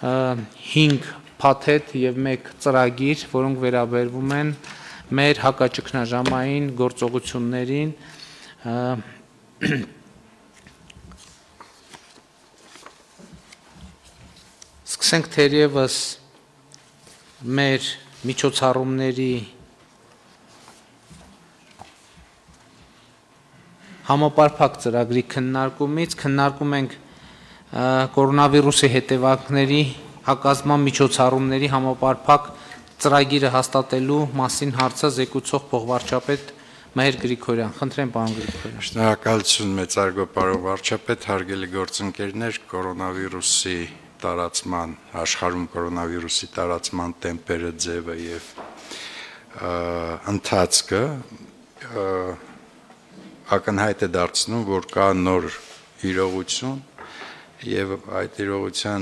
5 փաթեթ եւ 1 ծրագիր, որոնք վերաբերվում են մեր հակաճգնաժամային գործողություններին Սկսենք թերևս մեր միջոցառումների համապարփակ ծրագրի քննարկումից քննարկում ենք կորոնավիրուսի հետևանքների հակազդման միջոցառումների համապարփակ ծրագիրը հաստատելու մասին հարցը զեկուցող փոխվարչապետ Մհեր Գրիգորյան։ Խնդրեմ, պարոն Գրիգորյան։ Շնորհակալություն մեծարգո պարոն վարչապետ, հարգելի գործընկերներ, կորոնավիրուսի տարածման աշխարհում կորոնավիրուսի տարածման տեմպերը, ձևը եւ ընթացքը ակնհայտ է դարձնում, որ կա նոր իրողություն եւ այդ իրողության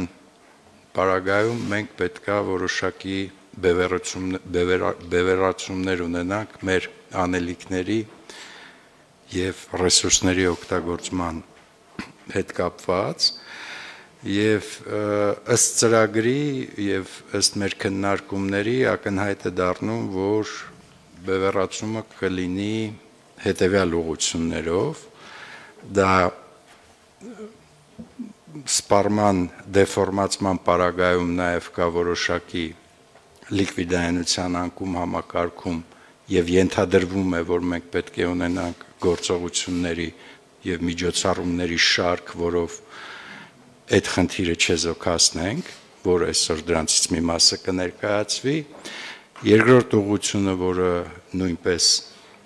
պարագայում մենք պետքա որոշակի բևեռացումներ ունենանք մեր անելիքների եւ ռեսուրսների օգտագործման հետ կապված եւ ըստ ծրագրի եւ ըստ մեր քննարկումների ակնհայտ է դառնում, որ բևեռացումը կլինի հետեւյալ ուղղություններով, դա սպառման դեֆորմացման պարագայում նաեւ կա որոշակի լիկվիդայնության անկում համակարգում եւ ենթադրվում է, որ մենք պետք է ունենանք գործողությունների եւ միջոցառումների շարք, որով այդ խնդիրը չեզոքացնենք, որ այսօր դրանցից մի մասը կներկայացվի, երկրորդ ուղղությունը, որը նույնպես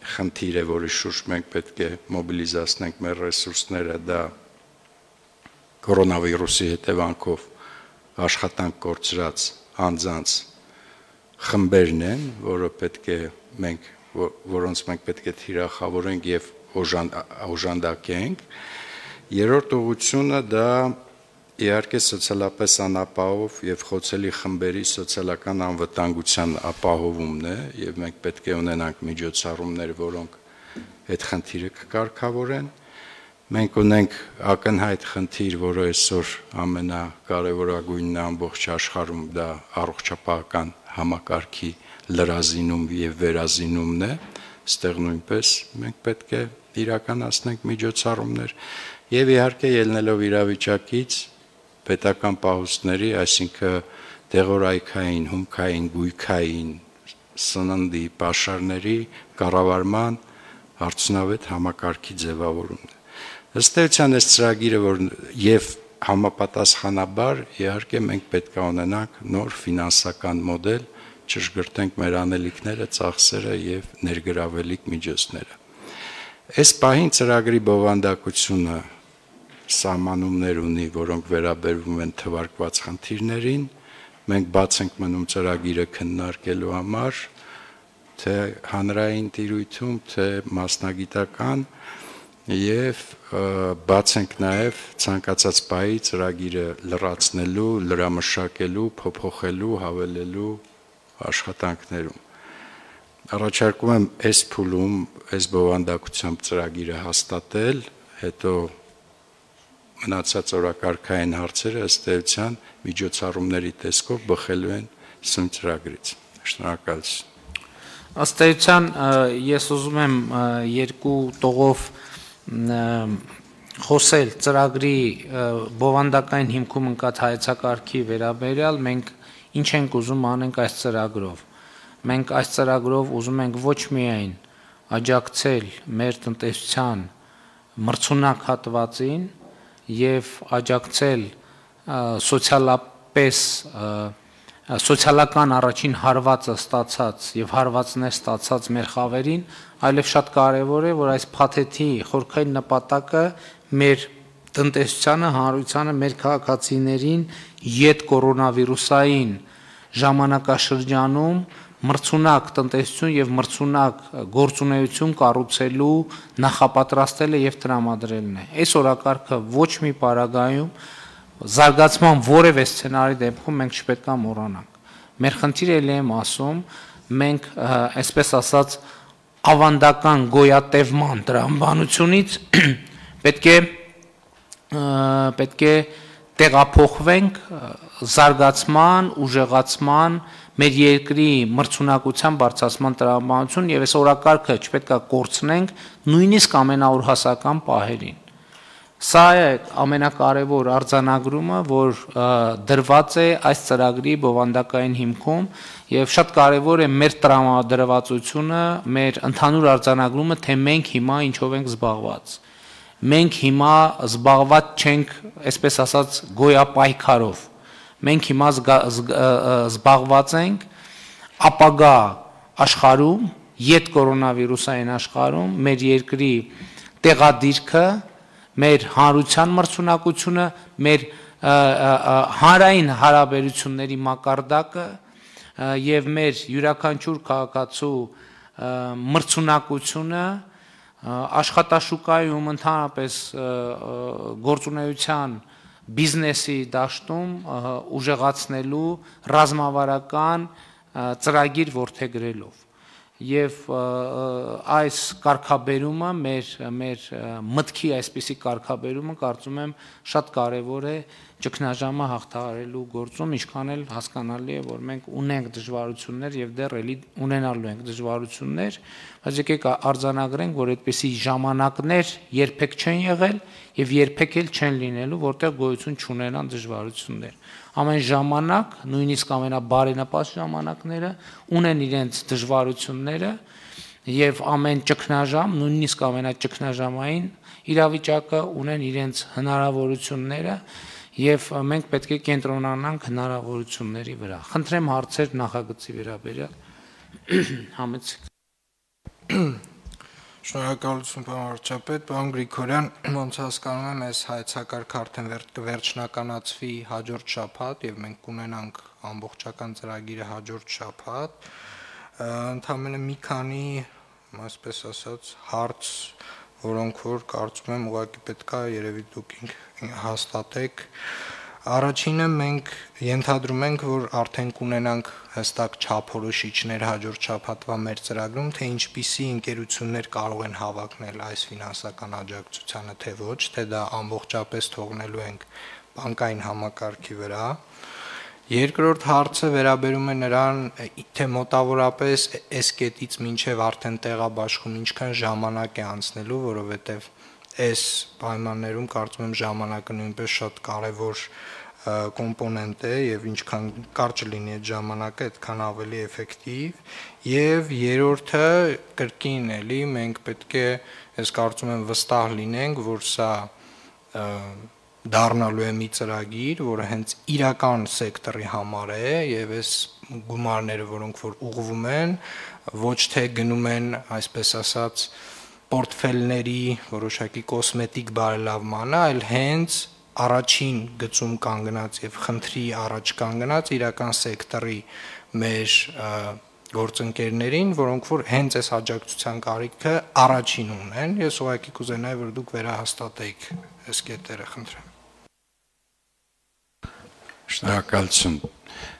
խնդիր է, որի շուրջ մենք պետք է մոբիլիզացնենք մեր ռեսուրսները, դա կորոնավիրուսի հետևանքով աշխատանք կորցրած անձանց խմբերն են, որոնց մենք պետք է թիրախավորենք եւ օժանդակենք։ Երրորդ ուղղությունը դա իհարկե սոցիալապես անապահով եւ խոցելի խմբերի սոցիալական անվտանգության ապահովումն է եւ մենք պետք է ունենանք միջոցառումներ, որոնք այդ խնդիրը կկարգավորեն։ Մենք ունենք ակնհայտ խնդիր, որը այսօր ամենակարևորագույնն է ամբողջ աշխարհում, դա առողջապահական համակարգի լրազինում եւ վերազինումն է։ Այստեղ նույնպես մենք պետք է իրականացնենք միջոցառումներ եւ իհարկե ելնելով իրավիճակից պետական պահուստների, այսինքն դեղորայքային, հումքային, գույքային, սննդի, պաշարների կառավարման արդյունավետ համակարգի ձևավորումն է։ Ըստ էության այս ծրագիրը, որ եւ համապատասխանաբար իհարկե մենք պետք է ունենանք նոր ֆինանսական մոդել, ճշգրտենք մեր անելիքները, ծախսերը եւ ներգրավելիք միջոցները։ Այս պահին ծրագրի բովանդակությունը սահմանումներ ունի, որոնք վերաբերվում են թվարկված խնդիրներին, մենք բաց ենք մնում ծրագիրը քննարկելու համար, թե հանրային տիրույթում, թե մասնագիտական եւ բաց ենք նաեւ ցանկացած պահի ծրագիրը լրացնելու, լրամշակելու, փոփոխելու, հավելելու աշխատանքներում։ Առաջարկում եմ այս փուլում, այս բովանդակությամբ ծրագիրը հաստատել, հետո մնացած օրակարգային հարցերը ըստ էության միջոցառումների տեսքով բխելու են սույն ծրագրից։ Շնորհակալություն։ Ըստ էության ես ուզում եմ երկու տողով խոսել ծրագրի բովանդակային հիմքում ընկած հայեցակարգի վերաբերյալ, մենք ինչ ենք ուզում անենք այս ծրագրով։ Մենք այս ծրագրով ուզում ենք ոչ միայն աջակցել մեր տնտեսության մրցունակ հատվածին եւ աջակցել սոցիալական առաջին հարվածը ստացած եւ հարվածներ ստացած մեր խավերին, այլև շատ կարեւոր է, որ այս փաթեթի խորքային նպատակը մեր տնտեսությանը, հանրությանը, մեր քաղաքացիներին յետ կորոնավիրուսային ժամանակաշրջանում մրցունակ տնտեսություն եւ մրցունակ գործունեություն կառուցելու նախապատրաստելը եւ տրամադրելն է։ Այս օրակարգը ոչ մի պարագայում զարգացման որևէ սցենարի դեպքում մենք չպետք է մոռանանք։ Մեր խնդիրը ելի եմ ասում, մենք այսպես ասած ավանդական գոյատևման տրամաբանությունից պետք է տեղափոխվենք զարգացման, ուժեղացման, մեր երկրի մրցունակության բարձրացման տրամաբանություն եւ այս օրակարգը չպետք է կորցնենք նույնիսկ ամենաօրհասական պահերին։ Սա է ամենակարևոր արձանագրումը, որ դրված է այս ծրագրի բովանդակային հիմքում եւ շատ կարևոր է մեր տրամադրվածությունը, մեր ընդհանուր արձանագրումը, թե մենք հիմա ինչով ենք զբաղված։ Մենք հիմա զբաղված չենք, այսպես ասած, գոյապայքարով։ Մենք հիմա զբաղված ենք ապագա աշխարհում, յետ կորոնավիրուսային աշխարհում մեր երկրի տեղադիրքը, մեր հանրության մրցունակությունը, մեր հանրային հարաբերությունների մակարդակը եւ մեր յուրաքանչյուր քաղաքացու մրցունակությունը աշխատաշուկայում ընդհանրապես գործունեության բիզնեսի դաշտում ուժեղացնելու ռազմավարական ծրագիր որդեգրելով եւ այս կարգաբերումը մեր մտքի այսպիսի կարգաբերումը կարծում եմ շատ կարեւոր է ճգնաժամը հաղթահարելու գործում, ինչքան էլ հասկանալի է, որ մենք ունենք դժվարություններ եւ դեռ էլի ունենալու ենք դժվարություններ, բայց եկեք արձանագրենք, որ այդպիսի ժամանակներ երբեք չեն եղել եւ երբեք էլ չեն լինելու, որտեղ գոյություն չունենան դժվարություններ։ Ամեն ժամանակ, նույնիսկ ամենաբարենպաստ ժամանակները ունեն իրենց դժվարությունները եւ ամեն ճգնաժամ, նույնիսկ ամենաճգնաժամային իրավիճակը ունեն իրենց հնարավորությունները եւ մենք պետք է կենտրոնանանք հնարավորությունների վրա։ Խնդրեմ հարցեր նախագծի վերաբերյալ համեցեք։ Շնորհակալություն պարոն վարչապետ, պարոն Գրիգորյան, ոնց հասկանում եմ, այս հայեցակարգը արդեն կվերջնականացվի հաջորդ շաբաթ եւ մենք կունենանք ամբողջական ծրագիրը հաջորդ շաբաթ։ Ընդամենը մի քանի, այսպես ասած, հարց, որոնք որ կարծում եմ ուղղակի պետք է երևի դուք հաստատեք։ Առաջինը մենք ենթադրում ենք, որ արդեն կունենանք հստակ չափորոշիչներ հաջորդ շաբաթվա մեր ծրագրում, թե ինչպիսի ընկերություններ կարող են հավակնել այս ֆինանսական աջակցությանը, թե ոչ, թե դա ամբողջապես թողնելու ենք բանկային համակարգի վրա։ Երկրորդ հարցը վերաբերում է նրան, թե մոտավորապես այս կետից մինչև արդեն տեղաբաշխում ինչքան ժամանակ է անցնելու, որովհետև այս պայմաններում կարծում եմ ժամանակը նույնպես շատ կարևոր կոմպոնենտ է եւ ինչքան կարճ լինի այդ ժամանակը, այդքան ավելի էֆեկտիվ։ Եվ երրորդը կրկին էլի մենք պետք է, ես կարծում եմ վստահ լինենք, որ սա դառնալու է մի ծրագիր, որը հենց իրական սեկտորի համար է եւ այս գումարները, որոնք որ ուղղվում են, ոչ թե գնում են, այսպես ասած, պորտֆելների որոշակի կոսմետիկ բարելավմանը, այլ հենց առաջին գծում կանգնած եւ խնդրի առաջ կանգնած իրական սեկտորի մեր գործընկերներին, որոնք որ հենց այս աջակցության կարիքը առաջին ունեն։ Ես ուղղակի կուզենայի, որ դուք վերահաստատեիք այս կետերը, խնդրեմ։ Շնորհակալություն։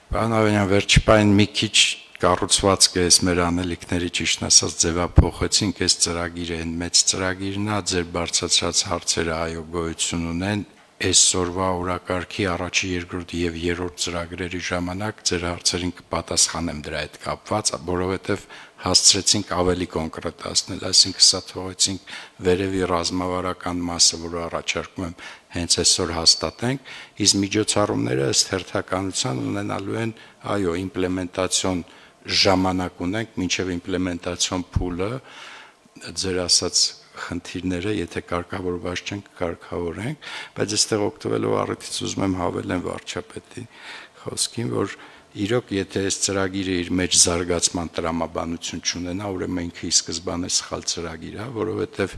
Պարոն Ավենյան, վերջի պահին մի քիչ կառուցվածքը այս մեր անելիքների ճիշտ ասած ձևափոխեցինք, այս ծրագիրը այն մեծ ծրագիրն է, ձեր բարձրացրած հարցերը այո գոյություն ունեն, այսօրվա օրակարգի առաջի, երկրորդ եւ երրորդ ծրագրերի ժամանակ ձեր հարցերին կպատասխանեմ դրա հետ կապված, որովհետեւ հասցրեցինք ավելի կոնկրետացնել, այսինքն սա թողեցինք վերևի ռազմավարական մասը, որը առաջարկում եմ հենց այսօր հաստատենք, իսկ միջոցառումները ըստ հերթականության ունենալու են, այո, իմպլեմենտացիոն ժամանակ ունենք, մինչև իմպլեմենտացիոն փուլը, ձեր ասած խնդիրները, եթե կարգավորված չեն, կարգավորենք, բայց այստեղ օգտվելով առիթից ուզում եմ հավելեմ վարչապետի խոսքին, որ իրոք եթե այս ծրագիրը իր մեջ զարգացման տրամաբանություն չունենա, ուրեմն ինքը ի սկզբանե սխալ ծրագիր է, որովհետև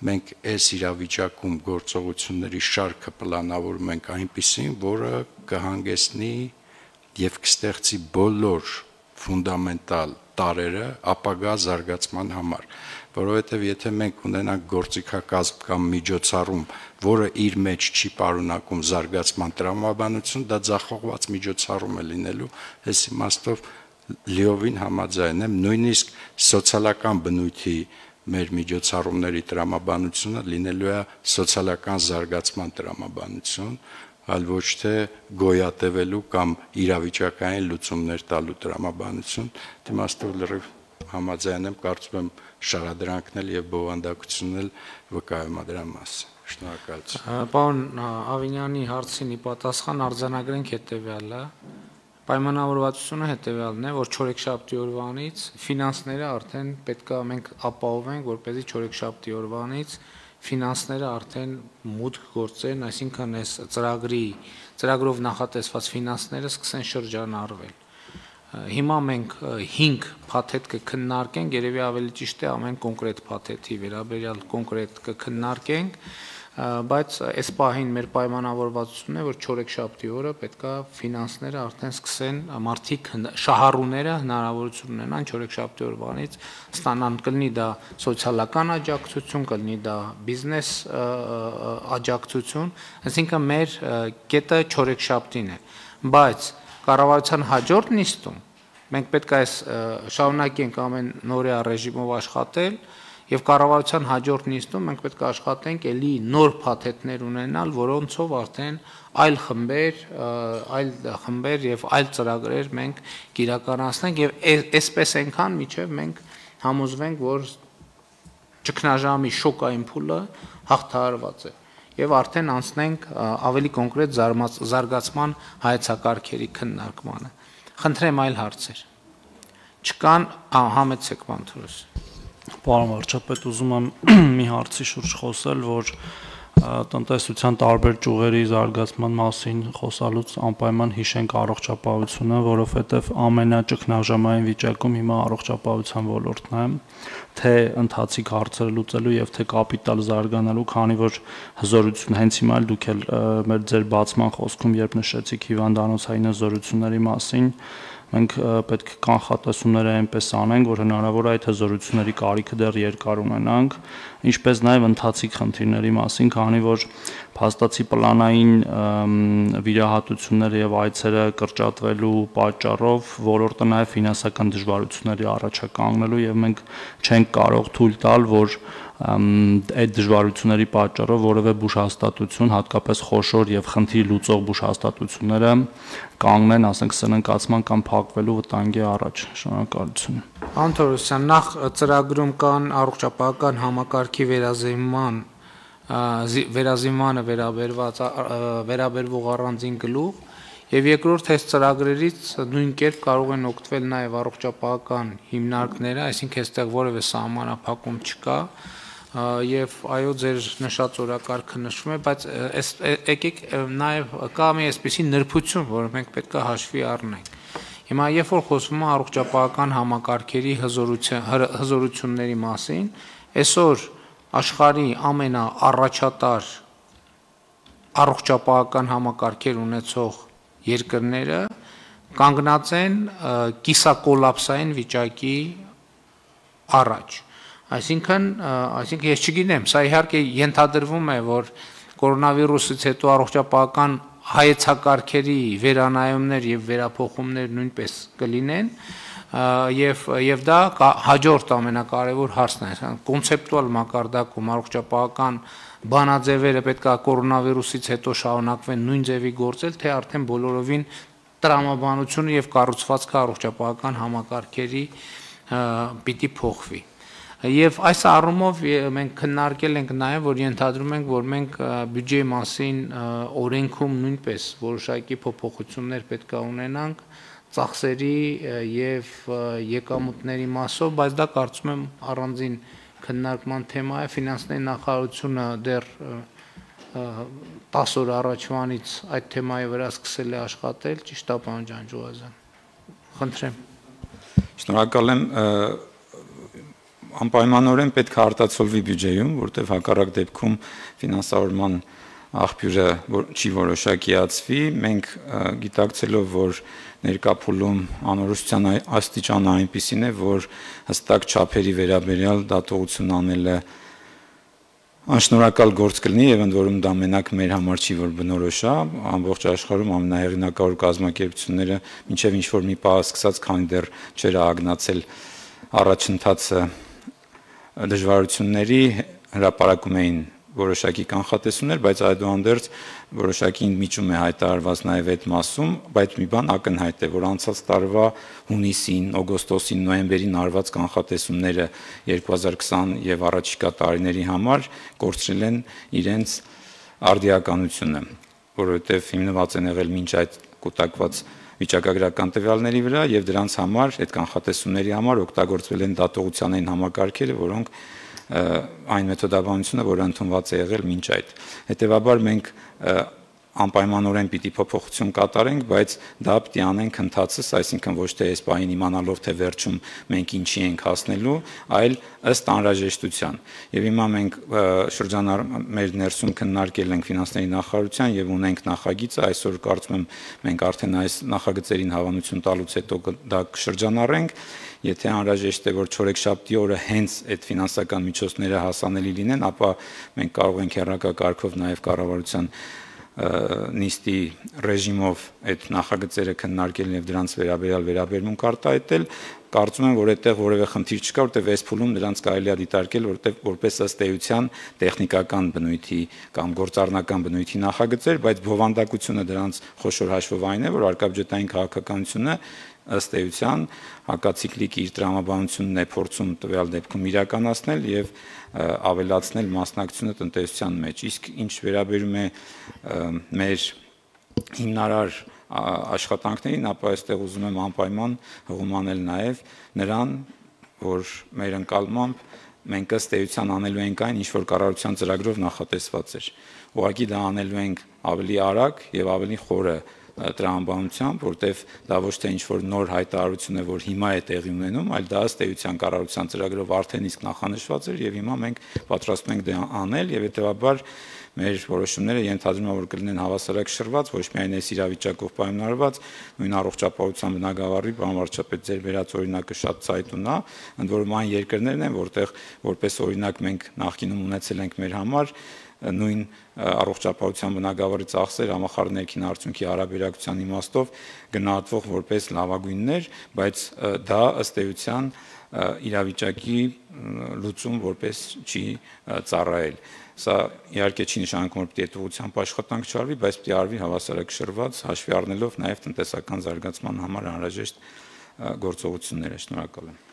մենք այս իրավիճակում գործողությունների շարքը պլանավորում ենք այնպիսին, որը կհանգեցնի եւ կստեղծի բոլոր ֆունդամենտալ տարրերը ապագա զարգացման համար, որովհետև եթե մենք ունենանք գործիքակազմ կամ միջոցառում, որը իր մեջ չի պարունակում զարգացման տրամաբանություն, դա ձախողված միջոցառում է լինելու, այս իմաստով լիովին համաձայն եմ, նույնիսկ սոցիալական բնույթի մեր միջոցառումների տրամաբանությունը լինելու է սոցիալական զարգացման տրամաբանություն, այլ ոչ թե գոյատևելու կամ իրավիճակային լուծումներ տալու տրամաբանություն, դիմաստով լրիվ համաձայն եմ, կարծում եմ շարադրանքն էլ եւ բովանդակությունն էլ վկայում է դրա մասին։ Շնորհակալություն։ Պարոն Ավինյանի հարցին ի պատասխան արձանագրենք հետեւյալը։ Պայմանավորվածությունը հետեւյալն է, որ չորեքշաբթի օրվանից ֆինանսները արդեն պետքա մենք ապահովենք, որպեսզի չորեքշաբթի օրվանից ֆինանսները արդեն մուտք գործեն, այսինքն այս ծրագրով նախատեսված ֆինանսները սկսեն շրջանառվել։ Հիմա մենք 5 փաթեթ կքննարկենք, երևի ավելի ճիշտ է ամեն կոնկրետ փաթեթի վերաբերյալ կոնկրետ կքննարկենք, բայց այս պահին մեր պայմանավորվածությունն է, որ չորեքշաբթի օրը պետքա ֆինանսները արդեն սկսեն մարդիկ շահառուները հնարավորություն ունենան չորեքշաբթի օրվանից ստանան, կլինի դա սոցիալական աջակցություն, կլինի դա բիզնես աջակցություն, այսինքն մեր կետը չորեքշաբթին է, բայց կառավարության հաջորդ նիստում մենք պետք է շարունակենք ամեն նորեա ռեժիմով աշխատել եւ կառավարության հաջորդ նիստում մենք պետք է աշխատենք ելի նոր փաթեթներ ունենալ, որոնցով արդեն այլ խմբեր եւ այլ ծրագրեր մենք կիրականացնենք եւ այսպես այնքան միջև մենք համոզվենք, որ ճգնաժամի շոկային փուլը հաղթահարված է եւ արդեն անցնենք ավելի կոնկրետ զարգացման հայեցակարգերի քննարկմանը։ Խնդրեմ այլ հարցեր։ Չկան, համեցեք Մանթուրոս։ Պարոն վարչապետ, ուզում եմ մի հարցի շուրջ խոսել, որ տնտեսության տարբեր ճյուղերի զարգացման մասին խոսալուց անպայման հիշենք առողջապահությունը, որովհետև ամենաճգնաժամային վիճակում հիմա առողջապահության ոլորտն է, թե ընթացիկ հարցերը լուծելու եւ թե կապիտալ զարգանալու, քանի որ հզորություն հենց հիմա էլ դուք էլ մեր ձեր բացման խոսքում երբ նշեցիք հիվանդանոցային հզորությունների մասին, մենք պետք է կանխատեսումները այնպես անենք, որ հնարավոր է այդ հզորությունների կարիքը դեռ երկար ունենանք, ինչպես նաև ընթացիկ խնդիրների մասին, քանի որ փաստացի պլանային վիրահատությունները եւ այցերը կրճատվելու պատճառով ոլորտը նաև ֆինանսական դժվարությունների առաջ է կանգնելու եւ մենք չենք կարող թույլ տալ, որ այդ դժվարությունների պատճառով որևէ բուժհաստատություն, հատկապես խոշոր եւ խնդիր լուծող բուժհաստատությունները կանգնեն, ասենք սննկացման կամ փակվելու վտանգի առաջ։ Շնորհակալություն։ Անտորոսյան, նախ ծրագրում կան առողջապահական համակարգի վերազինմանը վերաբերվող առանձին գլուխ եւ երկրորդ այս ծրագրերից նույն կերպ կարող են օգտվել նաեւ առողջապահական հիմնարկները, այսինքն այստեղ որևէ սահմանափակում չկա եւ այո ձեր նշած օրակարգը նշվում է, բայց եկեք նաեւ կա մի այսպիսի նրբություն, որը մենք պետք է հաշվի առնենք։ Հիմա երբ որ խոսվում է առողջապահական համակարգերի հզորությունների մասին, այսօր աշխարհի ամենաառաջատար առողջապահական համակարգեր ունեցող երկրները կանգնած են կիսակոլապսային վիճակի առաջ։ Այսինքն ես չգիտեմ, սա իհարկե ենթադրվում է, որ կորոնավիրուսից հետո առողջապահական հայեցակարգերի վերանայումներ եւ վերափոխումներ նույնպես կլինեն եւ դա հաջորդ ամենակարևոր հարցն է, կոնցեպտուալ մակարդակում առողջապահական բանաձևերը պետք է կորոնավիրուսից հետո շարունակվեն նույն ձևի գործել, թե արդեն բոլորովին տրամաբանությունը եւ կառուցվածքը առողջապահական համակարգերի պիտի փոխվի։ Եվ այս առումով մենք քննարկել ենք նաև, որ ենթադրում ենք, որ մենք բյուջեի մասին օրենքում նույնպես որոշակի փոփոխություններ պետք է ունենանք ծախսերի եւ եկամուտների մասով, բայց դա կարծում եմ առանձին քննարկման թեմա է, ֆինանսների նախարարությունը դեռ 10 օր առաջվանից այդ թեմայի վրա սկսել է աշխատել, ճիշտ է պարոն Ջանջուղազյան։ Խնդրեմ։ Շնորհակալ եմ, անպայմանորեն պետք է արտացոլվի բյուջեում, որտեղ հակառակ դեպքում ֆինանսավորման աղբյուրը չի որոշակիացվի, մենք գիտակցելով, որ ներկա փուլում անորոշության աստիճանը այնպիսին է, որ հստակ չափերի վերաբերյալ դատողություն անելը անշնորհակալ գործ կլինի եւ ընդ որում դա մենակ մեր համար չի, որ բնորոշ է, ամբողջ աշխարհում ամենահեղինակավոր կազմակերպությունները մինչեւ ինչ որ մի պահ սկսած, քանի դեռ չեր ագնացել առաջընթացը դժվարությունների հրապարակում էին որոշակի կանխատեսումներ, բայց այդուհանդերձ որոշակի միջում է հայտարարված նաև այդ մասում, բայց մի բան ակնհայտ է, որ անցած տարվա հունիսին, օգոստոսին, նոյեմբերին արված կանխատեսումները 2020 եւ առաջիկա տարիների համար կորցրել են իրենց արդիականությունը, որովհետեւ հիմնված են եղել մինչ այդ կուտակված վիճակագրական տվյալների վրա եւ դրանց համար այդ կանխատեսումների համար օգտագործվել են դատողությանային համակարգերը, որոնք այն մեթոդաբանությունը, որը ընդունված է եղել մինչ այդ։ Հետևաբար մենք անպայմանորեն պիտի փոփոխություն կատարենք, բայց դա պիտի անենք ընթացս, այսինքն ոչ թե այս պահին իմանալով թե վերջում մենք ինչի ենք հասնելու, այլ ըստ անհրաժեշտության։ Եվ հիմա մենք մեր ներսում քննարկել ենք ֆինանսների նախարարության եւ ունենք նախագիծը, այսօր կարծում եմ մենք արդեն այս նախագծերին հավանություն տալուց հետո դա կշրջանառենք, եթե անհրաժեշտ է որ չորեքշաբթի օրը հենց այդ ֆինանսական միջոցները հասանելի լինեն, ապա մենք կարող ենք հեռակակարգով նաեւ կառավարության նիստի ռեժիմով այդ նախագծերը քննարկել եւ դրանց վերաբերյալ վերաբերմունք արտահայտել, կարծում եմ, որ այդտեղ որևէ խնդիր չկա, որտեղ այս փուլում դրանց կարելի է դիտարկել որպես ըստ էության տեխնիկական բնույթի կամ գործառնական բնույթի նախագծեր, բայց բովանդակությունը դրանց խոշոր հաշվով այն է, որ արկաբյուջետային քաղաքականությունը ըստ էության հակացիկլիկ իր տրամաբանությունն է փորձում տվյալ դեպքում իրականացնել եւ ավելացնել մասնակցությունը տնտեսության մեջ։ Իսկ ինչ վերաբերում է մեր հիմնարար աշխատանքներին, ապա այստեղ ուզում եմ անպայման հղումանել նաեւ նրան, որ մեր ընկալմամբ մենք ըստ էության անելու ենք այն, ինչ որ կառավարության ծրագրով նախատեսված էր։ Ուղղակի դա անելու ենք ավելի արագ եւ ավելի խորը տրամաբանությամբ, որտեվ դա ոչ թե ինչ-որ նոր հայտարարություն է, որ հիմա է տեղի ունենում, այլ դա ըստ էության կառավարության ծրագրով արդեն իսկ նախանշված էր եւ հիմա մենք պատրաստվում ենք դա անել եւ հետեւաբար մեր որոշումները ենթադրում եմ, որ կլինեն հավասարակշռված, ոչ միայն այս իրավիճակով պայմանավորված, նույն առողջապահության բնագավառի, պարոն վարչապետ, ձեր վերած օրինակը շատ ցայտուն է, ընդ որում այն երկրներն են, որտեղ որպես օրինակ մենք նախկինում ունեցել ենք մեր համար նույն առողջապահության բնագավառի ծախսեր համախառն արդյունքի հարաբերակցության իմաստով գնահատվող որպես լավագույններ, բայց դա ըստ էության իրավիճակի լուծում որպես չի ծառայել։ Սա իհարկե չի նշանակում, որ պիտի այդ ուղղությամբ աշխատանք չարվի, բայց պիտի արվի հավասարակշռված, հաշվի առնելով նաև տնտեսական զարգացման համար անհրաժեշտ գործողությունները։ Շնորհակալ եմ։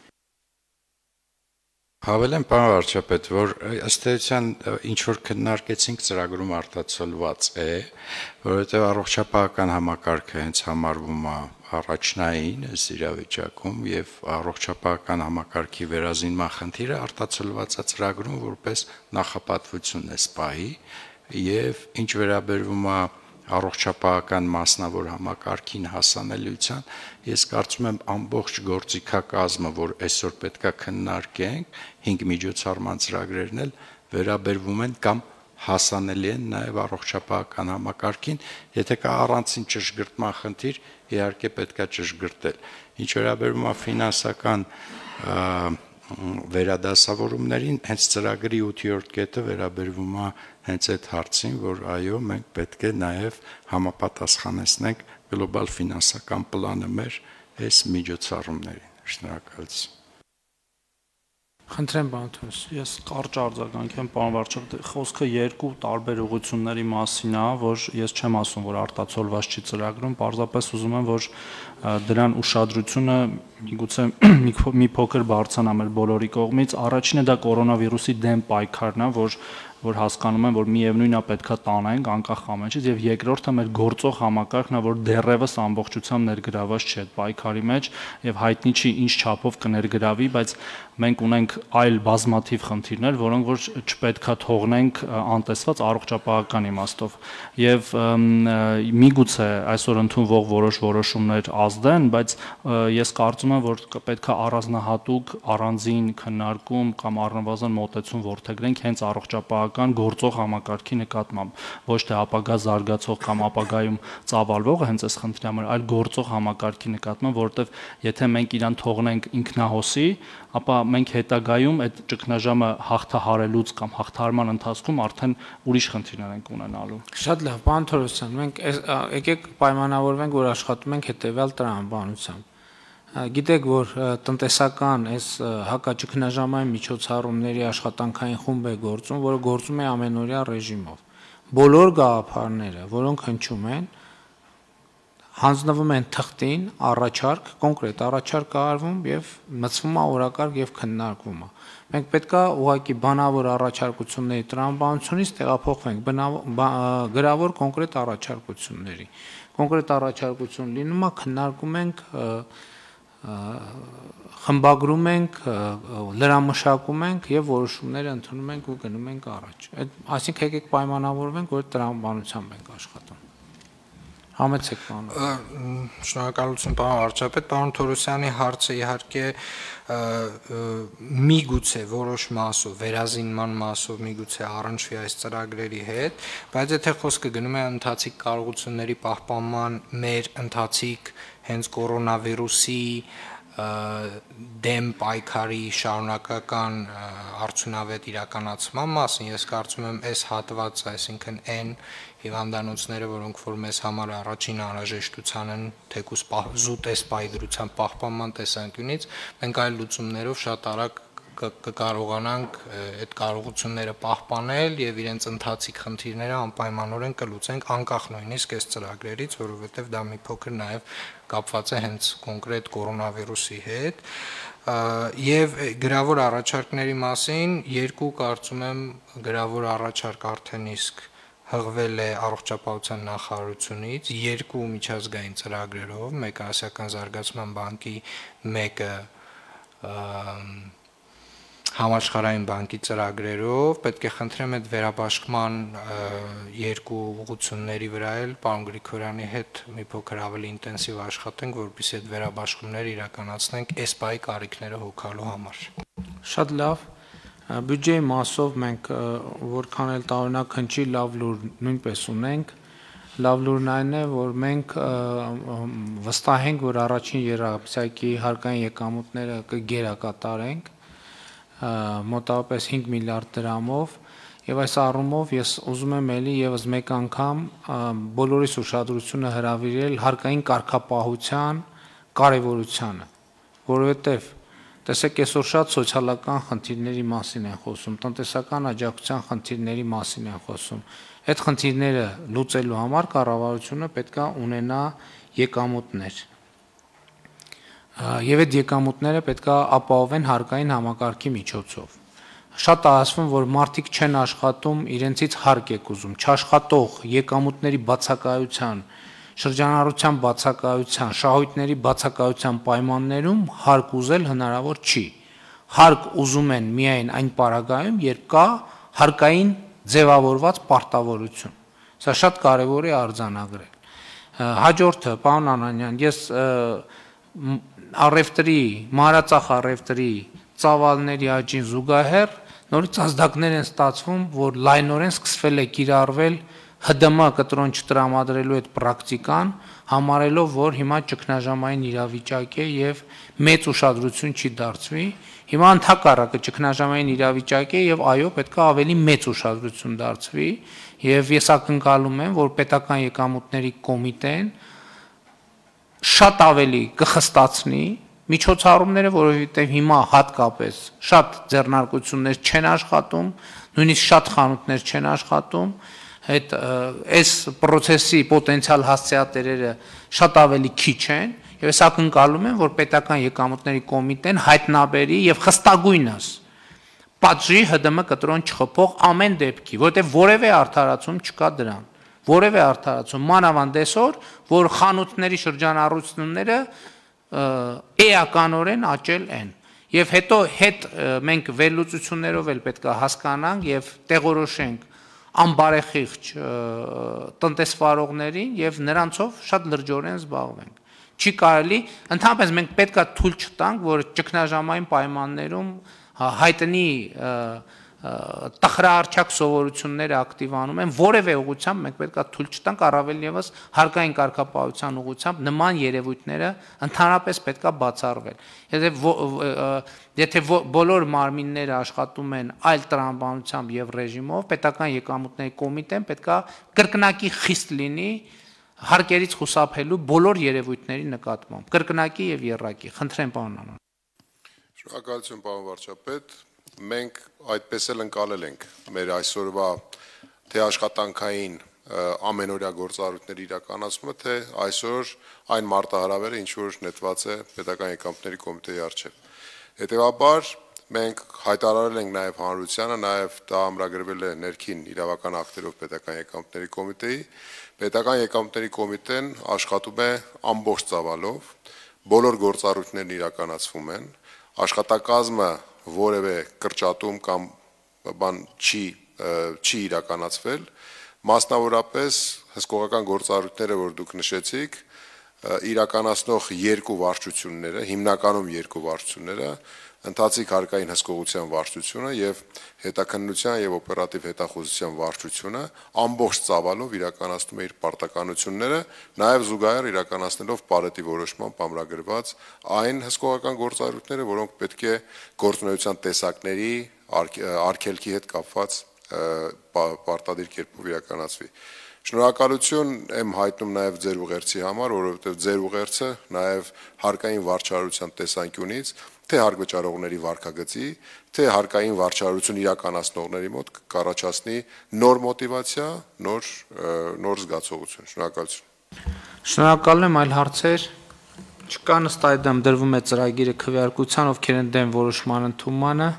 Հավելեմ, պարոն վարչապետ, որ ըստ էության ինչ որ քննարկեցինք ծրագրում արտացոլված է, որովհետև առողջապահական համակարգը հենց համարվում է առաջնային այս իրավիճակում եւ առողջապահական համակարգի վերազինման խնդիրը արտացոլված է ծրագրում որպես նախապատվություն է սպայի եւ ինչ վերաբերվում է առողջապահական մասնավոր համակարգին հասանելիության, ես կարծում եմ ամբողջ գործիքակազմը, որ այսօր պետքա քննարկենք, 5 միջոցառման ծրագրերն էլ վերաբերվում են կամ հասանելի են նաև առողջապահական համակարգին, եթե կա առանցին ճշգրտման խնդիր, իհարկե պետքա ճշգրտել։ Ինչ վերաբերում է ֆինանսական վերադասավորումներին, հենց ծրագրի 8-րդ կետը վերաբերվում է հենց այդ հարցին, որ այո, մենք պետք է նաև համապատասխանեցնենք գլոբալ ֆինանսական պլանը մեր այս միջոցառումներին։ Շնորհակալություն։ Խնդրեմ, պարոն Թորոս։ Ես կարճ արձագանքեմ, պարոն վարչապետ, խոսքը երկու տարբեր ուղղությունների մասին է, որ ես չեմ ասում, որ արտացոլված չի ծրագրում, պարզապես ուզում եմ, որ դրան ուշադրությունը միգուցե մի փոքր բարձրանա մեր բոլորի կողմից։ Առաջինը դա կորոնավիրուսի դեմ պայքարն է, որ հասկանում եմ, որ միևնույնն է պետքա տանենք անկախ ամենից, եւ երկրորդը մեր գործող համակարգն է, որ դեռևս ամբողջությամբ ներգրաված չի այդ պայքարի մեջ եւ հայտնի չի ինչ չափով կներգրավի, բայց մենք ունենք այլ բազմաթիվ խնդիրներ, որոնք որ չպետքա թողնենք անտեսված առողջապահական իմաստով։ Եվ միգուցե այսօր ընդունվող որոշ որոշումներ ազդեն, բայց ես կարծում եմ, որ պետքա առանձնահատուկ առանձին քննարկում կամ առնվազն մոտեցում որդեգրենք հենց առողջապահական գործող համակարգի նկատմամբ, ոչ թե ապագա զարգացող կամ ապագայում ծավալվողը հենց այս խնդրի համար, այլ գործող համակարգի նկատմամբ, որովհետև եթե մենք իրան թողնենք ինքնահոսի, ապա մենք հետագայում այդ ճգնաժամը հաղթահարելուց կամ հաղթահարման ընթացքում արդեն ուրիշ խնդիրներ ենք ունենալու։ Շատ լավ, պարոն Թորոսյան, մենք եկեք պայմանավորվենք, որ աշխատում ենք հետևյալ տրամաբանությամբ։ Գիտեք, որ տնտեսական այս հակաճգնաժամային միջոցառումների աշխատանքային խումբ է գործում, որը գործում է ամենօրյա ռեժիմով։ Բոլոր գաղափարները, որոնք հնչում են, հանձնվում են թղթին, առաջարկ, կոնկրետ առաջարկ արվում եւ մտցվում է օրակարգ եւ քննարկվում է։ Մենք պետքա ուղղակի բանավոր առաջարկությունների տրամաբանությունից տեղափոխվենք գրավոր կոնկրետ առաջարկությունների։ Կոնկրետ առաջարկություն լինում է, քննարկում ենք, խմբագրում ենք, լրամշակում ենք եւ որոշումները ընդունում ենք ու գնում ենք առաջ։ Այսինքն եկեք պայմանավորվենք, որ տրամաբանությամբ ենք աշխատում։ Համեցեք պարոն։ Շնորհակալություն պարոն վարչապետ, պարոն Թորոսյանի հարցը իհարկե միգուցե որոշ մասով, վերազինման մասով միգուցե առնչվի այս ծրագրերի հետ, բայց եթե խոսքը գնում է ընթացիկ կարողությունների պահպանման մեր ընթացիկ հենց կորոնավիրուսի դեմ պայքարի շարունակական արդյունավետ իրականացման մասին, ես կարծում եմ այս հատվածը, այսինքն այն հիվանդանոցները, որոնք որ մեզ համար առաջին անհրաժեշտության են, թեկուզ զուտ այս պայծրության պահպանման տեսանկյունից, մենք այլ լուծումներով շատ արագ կկարողանանք այդ կարողությունները պահպանել եւ իրենց ընթացիկ խնդիրները անպայմանորեն կլուծենք անկախ նույնիսկ այս ծրագրերից, որովհետեւ դա մի փոքր նաեւ կապված է հենց կոնկրետ կորոնավիրուսի հետ եւ գրավոր առաջարկների մասին երկու կարծում եմ գրավոր առաջարկ արդեն իսկ հղվել է առողջապահության նախարարությունից երկու միջազգային ծրագրերով, մեկը Ասիական զարգացման բանկի, մեկը Համաշխարհային բանկի ծրագրերով, պետք է խնդրեմ այդ վերաբաշխման երկու ուղղությունների վրա էլ պարոն Գրիգորյանի հետ մի փոքր ավելի ինտենսիվ աշխատենք, որպեսզի այդ վերաբաշխումները իրականացնենք այս պահի կարիքները հոգալու համար։ Շատ լավ։ Բյուջեի մասով մենք որքան էլ տարօրինակ հնչի լավ լուր նույնպես ունենք։ Լավ լուրն այն է, որ մենք վստահ ենք, որ առաջին երամսյակի հարկային եկամուտները կգերակատարենք մոտավորապես 5 միլիարդ դրամով եւ այս առումով ես ուզում եմ ելի եւս մեկ անգամ բոլորիս ուշադրությունը հրավիրել հարկային կարգապահության կարեւորությանը, որովհետեւ տեսեք այսօր շատ սոցիալական խնդիրների մասին են խոսում, տնտեսական աջակցության խնդիրների մասին են խոսում։ Այդ խնդիրները լուծելու համար կառավարությունը պետքա ունենա եկամուտներ։ Եվ այդ եկամուտները պետքա ապահովեն հարկային համակարգի միջոցով։ Շատ ասվում, որ մարդիկ չեն աշխատում, իրենցից հարկ եք ուզում, չաշխատող եկամուտների բացակայության, շրջանառության բացակայության, շահույթների բացակայության պայմաններում հարկ ուզել հնարավոր չի։ Հարկ ուզում են միայն այն պարագայում, երբ կա հարկային ձևավորված պարտավորություն։ Սա շատ կարևոր է արձանագրել։ Հաջորդը, պարոն Անանյան, ես առևտրի, մանրածախ առևտրի ծավալների աճին զուգահեռ նորից ազդակներ են ստացվում, որ լայնորեն սկսվել է կիրառվել ՀԴՄ կտրոն չտրամադրելու այդ պրակտիկան, համարելով, որ հիմա ճգնաժամային իրավիճակ է եւ մեծ ուշադրություն չի դարձվի։ Հիմա ընդհակառակը ճգնաժամային իրավիճակ է եւ այո, պետք է ավելի մեծ ուշադրություն դարձվի եւ ես ակնկալում եմ, որ պետական եկամուտների կոմիտեն շատ ավելի կխստացնի միջոցառումները, որովհետև հիմա հատկապես շատ ձեռնարկություններ չեն աշխատում, նույնիսկ շատ խանութներ չեն աշխատում, այս process-ի պոտենցիալ հասցեատերերը շատ ավելի քիչ են, եւ ես ակնկալում եմ, որ պետական եկամուտների կոմիտեն հայտնաբերի եւ խստագույնս պատժի ՀԴՄ կտրոն չխփող ամեն դեպքի, որովհետև որևէ արդարացում չկա դրան։ Որևէ արդարացում, մանավանդ այսօր, որ խանութների շրջանառությունները էականորեն աճել են։ Եվ հետո հետ մենք վերլուծություններով էլ պետք է հասկանանք եւ տեղորոշենք անբարեխիղճ տնտեսվարողներին եւ նրանցով շատ լրջորեն զբաղվենք։ Չի կարելի, ընդհանրապես մենք պետք է թույլ չտանք, որ ճգնաժամային պայմաններում հայտնի տխրահարճակ սովորությունները ակտիվանում են, որևէ ուղղությամբ մենք պետք է թույլ չտանք, առավել եւս հարկային կարգապահության ուղղությամբ նման երևույթները ընդհանրապես պետք է բացառվել։ Եթե բոլոր մարմինները աշխատում են այլ տրամաբանությամբ եւ ռեժիմով, պետական եկամուտների կոմիտեն պետք է կրկնակի խիստ լինի հարկերից խուսափելու բոլոր երևույթների նկատմամբ, կրկնակի եւ եռակի։ Խնդրեմ, պարոն Անոն։ Շնորհակալություն, պարոն վարչապետ։ Մենք այդպես էլ ընկալել ենք մեր այսօրվա թե աշխատանքային ամենօրյա գործառույթների իրականացումը, թե այսօր այն մարտահրավերը, ինչ որ նետված է Պետական եկամուտների կոմիտեի առջև։ Հետևաբար մենք հայտարարել ենք նաև հանրությանը, նաև դա ամրագրվել է ներքին իրավական ակտերով Պետական եկամուտների կոմիտեի։ Պետական եկամուտների կոմիտեն աշխատում է ամբողջ ծավալով, բոլոր գործառույթներն իրականացվում են, աշխատակազմը որևէ կրճատում կամ բան չի իրականացվել, մասնավորապես հսկողական գործառույթները, որ դուք նշեցիք, իրականացնող երկու վարչությունները, հիմնականում երկու վարչությունները, ընթացիկ հարկային հսկողության վարչությունը եւ հետաքննության եւ օպերատիվ հետախուզության վարչությունը ամբողջ ծավալով իրականացնում է իր պարտականությունները, նաեւ զուգահեռ իրականացնելով Պարետի որոշմամբ ամրագրված այն հսկողական գործառույթները, որոնք պետք է գործունեության տեսակների արգելքի հետ կապված պարտադիր կերպով իրականացվի։ Շնորհակալություն եմ հայտնում նաև ձեր ուղերձի համար, որովհետև ձեր ուղերձը նաև հարկային վարչարարության տեսանկյունից թե հարկվճարողների վարկագծի, թե հարկային վարչարարություն իրականացնողների մոտ կառաջացնի նոր մոտիվացիա, նոր զգացողություն։ Շնորհակալություն։ Շնորհակալ եմ, այլ հարցեր չկան, ըստ այդմ դրվում է ծրագիրը քվեարկության, ովքեր են դեմ որոշման ընդունմանը,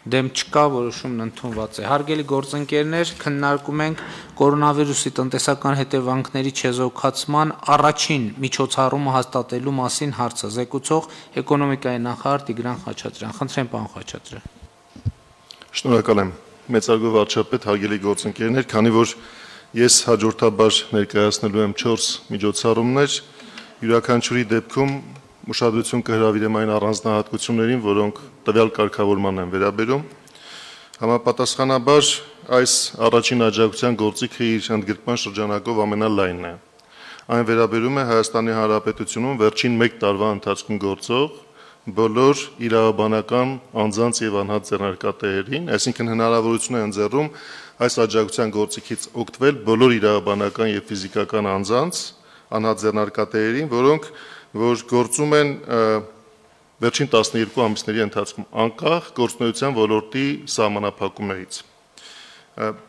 դեմ չկա, որոշումն ընդունված է։ Հարգելի գործընկերներ, քննարկում ենք կորոնավիրուսի տնտեսական հետևանքների չեզոքացման առաջին միջոցառումը հաստատելու մասին հարցը։ Զեկուցող էկոնոմիկայի նախարար Տիգրան Խաչատրյան։ Խնդրեմ, պարոն Խաչատրյան։ Շնորհակալ եմ, մեծարգո վարչապետ, հարգելի գործընկերներ, քանի որ ես հաջորդաբար ներկայացնելու եմ 4 միջոցառումներ, յուրաքանչյուրի դեպքում ուշադրություն կհրավիրեմ այն առանձնահատկություններին, որոնք տվյալ կարգավորման են վերաբերում։ Համապատասխանաբար այս առաջին աջակցության գործիքը իր ընդգրկման շրջանակով ամենալայնն է։ Այն վերաբերում է Հայաստանի Հանրապետությունում վերջին 1 տարվա ընթացքում գործող բոլոր իրավաբանական անձանց եւ անհատ ձեռնարկատերերին, այսինքն հնարավորություն է ընձեռում այս աջակցության գործիքից օգտվել բոլոր իրավաբանական եւ ֆիզիկական անձանց, անհատ ձեռնարկատերերին, որոնք որ գործում են վերջին 12 ամիսների ընթացքում անկախ գործունեության ոլորտի սահմանափակումներից։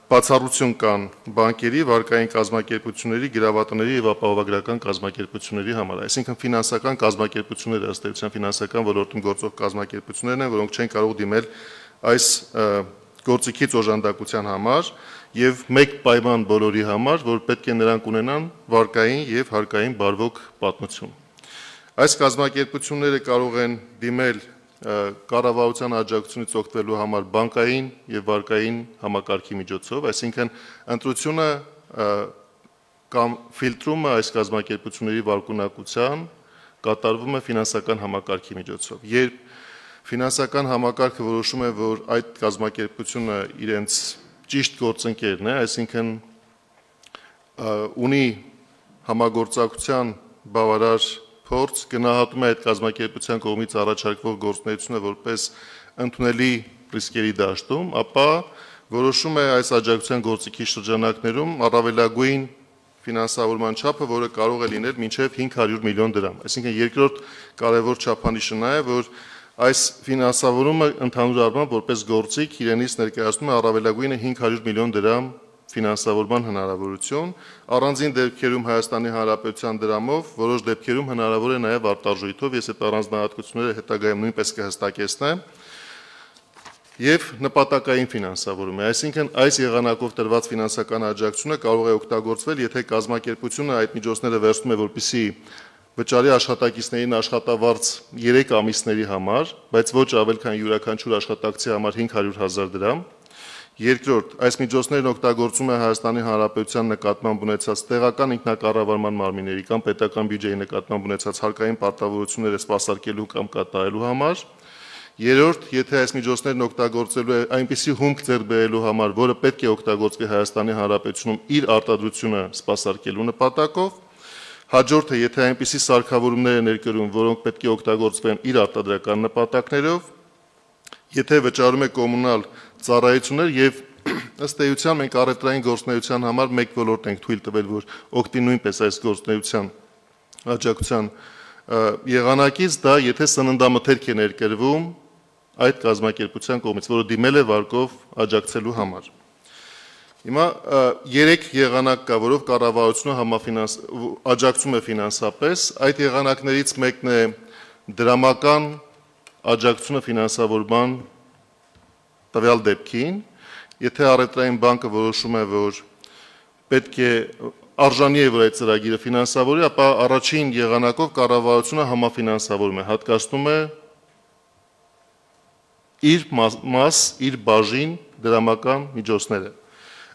Բացառություն կան բանկերի, վարկային կազմակերպությունների, գրավատների եւ ապահովագրական կազմակերպությունների համար, այսինքն ֆինանսական կազմակերպությունները, ըստ էության ֆինանսական ոլորտում գործող կազմակերպություններն են, որոնք չեն կարող դիմել այս գործիքից օժանդակության համար եւ մեկ պայման բոլորի համար, որ պետք է նրանք ունենան վարկային եւ հարկային բարվոք պատմություն։ Այս կազմակերպությունները կարող են դիմել կառավարության աջակցությունից օգտվելու համար բանկային եւ վարկային համակարգի միջոցով, այսինքն ընտրությունը կամ ֆիլտրումը այս կազմակերպությունների վարկունակության կատարվում է ֆինանսական համակարգի միջոցով։ Երբ ֆինանսական համակարգը որոշում է, որ այդ կազմակերպությունը իրենց ճիշտ գործընկերն է, այսինքն ունի համագործակցության բավարար փորձ, գնահատում է այդ կազմակերպության կողմից առաջարկվող գործունեությունը որպես ընդունելի ռիսկերի դաշտում, ապա որոշում է այս աջակցության գործիքի շրջանակներում առավելագույն ֆինանսավորման չափը, որը կարող է լինել մինչև 500 միլիոն դրամ։ Այսինքն երկրորդ կարևոր չափանիշը նա է, որ այս ֆինանսավորումը ընդհանուր առմամբ որպես գործիք իրենից ներկայացնում է առավելագույնը 500 միլիոն դրամ ֆինանսավորման հնարավորություն, առանձին դեպքերում Հայաստանի Հանրապետության դրամով, որոշ դեպքերում հնարավոր է նաև արտարժույթով, ես այդ առանձնահատկությունները հետագայում նույնպես կհստակեցնեմ, եւ նպատակային ֆինանսավորում է, այսինքն այս եղանակով տրված ֆինանսական աջակցությունը կարող է օգտագործվել, եթե կազմակերպությունը այդ միջոցները վերցնում է, որպեսզի վճարի աշխատակիցներին աշխատավարձ 3 ամիսների համար, բայց ոչ ավել քան յուրաքանչյուր աշխատակցի համար 500,000 դրամ։ Երկրորդ, այս միջոցներն օգտագործում է Հայաստանի Հանրապետության նկատմամբ ունեցած տեղական ինքնակառավարման մարմինների կամ պետական բյուջեի նկատմամբ ունեցած հարկային պարտավորությունները սպասարկելու կամ կատարելու համար։ Երրորդ, եթե այս միջոցներն օգտագործելու է այնպիսի հումք ձեռք բերելու համար, որը պետք է օգտագործվի Հայաստանի Հանրապետությունում իր արտադրությունը սպասարկելու նպատակով։ Հաջորդը, եթե այնպիսի սարքավորումներ են ներկրում, որոնք պետք է օգտագործվեն իր արտադրական նպատակներով, եթե վճարում է կոմունալ ծառայություններ եւ ըստ էության մենք առևտրային գործունեության համար մեկ ոլորտ ենք թույլ տվել, որ օգտի նույնպես այս գործունեության աջակցության եղանակից, դա եթե սննդամթերք է ներկրվում այդ կազմակերպության կողմից, որը դիմել է վարկով աջակցելու համար։ Հիմա 3 եղանակ կա, որով կառավարությունը աջակցում է ֆինանսապես, այդ եղանակներից մեկն է դրամական աջակցությունը ֆինանսավորման տվյալ դեպքին, եթե առևտրային բանկը որոշում է, որ պետք է արժանի է, որ այդ ծրագիրը ֆինանսավորի, ապա առաջին եղանակով կառավարությունը համաֆինանսավորում է, հատկացնում է իր մաս, իր բաժին դրամական միջոցները։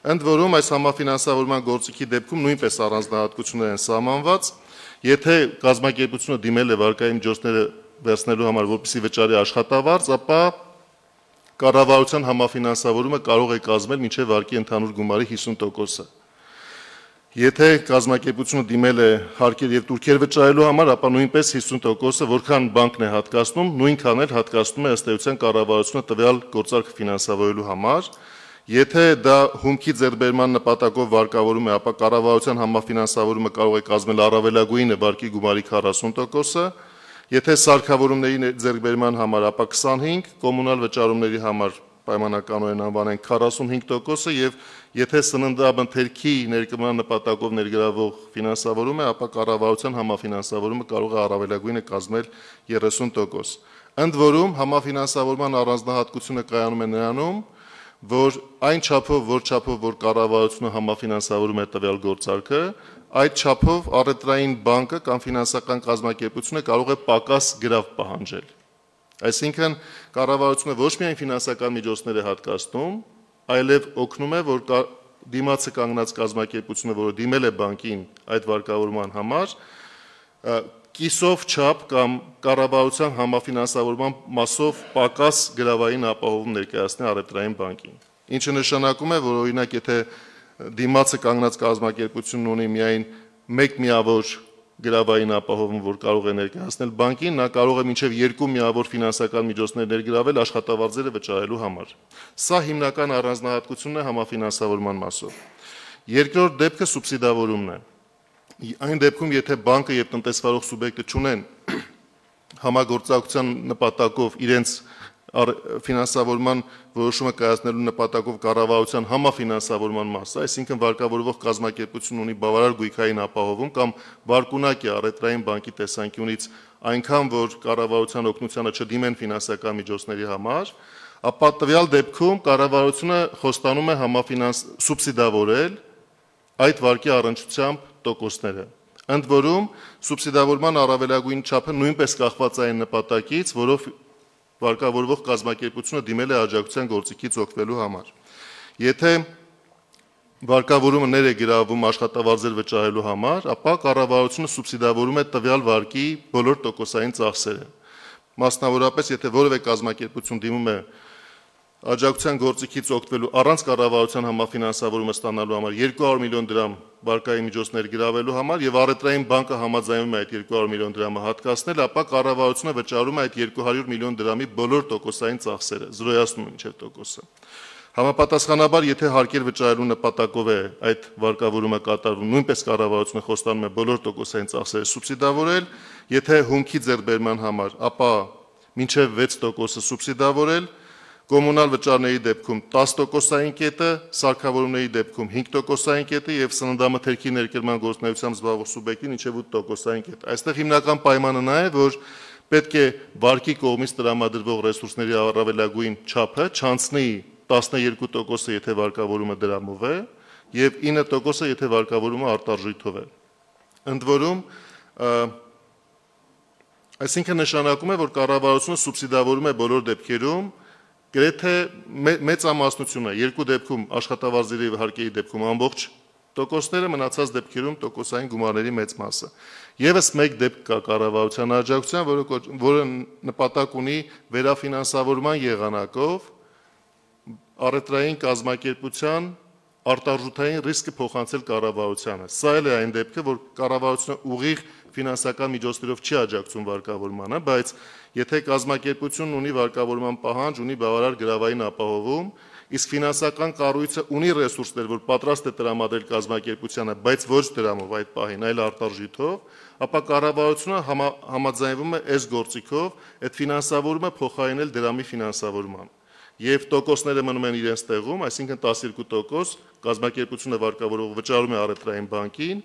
Ընդ որում այս համաֆինանսավորման գործիքի դեպքում նույնպես առանձնահատկություններ են սահմանված, եթե կազմակերպությունը դիմել է վարկային միջոցները վերցնելու համար, որպեսզի վճարի աշխատավարձ, ապա կառավարության համաֆինանսավորումը կարող է կազմել մինչև վարկի ընդհանուր գումարի 50%-ը։ Եթե կազմակերպությունը դիմել է հարկեր եւ տուրքեր վճարելու համար, ապա նույնպես 50%-ը, որքան բանկն է հատկացնում, նույնքան էլ հատկացնում է ըստ էության կառավարությունը տվյալ գործարքը ֆինանսավորելու համար։ Եթե դա հումքի ձեռբերման նպատակով վարկավորում է, ապա կառավարության համաֆինանսավորումը կարող է կազմել առավելագույնը վարկի գումարի 40%-ը, եթե սարքավորումների ձեռքբերման համար, ապա 25, կոմունալ վճարումների համար պայմանականորեն անվանենք 45%-ը եւ եթե սննդամթերքի ներկրման նպատակով ներգրավող ֆինանսավորում է, ապա կառավարության համաֆինանսավորումը կարող է առավելագույնը կազմել 30%։ Ընդ որում համաֆինանսավորման առանձնահատկությունը կայանում է նրանում, որ այն չափով, որ կառավարությունը համաֆինանսավորում է տվյալ գործարքը, այդ չափով առևտրային բանկը կամ ֆինանսական կազմակերպությունը կարող է պակաս գրավ պահանջել։ Այսինքն կառավարությունը ոչ միայն ֆինանսական միջոցներ է հատկացնում, այլև օգնում է, որ դիմացը կանգնած կազմակերպությունը, որը դիմել է բանկին այդ վարկավորման համար, կիսով չափ կամ կառավարության համաֆինանսավորման մասով պակաս գրավային ապահովում ներկայացնի առևտրային բանկին։ Ինչը նշանակում է, որ օրինակ եթե դիմացը կանգնած կազմակերպությունն ունի միայն մեկ միավոր գրավային ապահովում, որ կարող է ներկայացնել բանկին, նա կարող է մինչև 2 միավոր ֆինանսական միջոցներ ներգրավել աշխատավարձերը վճարելու համար։ Սա հիմնական առանձնահատկությունն է համաֆինանսավորման մասով։ Երկրորդ դեպքը սուբսիդավորումն է։ Այն դեպքում, եթե բանկը եւ տնտեսվարող սուբյեկտը չունեն համագործակցության նպատակով իրենց ֆինանսավորման որոշումը կայացնելու նպատակով կառավարության համաֆինանսավորման մասը, այսինքն վարկավորվող կազմակերպությունն ունի բավարար գույքային ապահովում կամ վարկունակ է առևտրային բանկի տեսանկյունից այնքան, որ կառավարության օգնությանը չդիմեն ֆինանսական միջոցների համար, ապա տվյալ դեպքում կառավարությունը խոստանում է սուբսիդավորել այդ վարկի առնչությամբ տոկոսները։ Ընդ որում սուբսիդավորման առավելագույն չափը նույնպես կախված է այն նպատակից, որով վարկավորվող կազմակերպությունը դիմել է աջակցության գործիքից օգտվելու համար։ Եթե վարկավորումը ներ է գրավում աշխատավարձեր վճարելու համար, ապա կառավարությունը սուբսիդավորում է տվյալ վարկի բոլոր տոկոսային ծախսերը։ Մասնավորապես, եթե որևէ կազմակերպություն դիմում է աջակցության գործիքից օգտվելու առանց կառավարության համաֆինանսավորումը ստանալու համար 200 միլիոն դրամ վարկային միջոցներ գրավելու համար եւ առևտրային բանկը համաձայնում է այդ 200 միլիոն դրամը հատկացնել, ապա կառավարությունը վճարում է այդ 200 միլիոն դրամի բոլոր տոկոսային ծախսերը, զրոյացնում մինչև տոկոսը։ Համապատասխանաբար, եթե հարկեր վճարելու նպատակով է այդ վարկավորումը կատարվում, նույնպես կառավարությունը խոստանում է բոլոր տոկոսային ծախսերը սուբսիդավորել, եթե հումքի ձեռբերման համար, ապա մինչև 6% սուբսիդավորել, կոմունալ վճարների դեպքում 10%-ային կետը, սարքավորումների դեպքում 5%-ային կետը եւ սննդամթերքի ներկրման գործունեությամբ զբաղվող սուբյեկտին մինչեւ 8%-ային կետ։ Այստեղ հիմնական պայմանը նա է, որ պետք է վարկի կողմից տրամադրվող ռեսուրսների առավելագույն չափը չանցնի 12%-ը, եթե վարկավորումը դրամով է, եւ 9%-ը, եթե վարկավորումը արտարժույթով է։ Ընդ որում, այսինքն նշանակում է, որ կառավարությունը սուբսիդավորում է բոլոր դեպքերում գրեթե մեծամասնությունը, երկու դեպքում աշխատավարձերի եւ հարկերի դեպքում ամբողջ տոկոսները, մնացած դեպքերում տոկոսային գումարների մեծ մասը։ Եվս մեկ դեպք կա կառավարության աջակցության, որը նպատակ ունի վերաֆինանսավորման եղանակով առևտրային կազմակերպության արտարժութային ռիսկը փոխանցել կառավարությանը։ Սա էլ է այն դեպքը, որ կառավարությունը ուղիղ ֆինանսական միջոցներով չի աջակցում վարկավորմանը, բայց եթե կազմակերպությունն ունի վարկավորման պահանջ, ունի բավարար գրավային ապահովում, իսկ ֆինանսական կառույցը ունի ռեսուրսներ, որ պատրաստ է տրամադրել կազմակերպությանը, բայց ոչ դրամով այդ պահին, այլ արտարժույթով, ապա կառավարությունը համաձայնվում է այս գործիքով այդ ֆինանսավորումը փոխարինել դրամի ֆինանսավորման։ Եվ տոկոսները մնում են իրենց տեղում, այսինքն 12% կազմակերպությունը վարկավորող վճարում է առևտրային բանկին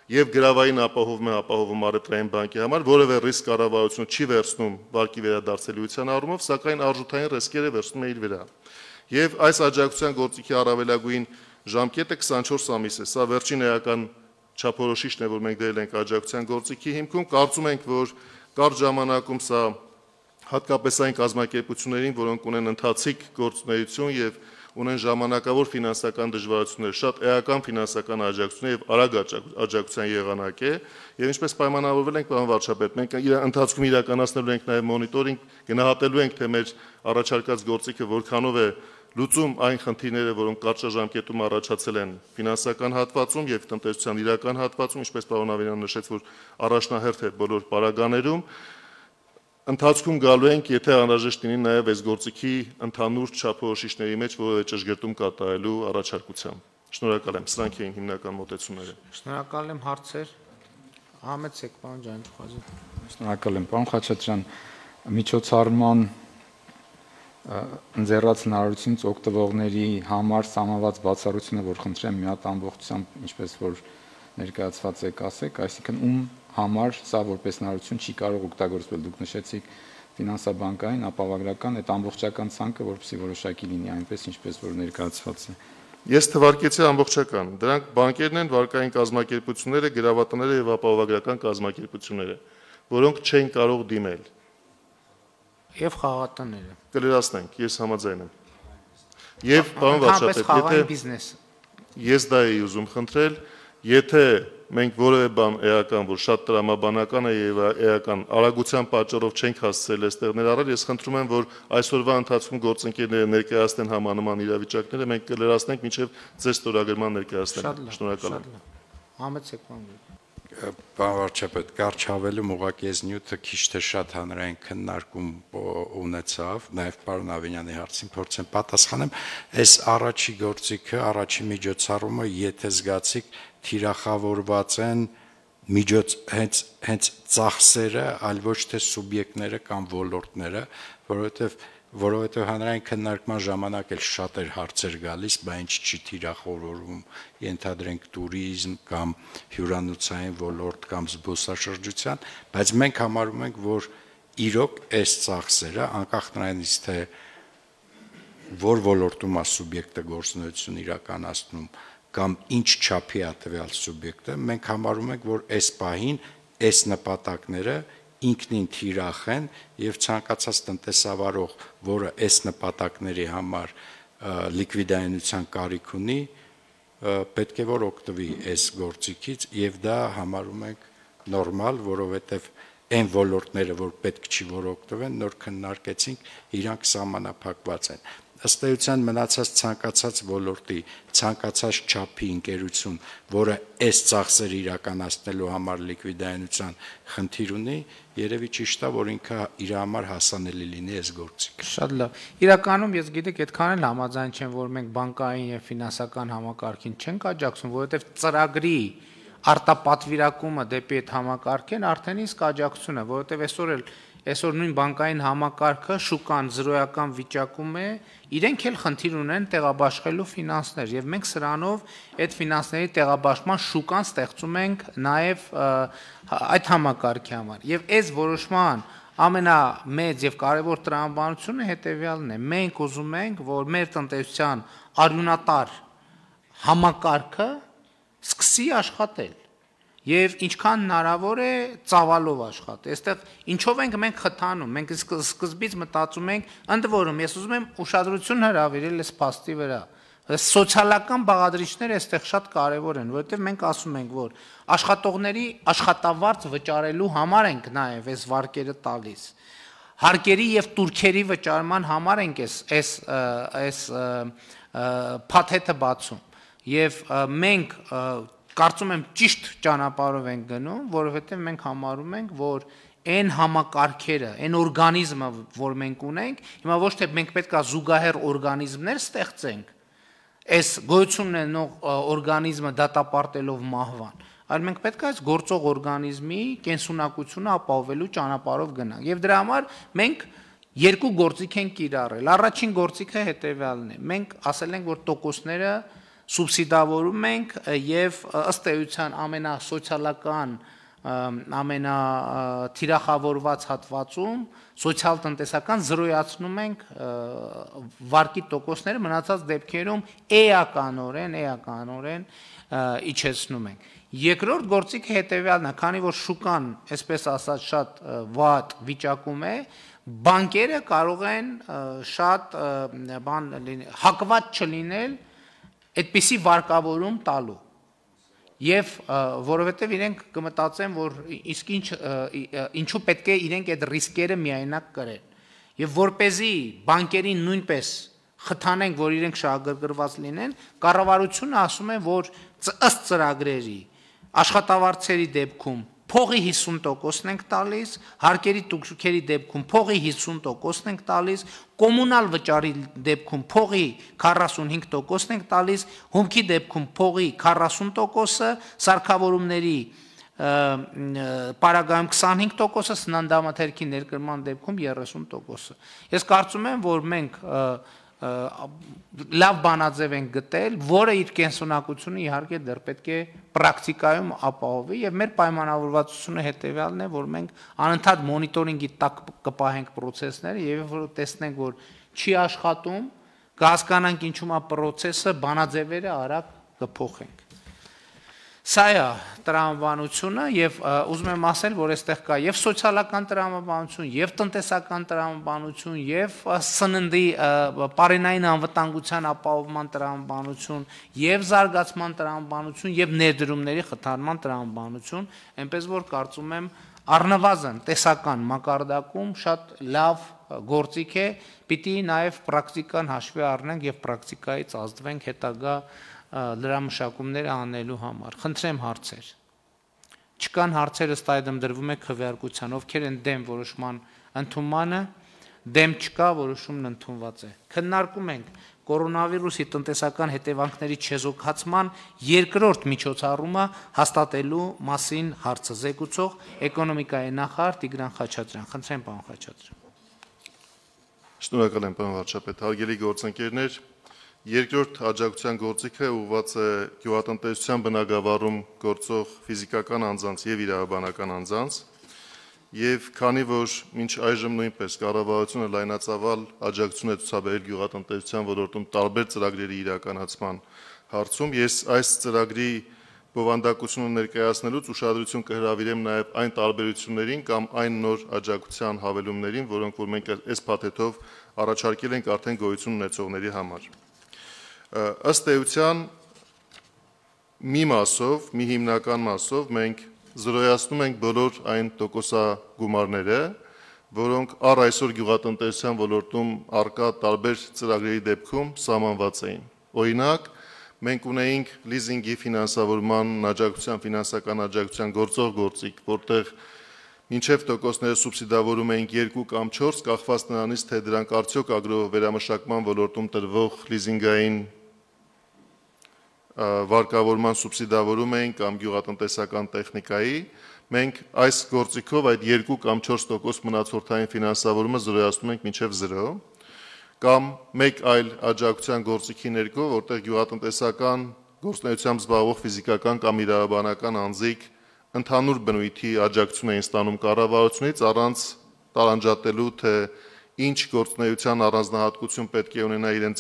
եւ գրավային ապահովում առևտրային բանկի համար, որևէ ռիսկ կառավարությունը չի վերցնում վարկի վերադարձելիության առումով, սակայն արժութային ռիսկերը վերցնում է իր վրա։ Եվ այս աջակցության գործիքի առավելագույն ժամկետը 24 ամիս է։ Սա վերջին էական չափորոշիչն է, որ մենք դրել ենք աջակցության գործիքի հիմքում։ Կարծում ենք, որ կարճ ժամանակում սա հատկապես այն կազմակերպություններին, որոնք ունեն ընթացիկ գործունեություն եւ ունեն ժամանակավոր ֆինանսական դժվարություններ, շատ էական ֆինանսական աջակցություն եւ արագ աջակցության եղանակ է, եւ ինչպես պայմանավորվել ենք, պարոն վարչապետ, մենք ընթացքում իրականացնելու ենք նաեւ մոնիտորինգ, գնահատելու ենք, թե մեր առաջարկած գործիքը որքանով է լուծում այն խնդիրները, որոնք կարճաժամկետում առաջացել են ֆինանսական հատվածում եւ տնտեսության իրական հատվածում, ինչպես պարոն Ավենյանը նշեց, որ առաջնահերթ է բոլոր պարագաներում, ընթացքում գալու ենք, եթե անհրաժեշտ լինի նաեւ այս գործիքի ընդհանուր չափորոշիչների մեջ որևէ ճշգրտում կատարելու առաջարկությամբ։ Շնորհակալ եմ, սրանք էին հիմնական մոտեցումները։ Շնորհակալ եմ, հարցեր։ Համեցեք, պարոն Ջանջուխազի։ Շնորհակալ եմ, պարոն Խաչատրյան, միջոցառման ընձեռած հնարավորությունից օգտվողների համար սահմանված բացառությունը, որ խնդրեմ մի հատ ամբողջությամբ, ինչպես որ ներկայացված եք ասեք, այսինքն ում համար սա որպես հնարավորություն չի կարող օգտագործվել, դուք նշեցիք ֆինանսաբանկային, ապահովագրական, այդ ամբողջական ցանկը, որպեսզի որոշակի լինի այնպես, ինչպես որ ներկայացված է։ Ես թվարկեցի ամբողջական, դրանք բանկերն են, վարկային կազմակերպությունները, գրավատները եւ ապահովագրական կազմակերպությունները, որոնք չեն կարող դիմել։ Եվ խաղատները։ Կլրացնենք, ես համաձայն եմ։ Եվ պարոն վարչապետ, ես դա էի ուզում խնդրել, եթե մենք որևէ բան էական, որ շատ տրամաբանական է եւ էական արագության պատճառով չենք հասցրել այստեղ ներառել, ես խնդրում եմ, որ այսօրվա ընթացքում գործընկերները ներկայացնեն համանման իրավիճակները, մենք կլրացնենք մինչեւ ձեր ստորագրման ներկայացնենք։ Շնորհակալ եմ։ Համեցեք, պարոն։ Պարոն վարչապետ, կարճավելում ուղղակի այս նյութը քիչ թե շատ հանրային քննարկում ունեցավ, նաև պարոն Ավենյանի հարցին փորձեմ պատասխանեմ, այս առաջի գործիքը, առաջի միջոցառումը, եթե զգացիք, թիրախավորված են հենց ծախսերը, այլ ոչ թե սուբյեկտները կամ ոլորտները, որովհետև հանրային քննարկման ժամանակ էլ շատ էր հարցեր գալիս, բա ինչ չի թիրախորվում, ենթադրենք տուրիզմ կամ հյուրանոցային ոլորտ կամ զբոսաշրջության, բայց մենք համարում ենք, որ իրոք այս ծախսերը, անկախ նրանից թե որ ոլորտում է սուբյեկտը գործունեություն իրականացնում կամ ինչ չափի է տվյալ սուբյեկտը, մենք համարում ենք, որ այս պահին այս նպատակները ինքնին թիրախ են եւ ցանկացած տնտեսավարող, որը այս նպատակների համար լիկվիդայնության կարիք ունի, պետք է որ օգտվի այս գործիքից եւ դա համարում ենք նորմալ, որովհետեւ այն ոլորտները, որ պետք չի որ օգտվեն, նոր քննարկեցինք, իրանք սահմանափակված են։ Ըստ էության մնացած ցանկացած ոլորտի, ցանկացած չափի ընկերություն, որը այս ծախսերը իրականացնելու համար լիկվիդայնության խնդիր ունի, երևի ճիշտ է, որ ինքը իր համար հասանելի լինի այս գործիքը։ Շատ լավ։ Իրականում ես գիտեք, այդքան էլ համաձայն չեմ, որ մենք բանկային եւ ֆինանսական համակարգին չենք աջակցում, որովհետեւ ծրագրի արտապատվիրակումը դեպի այդ համակարգեն արդեն իսկ աջակցություն է, որովհետեւ այսօր նույն բանկային համակարգը շուկան զրոյական վիճակում է, իրենք էլ խնդիր ունեն տեղաբաշխելու ֆինանսներ եւ մենք սրանով այդ ֆինանսների տեղաբաշխման շուկան ստեղծում ենք նաեւ այդ համակարգի համար։ Եվ այս որոշման ամենամեծ եւ կարեւոր տրամաբանությունը հետեւյալն է. մենք ուզում ենք, որ մեր տնտեսության արյունատար համակարգը սկսի աշխատել եւ ինչքան հնարավոր է ծավալով աշխատի։ Այստեղ ինչով ենք մենք խթանում, մենք սկզբից մտածում ենք, ընդ որում ես ուզում եմ ուշադրություն հրավիրել այս փաստի վրա։ Սոցիալական բաղադրիչները այստեղ շատ կարեւոր են, որովհետեւ մենք ասում ենք, որ աշխատողների աշխատավարձ վճարելու համար ենք նաեւ այս վարկերը տալիս։ Հարկերի եւ տուրքերի վճարման համար ենք այս փաթեթը բացում։ Եվ մենք կարծում եմ ճիշտ ճանապարհով ենք գնում, որովհետև մենք համարում ենք, որ այն համակարգերը, այն օրգանիզմը, որ մենք ունենք, հիմա ոչ թե մենք պետք է զուգահեռ օրգանիզմներ ստեղծենք, այս գոյություն ունենող օրգանիզմը դատապարտելով մահվան, այլ մենք պետք է այս գործող օրգանիզմի կենսունակությունը ապահովելու ճանապարհով գնանք։ Եվ դրա համար մենք երկու գործիք ենք կիրառել։ Առաջին գործիքը հետևյալն է. մենք ասել ենք, որ տոկոսները սուբսիդավորում ենք եւ ըստ էության ամենասոցիալական ամենաթիրախավորված հատվածում սոցիալ-տնտեսական զրոյացնում ենք վարկի տոկոսները, մնացած դեպքերում էականորեն իջեցնում ենք։ Երկրորդ գործիքը հետևյալն է, քանի որ շուկան, այսպես ասած, շատ վատ վիճակում է, բանկերը կարող են շատ հակված չլինել այդպիսի վարկավորում տալու։ Եվ որովհետև իրենք կմտածեն, որ իսկ ինչու պետք է իրենք այդ ռիսկերը միայնակ կրեն։ Եվ որպեսզի բանկերին նույնպես խթանենք, որ իրենք շահագրգռված լինեն, կառավարությունը ասում է, որ ըստ ծրագրերի աշխատավարձերի դեպքում փողի 50%-ն ենք տալիս, հարկերի տուգքերի դեպքում փողի 50%-ն ենք տալիս, կոմունալ վճարի դեպքում փողի 45%-ն ենք տալիս, հումքի դեպքում փողի 40%-ը, սարքավորումների պարագայում 25%-ը, սննդամթերքի ներկրման դեպքում 30%-ը։ Ես կարծում եմ, որ մենք լավ բանաձև ենք գտել, որը իր կենսունակությունը իհարկե դեռ պետք է պրակտիկայում ապահովի, եւ մեր պայմանավորվածությունը հետեւյալն է, որ մենք անընդհատ մոնիտորինգի տակ կպահենք process-ները եւ որ տեսնենք, որ չի աշխատում, կհասկանանք ինչու՞մ է process-ը, բանաձևերը արագ կփոխենք։ Սա է տրամաբանությունը եւ ուզում եմ ասել, որ այստեղ կա եւ սոցիալական տրամաբանություն, եւ տնտեսական տրամաբանություն, եւ սննդի պարենային անվտանգության ապահովման տրամաբանություն, եւ զարգացման տրամաբանություն, եւ ներդրումների խթանման տրամաբանություն, այնպես որ կարծում եմ առնվազն տեսական մակարդակում շատ լավ գործիք է, պիտի նաեւ պրակտիկան հաշվի առնենք եւ պրակտիկայից ազդվենք հետագա լրամշակումները անելու համար։ Խնդրեմ հարցեր։ Չկան հարցեր, ըստ այդմ դրվում է քվեարկության, ովքեր են դեմ որոշման ընդունմանը, դեմ չկա, որոշումն ընդունված է։ Քննարկում ենք կորոնավիրուսի տնտեսական հետևանքների չեզոքացման երկրորդ միջոցառումը հաստատելու մասին հարցը զեկուցող էկոնոմիկայի նախարար Տիգրան Խաչատրյան։ Խնդրեմ, պարոն Խաչատրյան։ Շնորհակալ եմ, պարոն վարչապետ, հարգելի գործընկերներ, երկրորդ աջակցության գործիքը ուղղված է գյուղատնտեսության բնագավառում գործող ֆիզիկական անձանց եւ իրավաբանական անձանց, եւ քանի որ մինչ այժմ նույնպես կառավարությունը լայնածավալ աջակցություն է ցուցաբերել գյուղատնտեսության ոլորտում տարբեր ծրագրերի իրականացման հարցում, ես այս ծրագրի բովանդակությունը ներկայացնելուց ուշադրություն կհրավիրեմ նաեւ այն տարբերություններին կամ այն նոր աջակցության հավելումներին, որոնք որ մենք այս փաթեթով առաջարկել ենք արդեն գոյություն ունեցողների համար։ Ըստ էության մի մասով, մի հիմնական մասով մենք զրոյացնում ենք բոլոր այն տոկոսագումարները, որոնք առ այսօր գյուղատնտեսության ոլորտում արկա տարբեր ծրագրերի դեպքում սահմանված էին։ Օրինակ, մենք ունեինք լիզինգի ֆինանսավորման աջակցության, ֆինանսական աջակցության գործող գործիք, որտեղ մինչև տոկոսները սուբսիդավորում էինք 2 կամ 4, կախված նրանից, թե դրանք արդյոք ագրովերամշակման ոլորտում տրվող լիզինգային վարկավորման սուբսիդավորում էին կամ գյուղատնտեսական տեխնիկայի, մենք այս գործիքով այդ 2 կամ 4% մնացորդային ֆինանսավորումը զրոյացնում ենք մինչև 0, կամ մեկ այլ աջակցության գործիքի ներքո, որտեղ գյուղատնտեսական գործունեությամբ զբաղվող ֆիզիկական կամ իրավաբանական անձիկ ընդհանուր բնույթի աջակցություն էին ստանում կառավարությունից առանց տարանջատելու, թե ինչ գործունեության առանձնահատկություն պետք է ունենա իրենց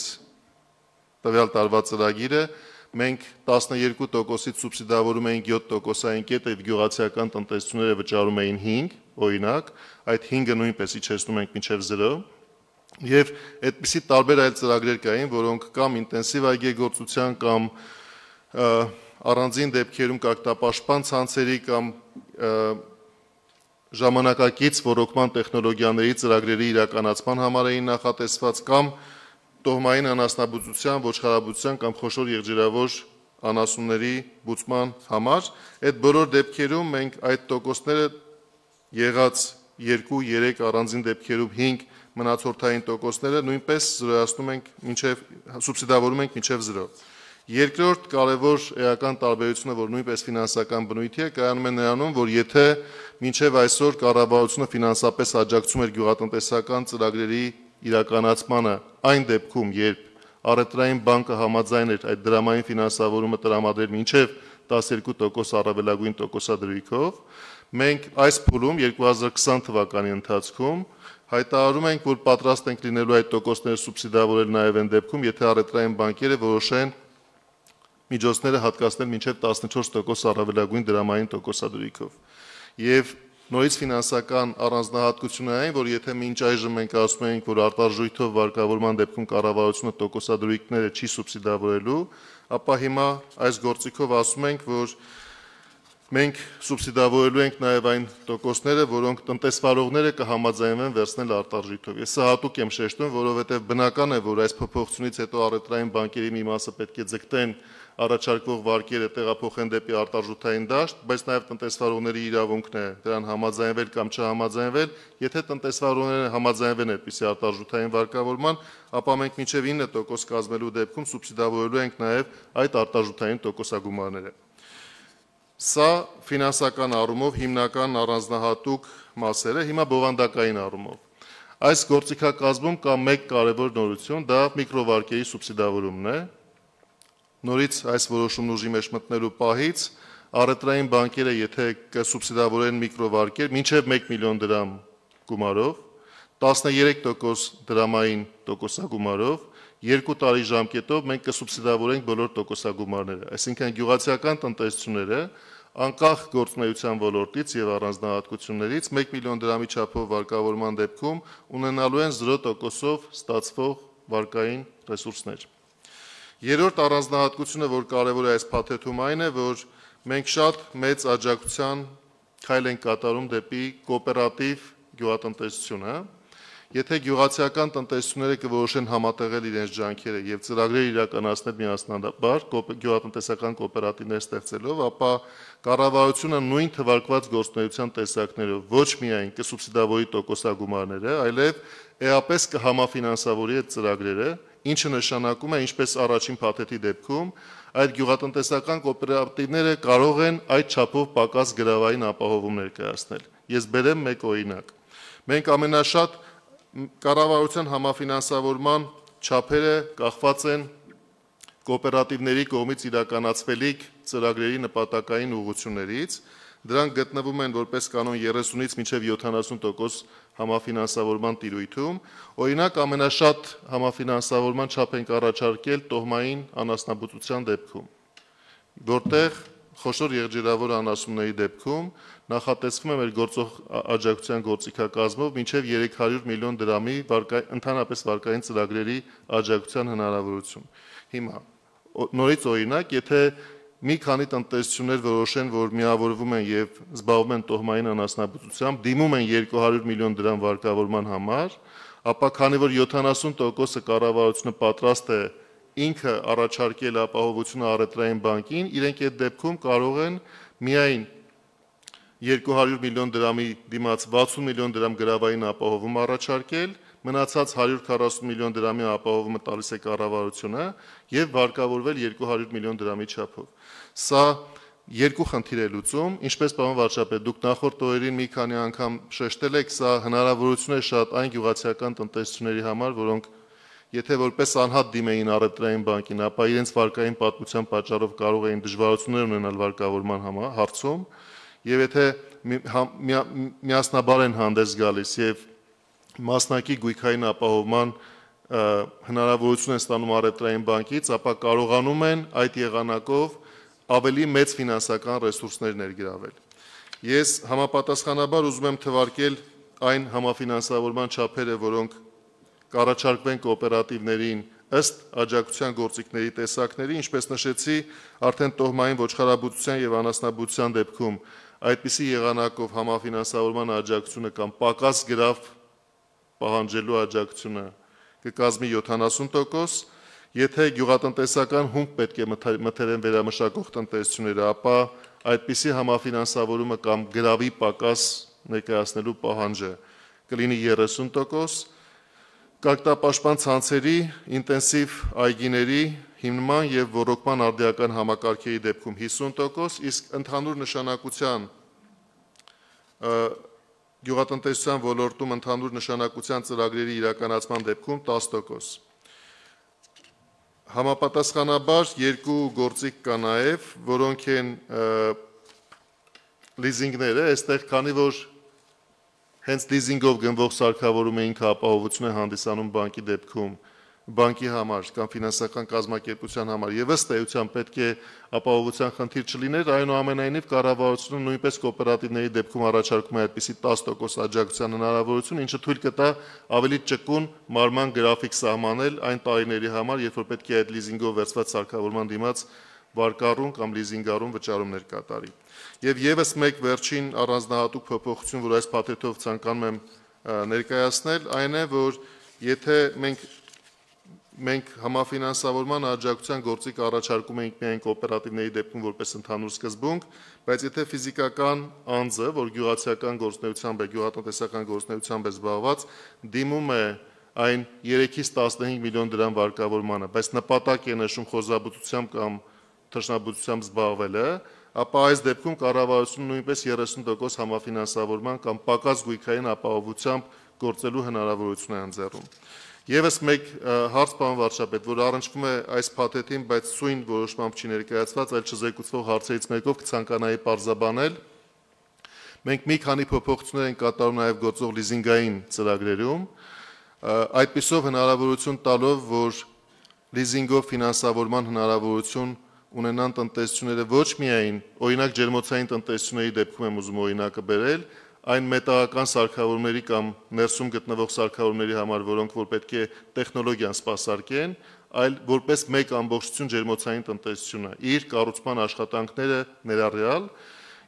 տվյալ տարվա ծրագիրը, մենք 12%-ից սուբսիդավորում էինք 7%-ային կետ եւ գյուղացիական տնտեսությունները վճարում էին 5, օրինակ, այդ 5-ը նույնպես իջեցնում ենք մինչև 0, եւ այդպիսի տարբեր այլ ծրագրեր կային, որոնք կամ ինտենսիվ այգեգործության կամ առանձին դեպքերում կարգապաշտպան ցանցերի կամ ժամանակակից ռոռոկման տեխնոլոգիաների ծրագրերի իրականացման համար էին նախատեսված կամ տոհմային անասնաբուծության, ոչխարաբուծության կամ խոշոր եղջերավոր անասունների բուծման համար։ Այդ բոլոր դեպքերում մենք այդ տոկոսները եղած 2-3 առանձին դեպքերում 5 մնացորդային տոկոսները նույնպես զրոյացնում ենք սուբսիդավորում ենք մինչև 0։ Երկրորդ կարևոր էական տարբերությունը, որ նույնպես ֆինանսական բնույթի է, կայանում է նրանում, որ եթե մինչև այսօր կառավարությունը ֆինանսապես աջակցում էր գյուղատնտեսական ծրագրերի իրականացմանը այն դեպքում, երբ Առևտրային բանկը համաձայն էր այդ դրամային ֆինանսավորումը տրամադրել մինչև 12% առավելագույն տոկոսադրույքով, մենք այս փուլում 2020 թվականի ընթացքում հայտարարում ենք, որ պատրաստ ենք լինելու այդ տոկոսները սուբսիդավորել նաև այն դեպքում, եթե առևտրային բանկերը որոշեն միջոցները հատկացնել մինչև 14% առավելագույն դրամային տոկոսադրույքով։ Եվ նորից ֆինանսական առանձնահատկությունը այն, որ եթե մինչ այժմ մենք ասում ենք, որ արտարժույթով վարկավորման դեպքում կառավարությունը տոկոսադրույքները չի սուբսիդավորելու, ապա հիմա այս գործիքով ասում ենք, որ մենք սուբսիդավորելու ենք նաև այն տոկոսները, որոնք տնտեսվարողները կհամաձայնվեն վերցնել արտարժույթով։ Ես սա հատուկ եմ շեշտում, որովհետև բնական է, որ այս փոփոխությունից հետո առևտրային բանկերի մի մասը պետք է ձգտեն առաջարկվող վարկերը տեղափոխեն դեպի արտարժութային դաշտ, բայց նաև տնտեսվարողների իրավունքն է դրան համաձայնվել կամ չհամաձայնվել։ Եթե տնտեսվարողները համաձայնվեն այդպիսի արտարժութային վարկավորման, ապա մենք մինչև 9% կազմելու դեպքում սուբսիդավորելու ենք նաև այդ արտարժութային տոկոսագումարները։ Սա ֆինանսական առումով հիմնական առանձնահատուկ մասերը, հիմա բովանդակային առումով։ Այս գործիքակազմում կա մեկ կարևոր նորություն, դա միկրովարկերի սուբսիդավորումն է։ Նորից այս որոշումն ուժի մեջ մտնելու պահից առևտրային բանկերը եթե կսուբսիդավորեն միկրովարկեր մինչև 1 միլիոն դրամ գումարով, 13% դրամային տոկոսագումարով, 2 տարի ժամկետով մենք կսուբսիդավորենք բոլոր տոկոսագումարները։ Այսինքն գյուղացիական տնտեսությունները անկախ գործունեության ոլորտից եւ առանձնահատկություններից 1 միլիոն դրամի չափով վարկավորման դեպքում ունենալու են 0%-ով ստացվող վարկային ռեսուրսներ։ Երրորդ առանձնահատկությունը, որ կարևոր է այս փաթեթում, այն է, որ մենք շատ մեծ աջակցության քայլ ենք կատարում դեպի կոոպերատիվ գյուղատնտեսությունը։ Եթե գյուղացիական տնտեսությունները կորոշեն համատեղել իրենց ջանքերը եւ ծրագրեր իրականացնել միասնաբար գյուղատնտեսական կոոպերատիվներ ստեղծելով, ապա կառավարությունը նույն թվարկված գործունեության տեսակներով ոչ միայն կսուբսիդավորի տոկոսագումարները, այլև էապես կհամաֆինանսավորի այդ ծրագրերը, ինչը նշանակում է, ինչպես առաջին փաթեթի դեպքում, այդ գյուղատնտեսական կոոպերատիվները կարող են այդ չափով պակաս գրավային ապահովումներ կայացնել։ Ես բերեմ մեկ օրինակ։ Մենք ամենաշատ կառավարության համաֆինանսավորման չափերը կախված են կոոպերատիվների կողմից իրականացվելիք ծրագրերի նպատակային ուղղություններից։ Դրանք գտնվում են որպես կանոն 30-ից մինչև 70% համաֆինանսավորման տիրույթում։ Օրինակ ամենաշատ համաֆինանսավորման չափ ենք առաջարկել տոհմային անասնաբուծության դեպքում, որտեղ խոշոր եղջերավոր անասունների դեպքում նախատեսվում է մեր գործող աջակցության գործիքակազմով մինչև 300 միլիոն դրամի ընդհանրապես վարկային ծրագրերի աջակցության հնարավորություն։ Հիմա նորից օրինակ, եթե մի քանի տնտեսություններ որոշեն, որ միավորվում են եւ զբաղվում են տոհմային անասնաբուծությամբ, դիմում են 200 միլիոն դրամ վարկավորման համար, ապա քանի որ 70%-ը կառավարությունը պատրաստ է ինքը առաջարկել ապահովությունը առևտրային բանկին, իրենք այդ դեպքում կարող են միայն 200 միլիոն դրամի դիմաց 60 միլիոն դրամ գրավային ապահովում առաջարկել, մնացած 140 միլիոն դրամի ապահովումը տալիս է կառավարությունը եւ վարկավորվել 200 միլիոն դրամի չափով։ Սա երկու խնդիր է լուծում, ինչպես պարոն վարչապետ, դուք նախորդ օրերին մի քանի անգամ շեշտել եք, սա հնարավորություն է շատ այն գյուղացիական տնտեսությունների համար, որոնք եթե որպես անհատ դիմեին առևտրային բանկին, ապա իրենց վարկային պատմության պատճառով կարող էին դժվարություններ ունենալ վարկավորման հարցում, եւ եթե միասնաբար են հանդես գալիս եւ մասնակի գույքային ապահովման հնարավորություն են ստանում առևտրային բանկից, ապա կարողանում են այդ եղանակով ավելի մեծ ֆինանսական ռեսուրսներ ներգրավել։ Ես համապատասխանաբար ուզում եմ թվարկել այն համաֆինանսավորման չափերը, որոնք կառաջարկվեն կոոպերատիվներին ըստ աջակցության գործիքների տեսակների, ինչպես նշեցի, արդեն տոհմային ոչխարաբուծության եւ անասնաբուծության դեպքում այդպիսի եղանակով համաֆինանսավորման աջակցությունը կամ պակաս գրավ պահանջելու աջակցությունը կկազմի 70%, եթե գյուղատնտեսական հումք պետք է մթերեն վերամշակող տնտեսությունները, ապա այդպիսի համաֆինանսավորումը կամ գրավի պակաս ներկայացնելու պահանջը կլինի 30%, կարգտապաշտպան ցանցերի, ինտենսիվ այգիների հիմնման եւ ոռոգման արդիական համակարգերի դեպքում 50%, իսկ ընդհանուր նշանակության գյուղատնտեսության ոլորտում ընդհանուր նշանակության ծրագրերի իրականացման դեպքում 10%։ Համապատասխանաբար երկու գործիք կա նաեւ, որոնք են լիզինգները, այստեղ քանի որ հենց լիզինգով գնվող սարքավորում ինքը ապահովություն է հանդիսանում բանկի դեպքում, բանկի համար կամ ֆինանսական կազմակերպության համար եւ ըստ էության պետք է ապահովության խնդիր չլիներ, այնուամենայնիվ կառավարությունը նույնպես կոոպերատիվների դեպքում առաջարկում է այդպիսի 10% աջակցության հնարավորություն, ինչը թույլ կտա ավելի ճկուն մարման գրաֆիկ սահմանել այն տարիների համար, երբ որ պետք է այդ լիզինգով վերցված սարքավորման դիմաց վարկառուն կամ լիզինգառուն վճարումներ կատարի։ Եվ եւս մեկ վերջին առանձնահատուկ փոփոխություն, որ այս փաթեթով ցանկանում եմ ներկայացնել, այն է, որ եթե մենք համաֆինանսավորման աջակցության գործիք առաջարկում ենք միայն կոոպերատիվների դեպքում որպես ընդհանուր սկզբունք, բայց եթե ֆիզիկական անձը, որ գյուղացիական գործունեությամբ է, գյուղատնտեսական գործունեությամբ է զբաղված, դիմում է այն 3-ից 15 միլիոն դրամ վարկավորմանը, բայց նպատակ է նշում խոզաբուծությամբ կամ թռչնաբուծությամբ զբաղվելը, ապա այս դեպքում կառավարությունը նույնպես 30% համաֆինանսավորման կամ պակաս գույքային ապահովությամբ գործելու հնարավորություն է ընձեռում։ Եվս մեկ հարց, պարոն վարչապետ, որ առնչվում է այս փաթեթին, բայց սույն որոշմամբ չի ներկայացված, այլ չզեկուցվող հարցերից մեկով կցանկանայի պարզաբանել։ Մենք մի քանի փոփոխություններ ենք կատարում նաև գործող լիզինգային ծրագրերում, այդպիսով հնարավորություն տալով, որ լիզինգով ֆինանսավորման հնարավորություն ունենան տնտեսությունները ոչ միայն, օրինակ ջերմոցային տնտեսությունների դեպքում եմ ուզում օրինակը բերել, այն մետաղական սարքավորումների կամ ներսում գտնվող սարքավորումների համար, որոնք որ պետք է տեխնոլոգիան սպասարկեն, այլ որպես մեկ ամբողջություն ջերմոցային տնտեսությունը, իր կառուցման աշխատանքները ներառյալ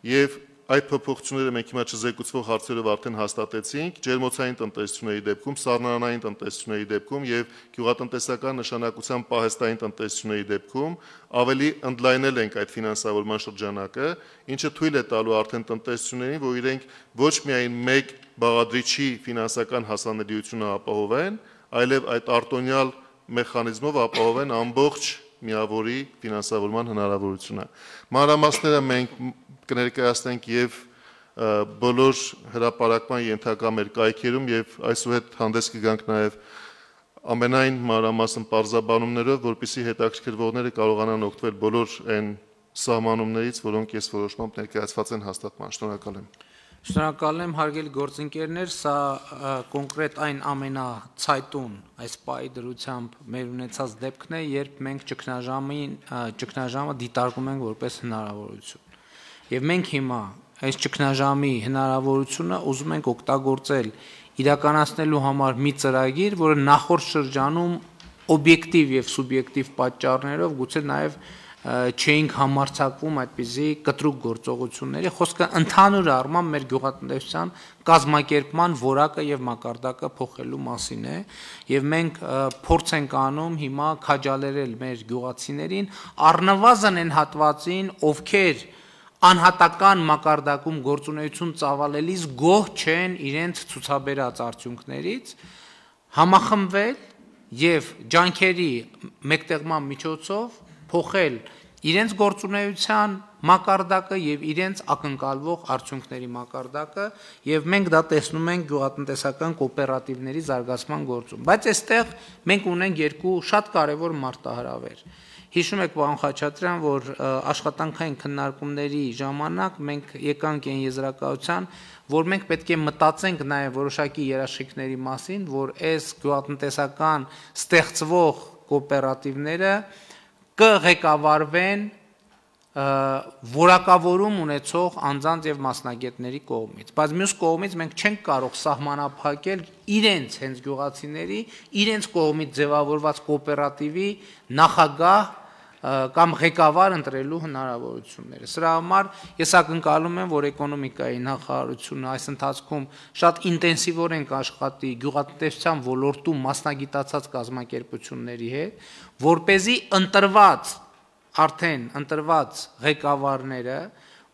եւ այդ փոփոխությունները մենք հիմա չզեկուցվող հարցերով արդեն հաստատեցինք ջերմոցային տնտեսությունների դեպքում, սառնարանային տնտեսությունների դեպքում եւ գյուղատնտեսական նշանակության պահեստային տնտեսությունների դեպքում ավելի ընդլայնել ենք այդ ֆինանսավորման շրջանակը, ինչը թույլ է տալու արդեն տնտեսություններին, որ իրենք ոչ միայն մեկ բաղադրիչի ֆինանսական հասանելիությունը ապահովեն, այլև այդ արտոնյալ մեխանիզմով ապահովեն ամբողջ միավորի ֆինանսավորման հնարավորությունը։ Մանրամասները մենք կներկայացնենք եւ բոլոր հրապարակման ենթակա մեր կայքերում եւ այսուհետ հանդես կգանք նաեւ ամենայն մանրամասն պարզաբանումներով, որպեսզի հետաքրքրվողները կարողանան օգտվել բոլոր այն սահմանումներից, որոնք ես որոշմամբ ներկայացված են հաստատման։ Շնորհակալ եմ։ Շնորհակալ եմ, հարգելի գործընկերներ, սա կոնկրետ այն ամենացայտուն այս պահի դրությամբ մեր ունեցած դեպքն է, երբ մենք ճգնաժամը դիտարկում ենք որպես հնարավորություն։ Եվ մենք հիմա այս ճգնաժամի հնարավորությունը ուզում ենք օգտագործել իրականացնելու համար մի ծրագիր, որը նախորդ շրջանում օբյեկտիվ եւ սուբյեկտիվ պատճառներով գուցե նաեւ չէինք համարձակվում այդպիսի կտրուկ գործողությունների, խոսքը ընդհանուր առմամբ մեր գյուղատնտեսության կազմակերպման որակը եւ մակարդակը փոխելու մասին է, եւ մենք փորձ ենք անում հիմա քաջալերել մեր գյուղացիներին առնվազն այն հատվածին, ովքեր անհատական մակարդակում գործունեություն ծավալելիս գոհ չեն իրենց ցուցաբերած արդյունքներից, համախմբվել եւ ջանքերի մեկտեղման միջոցով փոխել իրենց գործունեության մակարդակը եւ իրենց ակնկալվող արդյունքների մակարդակը եւ մենք դա տեսնում ենք գյուղատնտեսական կոոպերատիվների զարգացման գործում, բայց այստեղ մենք ունենք երկու շատ կարեւոր մարտահրավեր։ Հիշում եք, պարոն Խաչատրյան, որ աշխատանքային քննարկումների ժամանակ մենք եկանք այն եզրակացության, որ մենք պետք է մտածենք նաեւ որոշակի երաշխիքների մասին, որ այս գյուղատնտեսական ստեղծվող կոոպերատիվները կղեկավարվեն որակավորում ունեցող անձանց եւ մասնագետների կողմից, բայց մյուս կողմից մենք չենք կարող սահմանափակել իրենց հենց գյուղացիների իրենց կողմից ձևավորված կոոպերատիվի նախագահ կամ ղեկավար ընտրելու հնարավորությունները։ Սրա համար ես ակնկալում եմ, որ էկոնոմիկայի նախարարությունը այս ընթացքում շատ ինտենսիվորեն կաշխատի գյուղատնտեսության ոլորտում մասնագիտացած կազմակերպությունների հետ, որպեսզի արդեն ընտրված ղեկավարները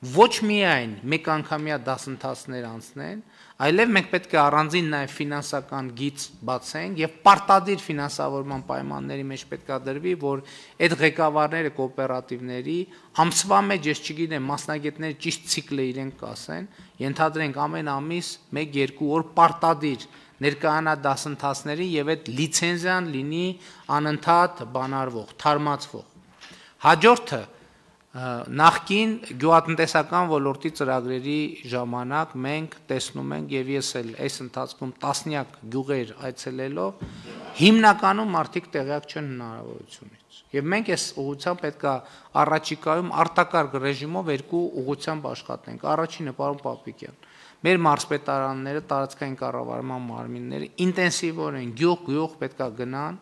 ոչ միայն մեկ անգամյա դասընթացներ անցնեն, այլև մենք պետք է առանձին նաև ֆինանսական գիծ բացենք եւ պարտադիր ֆինանսավորման պայմանների մեջ պետք է դրվի, որ այդ ղեկավարները կոոպերատիվների ամսվա մեջ, ես չգիտեմ, մասնագետները ճիշտ ցիկլը իրենք կասեն, ենթադրենք ամեն ամիս 1-2 օր պարտադիր ներկայանա դասընթացների եւ այդ լիցենզիան լինի անընդհատ բանարվող, թարմացվող։ Հաջորդը նախքին գյուղատնտեսական ոլորտի ծրագրերի ժամանակ մենք տեսնում ենք եւ ես էլ այս ընթացքում տասնյակ գյուղեր այցելելով հիմնականում մարդիկ տեղյակ չեն հնարավորությունից եւ մենք այս ուղղությամբ պետքա առաջիկայում արտակարգ ռեժիմով երկու ուղղությամբ աշխատենք։ Առաջինը, պարոն Պապիկյան, մեր մարզպետարանները, տարածքային կառավարման մարմինները ինտենսիվորեն գյուղ պետքա գնան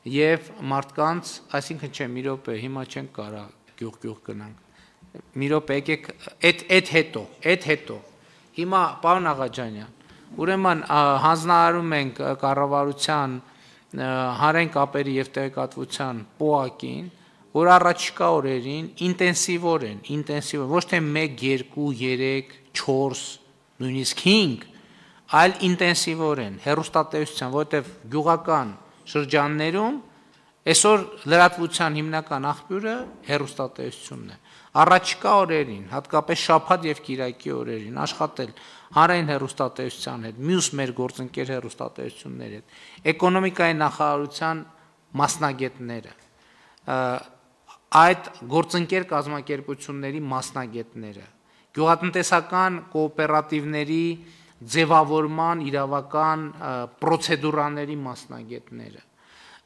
եւ մարդկանց, այսինքն չէ, մի րոպե, հիմա չենք կարա գյուղ գնանք։ Մի րոպե, եկեք այդ հետո։ Հիմա պարոն Աղաջանյան, ուրեմն հանձնարարում ենք կառավարության հանրային կապերի եւ տեղեկատվության ՊՕԱԿ-ին, որ առաջիկա օրերին ինտենսիվորեն, ոչ թե 1, 2, 3, 4, նույնիսկ 5, այլ ինտենսիվորեն հեռուստատեսության, որովհետեւ գյուղական շրջաններում այսօր լրատվության հիմնական աղբյուրը հեռուստատեսությունն է։ Առաջիկա օրերին, հատկապես շաբաթ եւ կիրակի օրերին աշխատել հանրային հեռուստատեսության հետ, մյուս մեր գործընկեր հեռուստատեսությունների հետ, էկոնոմիկայի նախարարության մասնագետները, այդ գործընկեր կազմակերպությունների մասնագետները, գյուղատնտեսական կոոպերատիվների ձևավորման իրավական պրոցեդուրաների մասնագետները,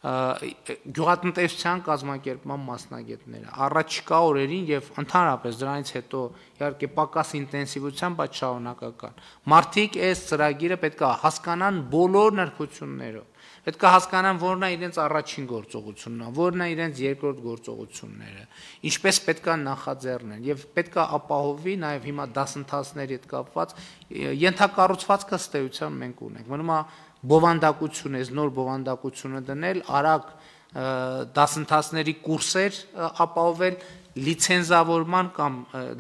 գյուղատնտեսության կազմակերպման մասնագետները առաջիկա օրերին եւ ընդհանրապես դրանից հետո իհարկե պակաս ինտենսիվությամբ, բայց շարունակական մարդիկ այս ծրագիրը պետք է հասկանան բոլոր նրբություններով, պետք է հասկանան որն է իրենց առաջին գործողությունն, որն է իրենց երկրորդ գործողությունները, ինչպես պետք է նախաձեռնեն եւ պետք է ապահովի նաեւ հիմա դասընթացների հետ կապված ենթակառուցվածքը ըստ էության մենք ունենք, մնում է բովանդակություն է, նոր բովանդակությունը դնել, արագ դասընթացների կուրսեր ապահովել,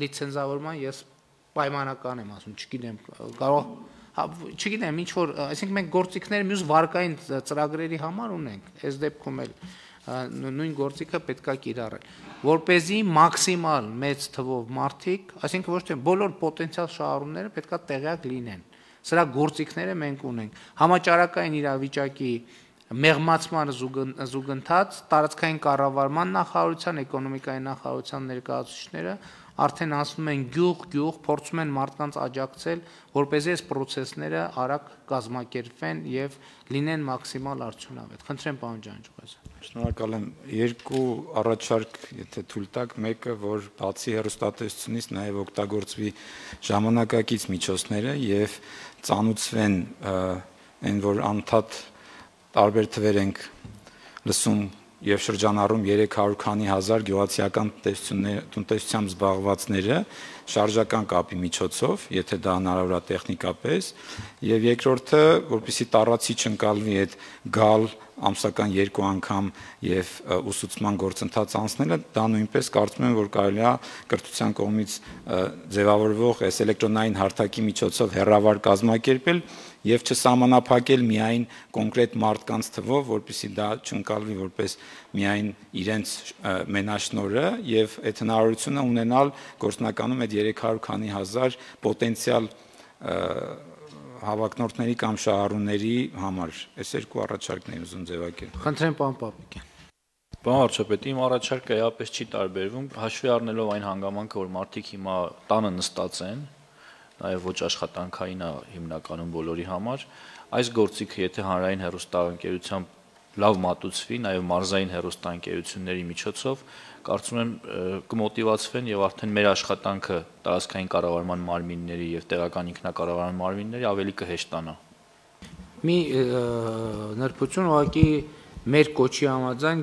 լիցենզավորման ես պայմանական եմ ասում, չգիտեմ, ինչ որ, այսինքն մենք գործիքները մյուս վարկային ծրագրերի համար ունենք, այս դեպքում էլ նույն գործիքը պետք է կիրառել, որպեսզի մաքսիմալ մեծ թվով մարդիկ, այսինքն ոչ թե բոլոր պոտենցիալ շահառուները պետք է տեղյակ լինեն։ Սրա գործիքները մենք ունենք։ Համաճարակային իրավիճակի մեղմացման զուգընթաց տարածքային կառավարման նախարարության, էկոնոմիկայի նախարարության ներկայացուցիչները արդեն ասում են գյուղ, փորձում են մարդկանց աջակցել, որպեսզի այս process-ները արագ կազմակերպվեն եւ լինեն մաքսիմալ արդյունավետ։ Խնդրեմ, պարոն Ջանջուղազյան։ Շնորհակալ եմ։ Երկու առաջարկ, եթե թույլ տաք, մեկը, որ բացի հեռուստատեսությունից նաև օգտագործվի ժամանակակից միջոցները եւ ծանուցվեն այն, որ անդադ տարբեր թվեր ենք լսում եւ շրջանառում 300 քանի հազար գյուղացիական տնտեսությամբ զբաղվածները շարժական կապի միջոցով, եթե դա հնարավոր է տեխնիկապես, եւ երկրորդը, որպեսզի տառացի չընկալվի այդ գալ ամսական 2 անգամ եւ ուսուցման գործընթաց անցնելը, դա նույնպես կարծում եմ, որ կարելի է կրթության կողմից ձևավորվող այս էլեկտրոնային հարթակի միջոցով հեռավար կազմակերպել եւ չսահմանափակել միայն կոնկրետ մարդկանց թվով, որպեսզի դա չընկալվի որպես միայն իրենց մենաշնորհը եւ այդ հնարավորությունը ունենալ գործնականում այդ 300 քանի հազար պոտենցիալ հավակնորդների կամ շահառուների համար։ Այս երկու առաջարկն եմ ուզում ձևակերպել։ Խնդրեմ, պարոն Պապիկյան։ Պարոն վարչապետ, իմ առաջարկը էապես չի տարբերվում, հաշվի առնելով այն հանգամանքը, որ մարդիկ հիմա տանը նստած են, նաև ոչ աշխատանքային է հիմնականում բոլորի համար, այս գործիքը եթե հանրային հեռուստաընկերությամբ լավ մատուցվի, նաև մարզային հեռուստաընկերությունների միջոցով, կարծում եմ կմոտիվացվեն եւ արդեն մեր աշխատանքը տարածքային կառավարման մարմինների եւ տեղական ինքնակառավարման մարմինների ավելի կհեշտանա։ Մի նրբություն ուղղակի մեր կոչի համաձայն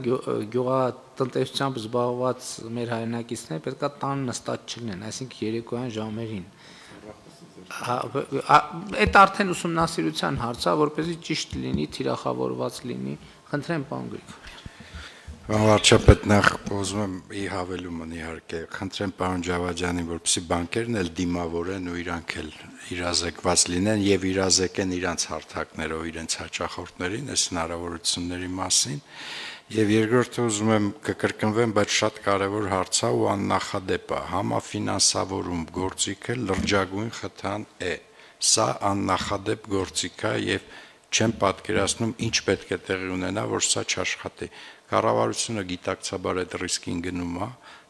գյուղատնտեսությամբ զբաղված մեր հայրենակիցները պետքա տան նստած չլինեն, այսինքն երեկոյան ժամերին։ Այդ արդեն ուսումնասիրության հարց է, որպեսզի ճիշտ լինի, թիրախավորված լինի, խնդրեմ պարոն Գրիգորյան։ Վարչապետ, նախ ուզում եմ ի հավելումն իհարկե խնդրեմ պարոն Ջավադյանին, որպեսզի բանկերն էլ դիմավորեն ու իրանք էլ իրազեկված լինեն եւ իրազեկեն իրանց հարթակներով իրենց հաճախորդներին այս հնարավորությունների մասին։ Եվ երկրորդը ուզում եմ կկրկնվեմ, բայց շատ կարևոր հարց է ու աննախադեպ է, համաֆինանսավորում գործիքը լրջագույն խթան է։ Սա աննախադեպ գործիք է եւ չեմ պատկերացնում ինչ պետք է տեղի ունենա, որ սա չաշխատի։ Կառավարությունը գիտակցաբար այդ ռիսկին գնում է,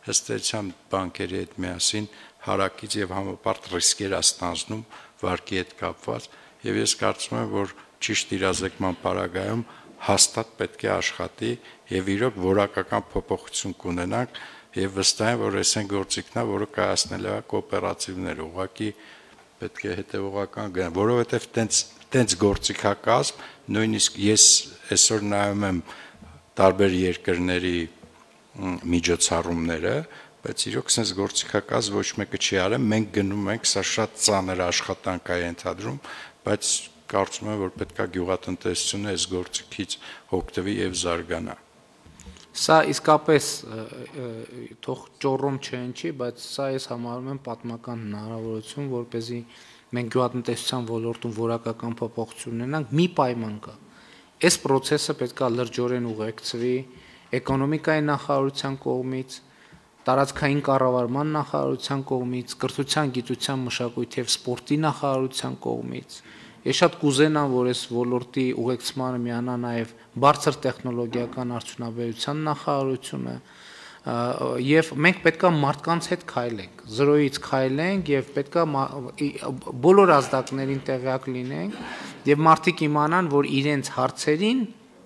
հստակությամբ բանկերի հետ միասին հարակից եւ համապարտ ռիսկեր է ստանձնում վարկի հետ կապված, եւ ես կարծում եմ, որ ճիշտ իրազեկման պարագայում հաստատ պետք է աշխատի եւ իրոք որակական փոփոխություն կունենանք եւ վստահ եմ, որ այս այն գործիքն է, որը կայացնել է կոոպերատիվները, ուղղակի պետք է հետեւողական գնա, որովհետեւ տենց գործիքակազմ, նույնիսկ ես այսօր նայում եմ տարբեր երկրների միջոցառումները, բայց իրոք sense գործիքակազմ ոչ մեկը չի արել, մենք գնում ենք, սա շատ ծանր աշխատանք է ենթադրում, բայց կարծում եմ, որ պետք է գյուղատնտեսությունը այս գործիքից օգտվի եւ զարգանա։ Սա իսկապես թող ճոռոմ չհնչի, բայց սա ես համարում եմ պատմական հնարավորություն, որպեսզի մենք գյուղատնտեսության ոլորտում որակական փոփոխություն ունենանք, մի պայման կա։ Այս process-ը պետք է լրջորեն ուղեկցվի էկոնոմիկայի նախարարության կողմից, տարածքային կառավարման նախարարության կողմից, կրթության, գիտության, մշակույթի եւ սպորտի նախարարության կողմից։ Ես շատ կուզենամ, որ այս ոլորտի ուղեկցմանը միանա նաեւ բարձր տեխնոլոգիական արդյունաբերության նախարարությունը, եւ մենք պետքա մարդկանց հետ քայլենք, զրոյից քայլենք եւ պետքա բոլոր ազդակներին տեղյակ լինենք եւ մարդիկ իմանան, որ իրենց հարցերին,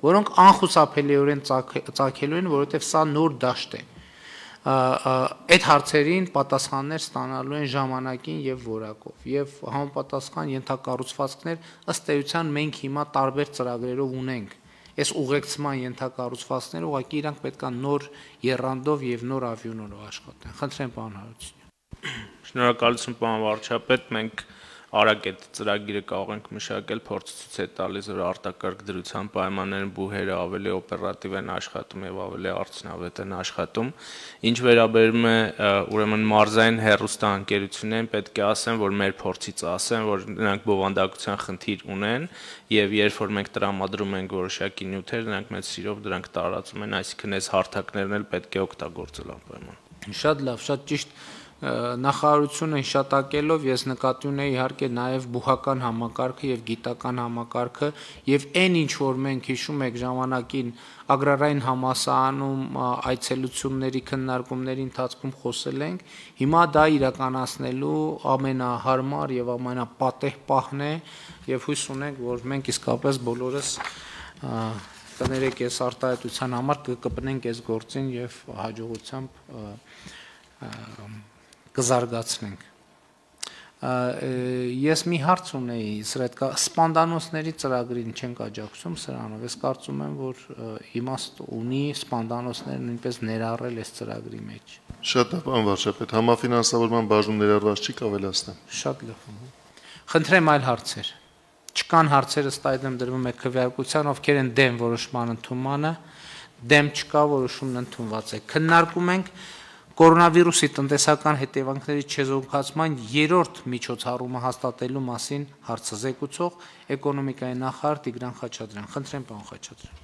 որոնք անխուսափելիորեն ծագելու են, որովհետեւ սա նոր դաշտ է, այդ հարցերին պատասխաններ ստանալու են ժամանակին եւ որակով եւ համապատասխան ենթակառուցվածքներ ըստ էության մենք հիմա տարբեր ծրագրերով ունենք։ Այս ուղեկցման ենթակառուցվածքները ուղղակի իրանք պետքա նոր եռանդով եւ նոր ավյունորով աշխատեն։ Խնդրեմ պարոն Հարությունյան։ Շնորհակալություն պարոն վարչապետ, մենք արագ այդ ծրագիրը կարող ենք մշակել, փորձը ցույց է տալիս, որ արտակարգ դրության պայմաններում բուհերը ավելի օպերատիվ են աշխատում եւ ավելի արդյունավետ են աշխատում։ Ինչ վերաբերում է ուրեմն մարզային հեռուստաընկերություններին, պետք է ասեմ, որ մեր փորձից ասեմ, որ նրանք բովանդակության խնդիր ունեն եւ երբ որ մենք տրամադրում ենք որոշակի նյութեր, նրանք մեծ սիրով դրանք տարածում են, այսինքն այս հարթակներն էլ պետք է օգտագործել անպայման։ Շատ լավ, շատ ճիշտ նախարարությունը հիշատակելով ես նկատի ունեի իհարկե նաև բուհական համակարգը եւ գիտական համակարգը եւ այն ինչ որ մենք հիշում եք ժամանակին ագրարային համալսարանում այցելությունների քննարկումների ընթացքում խոսել ենք, հիմա դա իրականացնելու ամենահարմար եւ ամենապատեհ պահն է եւ հույս ունենք, որ մենք իսկապես բոլորս կներեք այս արտահայտության համար կկպնենք այս գործին եւ հաջողությամբ կզարգացնենք։ Ես մի հարց ունեի, սպանդանոցների ծրագրին չենք աջակցում սրանով, ես կարծում եմ, որ իմաստ ունի սպանդանոցները նույնպես ներառել այս ծրագրի մեջ։ Շատ լավ, պարոն վարչապետ, համաֆինանսավորման բաժնում ներառված չի կավելացնեմ։ Շատ լավ։ Խնդրեմ այլ հարցեր։ Չկան հարցեր ըստ այդմ դրվում է քվեարկության, ովքեր են դեմ որոշման ընդունմանը, դեմ չկա, որոշումն ընդունված է։ Քննարկում ենք կորոնավիրուսի տնտեսական հետևանքների չեզոքացման երրորդ միջոցառումը հաստատելու մասին հարցը զեկուցող էկոնոմիկայի նախարար Տիգրան Խաչատրյան։ Խնդրեմ պարոն Խաչատրյան։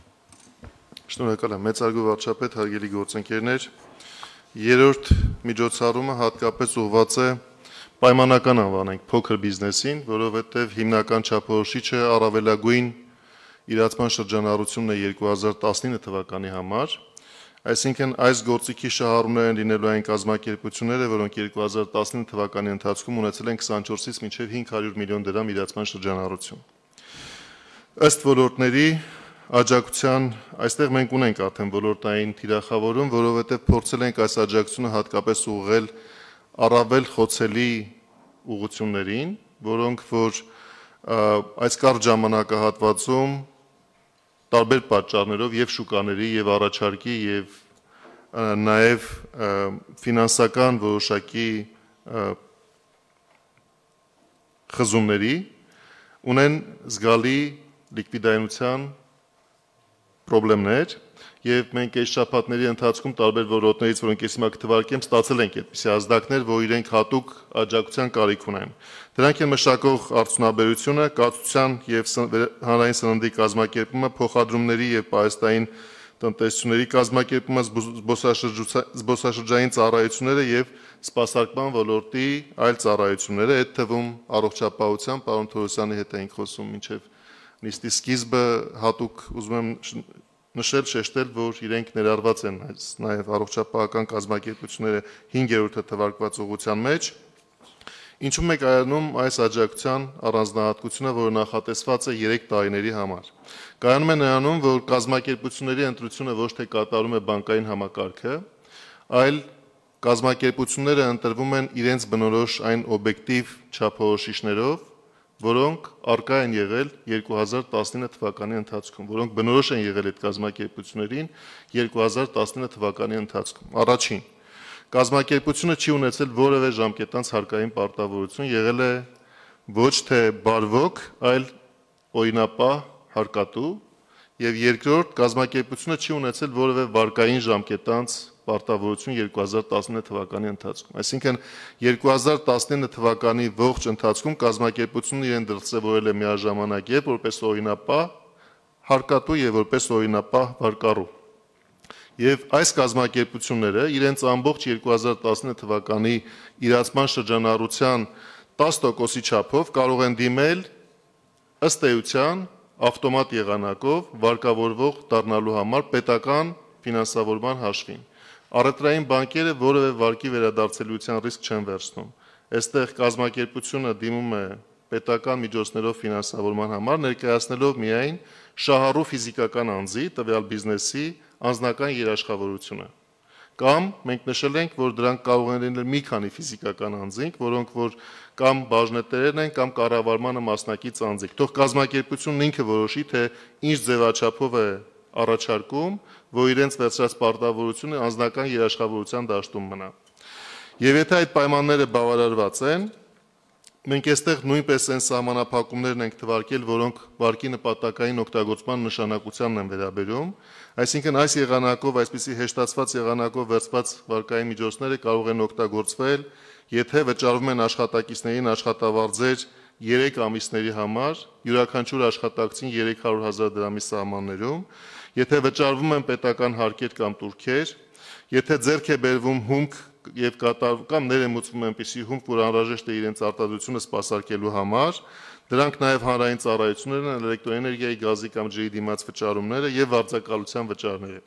Շնորհակալ եմ, մեծարգո վարչապետ, հարգելի գործընկերներ, երրորդ միջոցառումը հատկապես ուղղված է պայմանական անվանենք փոքր բիզնեսին, որովհետև հիմնական չափորոշիչը առավելագույն իրացման շրջանառությունն է 2019 թվականի համար, այսինքն այս գործիքի շահառուներ են լինելու այն կազմակերպությունները, որոնք 2019 թվականի ընթացքում ունեցել են 24-ից մինչև 500 միլիոն դրամ իրացման շրջանառություն։ Ըստ ոլորտների աջակցության այստեղ մենք ունենք արդեն ոլորտային թիրախավորում, որովհետև փորձել ենք այս աջակցությունը հատկապես ուղղել առավել խոցելի ուղղություններին, որոնք որ այս կարճ ժամանակահատվածում տարբեր պատճառներով եւ շուկաների եւ առաջարկի եւ նաեւ ֆինանսական որոշակի խզումների ունեն զգալի լիկվիդայնության խնդիրներ եւ մենք այս շաբաթների ընթացքում տարբեր ոլորտներից, որոնք ես հիմա կթվարկեմ, ստացել ենք այդպիսի ազդակներ, որ իրենք հատուկ աջակցության կարիք ունեն։ Դրանք են մշակող արդյունաբերությունը, կացության եւ հանրային սննդի կազմակերպումը, փոխադրումների եւ պահեստային տնտեսությունների կազմակերպումը, զբոսաշրջային ծառայությունները եւ սպասարկման ոլորտի այլ ծառայությունները, այդ թվում առողջապահության, պարոն Թորոսյանի հետ էինք խոսում մինչեւ նիստի սկիզբը, հատուկ ուզում եմ նշել, շեշտել, որ իրենք ներառված են նաեւ առողջապահական կազմակերպությունները 5-րդ թվարկված ուղղության մեջ, ինչու՞մ է կայանում այս աջակցության առանձնահատկությունը, որը նախատեսված է 3 տարիների համար։ Կայանում է նրանում, որ կազմակերպությունների ընտրությունը ոչ թե կատարում է բանկային համակարգը, այլ կազմակերպությունները ընտրվում են իրենց բնորոշ այն օբյեկտիվ չափորոշիչներով, որոնք արկա են եղել 2019 թվականի ընթացքում, որոնք բնորոշ են եղել այդ կազմակերպություններին 2019 թվականի ընթացքում։ Առաջին, կազմակերպությունը չի ունեցել որևէ ժամկետանց հարկային պարտավորություն, եղել է ոչ թե բարվոք, այլ օրինապահ հարկատու, եւ երկրորդ, կազմակերպությունը չի ունեցել որևէ վարկային ժամկետանց պարտավորություն 2019 թվականի ընթացքում։ Այսինքն 2019 թվականի ողջ ընթացքում կազմակերպությունը իրեն դրսևորել է միաժամանակ եւ որպես օրինապահ հարկատու եւ որպես օրինապահ վարկառու։ Եվ այս կազմակերպությունները իրենց ամբողջ 2019 թվականի իրացման շրջանառության 10%-ի չափով կարող են դիմել ըստ էության ավտոմատ եղանակով վարկավորվող դառնալու համար պետական ֆինանսավորման հաշվին։ Առևտրային բանկերը որևէ վարկի վերադարձելիության ռիսկ չեն վերցնում։ Այստեղ կազմակերպությունը դիմում է պետական միջոցներով ֆինանսավորման համար, ներկայացնելով միայն շահառու ֆիզիկական անձի, տվյալ բիզնեսի անձնական երաշխավորությունը։ Կամ մենք նշել ենք, որ դրանք կարող են լինել մի քանի ֆիզիկական անձինք, որոնք որ կամ բաժնետերերն են, կամ կառավարմանը մասնակից անձինք։ Թող կազմակերպությունն ինքը որոշի, թե ինչ ձևաչափով է առաջարկում, որ իրենց վերցրած պարտավորությունը անձնական երաշխավորության դաշտում մնա։ Եվ եթե այդ պայմանները բավարարված են, մենք այստեղ նույնպես այն սահմանափակումներն ենք թվարկել, որոնք վարկի նպատակային օգտագործման նշանակությանն են վերաբերում, այսինքն այս եղանակով, այսպիսի հեշտացված եղանակով վերցված վարկային միջոցները կարող են օգտագործվել, եթե վճարվում են աշխատակիցներին աշխատավարձեր 3 ամիսների համար, յուրաքանչյուր աշխատակցին 300,000 դրամի սահմաններում, եթե վճարվում են պետական հարկեր կամ տուրքեր, եթե ձեռք է բերվում հումք եւ կամ ներմուծվում այնպիսի հումք, որ անհրաժեշտ է իրենց արտադրությունը սպասարկելու համար, դրանք նաեւ հանրային ծառայություններն են, էլեկտրոէներգիայի, գազի կամ ջրի դիմաց վճարումները եւ վարձակալության վճարները։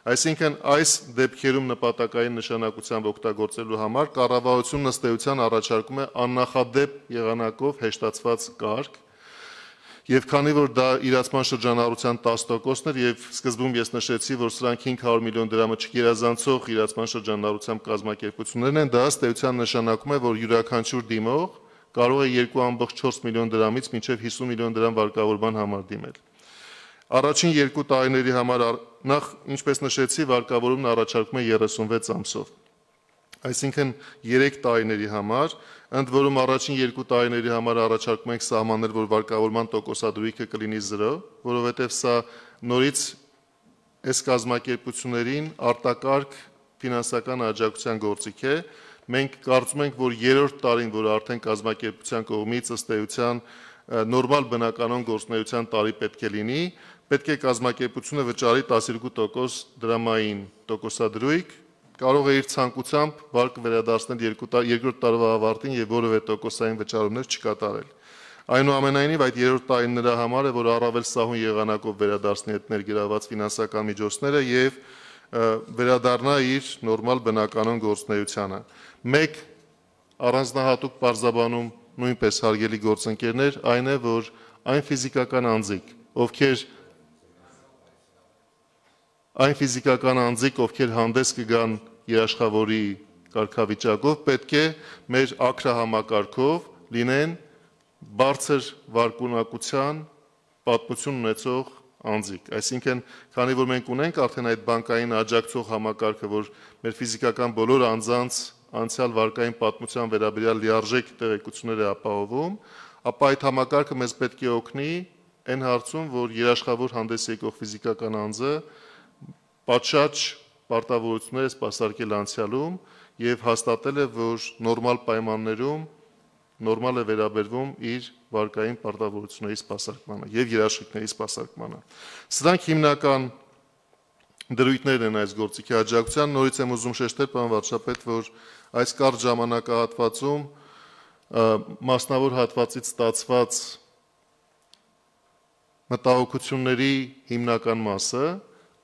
Այսինքն այս դեպքերում նպատակային նշանակությամբ օգտագործելու համար կառավարությունն ըստ էության առաջարկում է աննախադեպ եղանակով հեշտացված կարգ, եւ քանի որ դա իրացման շրջանառության 10%-ն էր եւ սկզբում ես նշեցի, որ սրանք 500 միլիոն դրամը չգերազանցող իրացման շրջանառությամբ կազմակերպություններն են, դա ըստ էության նշանակում է, որ յուրաքանչյուր դիմող կարող է 2.4 միլիոն դրամից մինչև 50 միլիոն դրամ վարկավորման համար դիմել։ Առաջին 2 տարիների համար նախ, ինչպես նշեցի, վարկավորումն առաջարկում է 36 ամսով։ Այսինքն 3 տարիների համար, ընդ որում առաջին 2 տարիների համար առաջարկում ենք սահմանել, որ վարկավորման տոկոսադրույքը կլինի 0, որովհետև սա նորից այս կազմակերպություններին արտակարգ ֆինանսական աջակցության գործիք է։ Մենք կարծում ենք, որ 3-րդ տարին, որ արդեն կազմակերպության կողմից ըստ էության նորմալ բնականon գործունեության տարի պետք է լինի, պետք է կազմակերպությունը վճարի 12% դրամային տոկոսադրույք, կարող է իր ցանկությամբ վարկը վերադարձնել 2-րդ տարվա ավարտին եւ որևէ տոկոսային վճարումներ չկատարել։ Այնուամենայնիվ այդ 3-րդ տարին նրա համար է, որ առավել սահուն եղանակով վերադարձնի այդ ներգրաված ֆինանսական միջոցները եւ վերադառնա իր նորմալ բնականon գործունեությանը։ Մեկ առանձնահատուկ պարզաբանում նույնպես հարգելի գործընկերներ, այն է, որ այն ֆիզիկական անձիկ, ովքեր հանդես կգան երաշխավորի կարգավիճակով, պետք է մեր ակրահամակարգով լինեն բարձր վարկունակության պատմություն ունեցող անձիկ, այսինքն քանի որ մենք ունենք արդեն այդ բանկային աջակցող համակարգը, որ մեր ֆիզիկական բոլոր անձանց անցյալ վարկային պատմության վերաբերյալ լիարժեք տեղեկություններ է ապահովում, ապա այդ համակարգը մեզ պետք է օգնի այն հարցում, որ երաշխավոր հանդես եկող ֆիզիկական անձը պատշաճ պարտավորություններ է սպասարկել անցյալում եւ հաստատել է, որ նորմալ պայմաններում նորմալ է վերաբերվում իր վարկային պարտավորությունների սպասարկմանը եւ երաշխիքների սպասարկմանը։ Սրանք հիմնական դրույթներն են այս գործիքի աջակցության։ Նորից եմ ուզում շեշտել, պարոն վարչապետ, որ այս կարճ ժամանակահատվածում մասնավոր հատվածից ստացված մտահոգությունների հիմնական մասը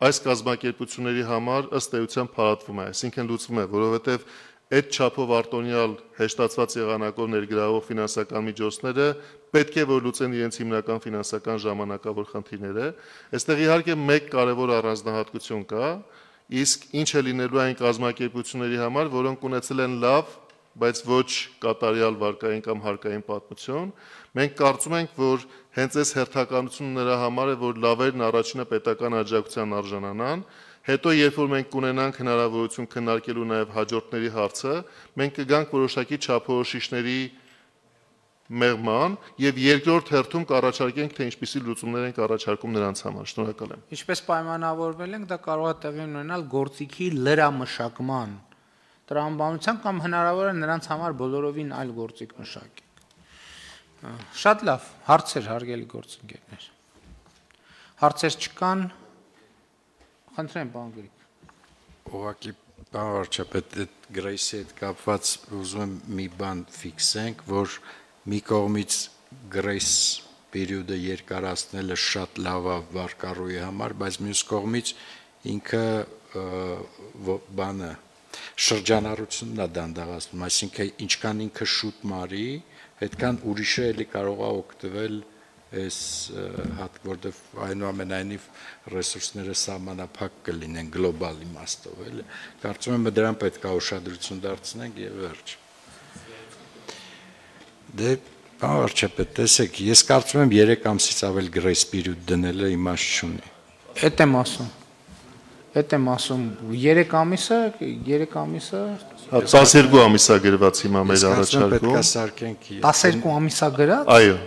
այս կազմակերպությունների համար ըստ էության փարատվում է, այսինքն լուծվում է, որովհետև այդ չափով արտոնյալ հեշտացված եղանակով ներգրավող ֆինանսական միջոցները պետք է որ լուծեն իրենց հիմնական ֆինանսական ժամանակավոր խնդիրները։ Այստեղ իհարկե մեկ կարևոր առանձնահատկություն կա, իսկ ինչ է լինելու այն կազմակերպությունների համար, որոնք ունեցել են լավ, բայց ոչ կատարյալ վարկային կամ հարկային պատմություն, մենք կարծում ենք, որ հենց այս հերթականությունը նրա համար է, որ լավերն առաջինը պետական աջակցության արժանանան, հետո երբ որ մենք կունենանք հնարավորություն քննարկելու նաև հաջորդների հարցը, մենք կգանք որոշակի չափորոշիչների մեղման եւ երկրորդ հերթում կառաջարկենք, թե ինչպիսի լուծումներ ենք առաջարկում նրանց համար։ Շնորհակալ եմ։ Ինչպես պայմանավորվել ենք, դա կարող է տեղի ունենալ գործիքի լրամշակման տրամաբանության կամ հնարավոր է նրանց համար բոլորովին այլ գործիք մշակի։ Շատ լավ, հարցեր, հարգելի գործընկերներ։ Հարցեր չկան, խնդրեմ, պարոն Գրիգ։ Ուղղակի պարոն վարչապետ, այդ գրեյսի հետ կապված ուզում եմ մի բան ֆիքսենք, որ մի կողմից գրեյս պերիոդը երկարացնելը շատ լավ է վարկառուի համար, բայց մյուս կողմից ինքը բանը շրջանառությունն է դանդաղացնում, այսինքն ինչքան ինքը շուտ մարի, այդքան ուրիշը էլի կարող է օգտվել այս հատ, որտեղ այնուամենայնիվ ռեսուրսները սահմանափակ կլինեն գլոբալ իմաստով, էլի։ Կարծում եմ դրան պետք է ուշադրություն դարձնենք եւ վերջ։ Դե պարոն վարչապետ, տեսեք, ես կարծում եմ 3 ամսից ավել գրեյս պերիոդ դնելը իմաստ չունի։ Էդ եմ ասում։ 3 ամիսը 12 ամիսա գրված հիմա մեր առաջարկում։ Պետք է սարքենք 12 ամիսա գրած։ Այո։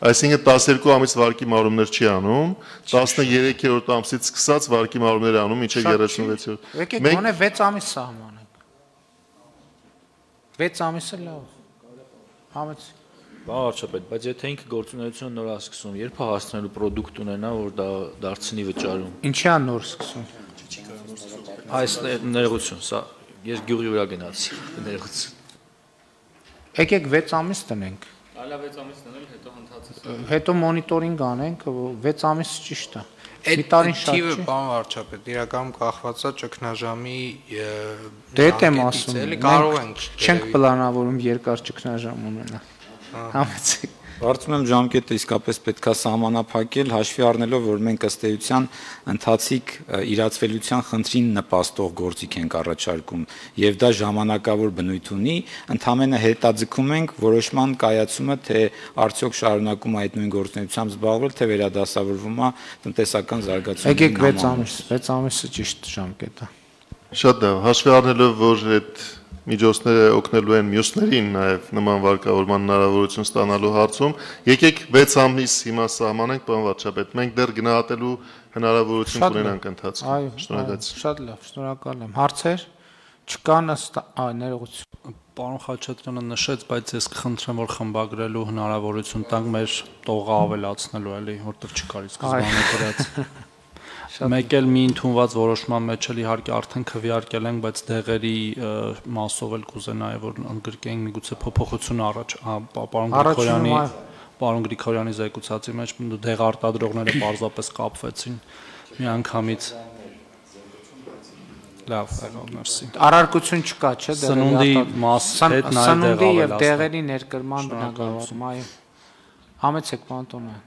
Այսինքն 12 ամիս վարկի մարումներ չի անում, 13-րդ ամսից սկսած վարկի մարումներ անում, ինչը 36-րդ։ Եկեք գոնե 6 ամիս սահմանենք։ 6 ամիսը լավ։ Համեցեք։ Պարոն վարչապետ, բայց եթե ինքը գործունեությունը նոր է սկսում, երբ է հասնելու պրոդուկտ ունենա, որ դա դարձնի վճարում։ Ինչի է նոր սկսում։ Այս ներողություն, սա ես գյուղի վրա գնացի, ներողություն։ Եկեք 6 ամիս տնենք։ Այլա 6 ամիս տնել, հետո հնդածը։ Հետո մոնիտորինգ անենք, 6 ամիս ճիշտ է։ Այդ թիվը, պարոն վարչապետ, իրականում կախված է ճգնաժամի Դե դա եմ ասում։ Կարող ենք չենք պլանավորում երկար ճգնաժամ ունենալ։ Համեցեք։ Կարծում եմ ժամկետը իսկապես պետք է սահմանափակել, հաշվի առնելով, որ մենք ըստ էության ընթացիկ իրացվելիության խնդրին նպաստող գործիք ենք առաջարկում, եւ դա ժամանակավոր բնույթ ունի, ընդհանրապես հետաձգում ենք որոշման կայացումը, թե արդյոք շարունակում է այդ նույն գործունեությամբ զբաղվել, թե վերադասավորվում է տնտեսական զարգացումների։ Եկեք 6 ամիս, 6 ամիսը ճիշտ ժամկետ է։ Շատ լավ, հաշվի առնելով, որ այդ միջոցները օգնելու են մյուսներին նաև նման վարկավորման հնարավորություն ստանալու հարցում, եկեք 6 ամիս հիմա սահմանենք, պարոն վարչապետ, մենք դեռ գնահատելու հնարավորություն կունենանք ընթացքում։ Շնորհակալություն։ Շատ լավ, շնորհակալ եմ։ Հարցեր չկան, ներողություն։ Պարոն Խաչատրյանը նշեց, բայց ես կխնդրեմ, որ խմբագրելու հնարավորություն տանք մեր տողը ավելացնելու, էլի, որտեղ չկար սկզբանը գրած։ Մեկ էլ մի ընդունված որոշման մեջ էլ իհարկե արդեն քվեարկել ենք, բայց դեղերի մասով էլ կուզենայի, որ ընդգրկենք միգուցե փոփոխություն առաջ, պարոն Գրիգորյանի զեկուցածի մեջ դեղ արտադրողները պարզապես կապվեցին միանգամից։ Լավ, մերսի։ Առարկություն չկա, չէ՞, Սնունդի մաս հետ նաև դեղ Սնունդի եւ ավելացնել։ դեղերի ներկրման բնագավառում, այո։ Համեցեք, պարոն Տոնյան։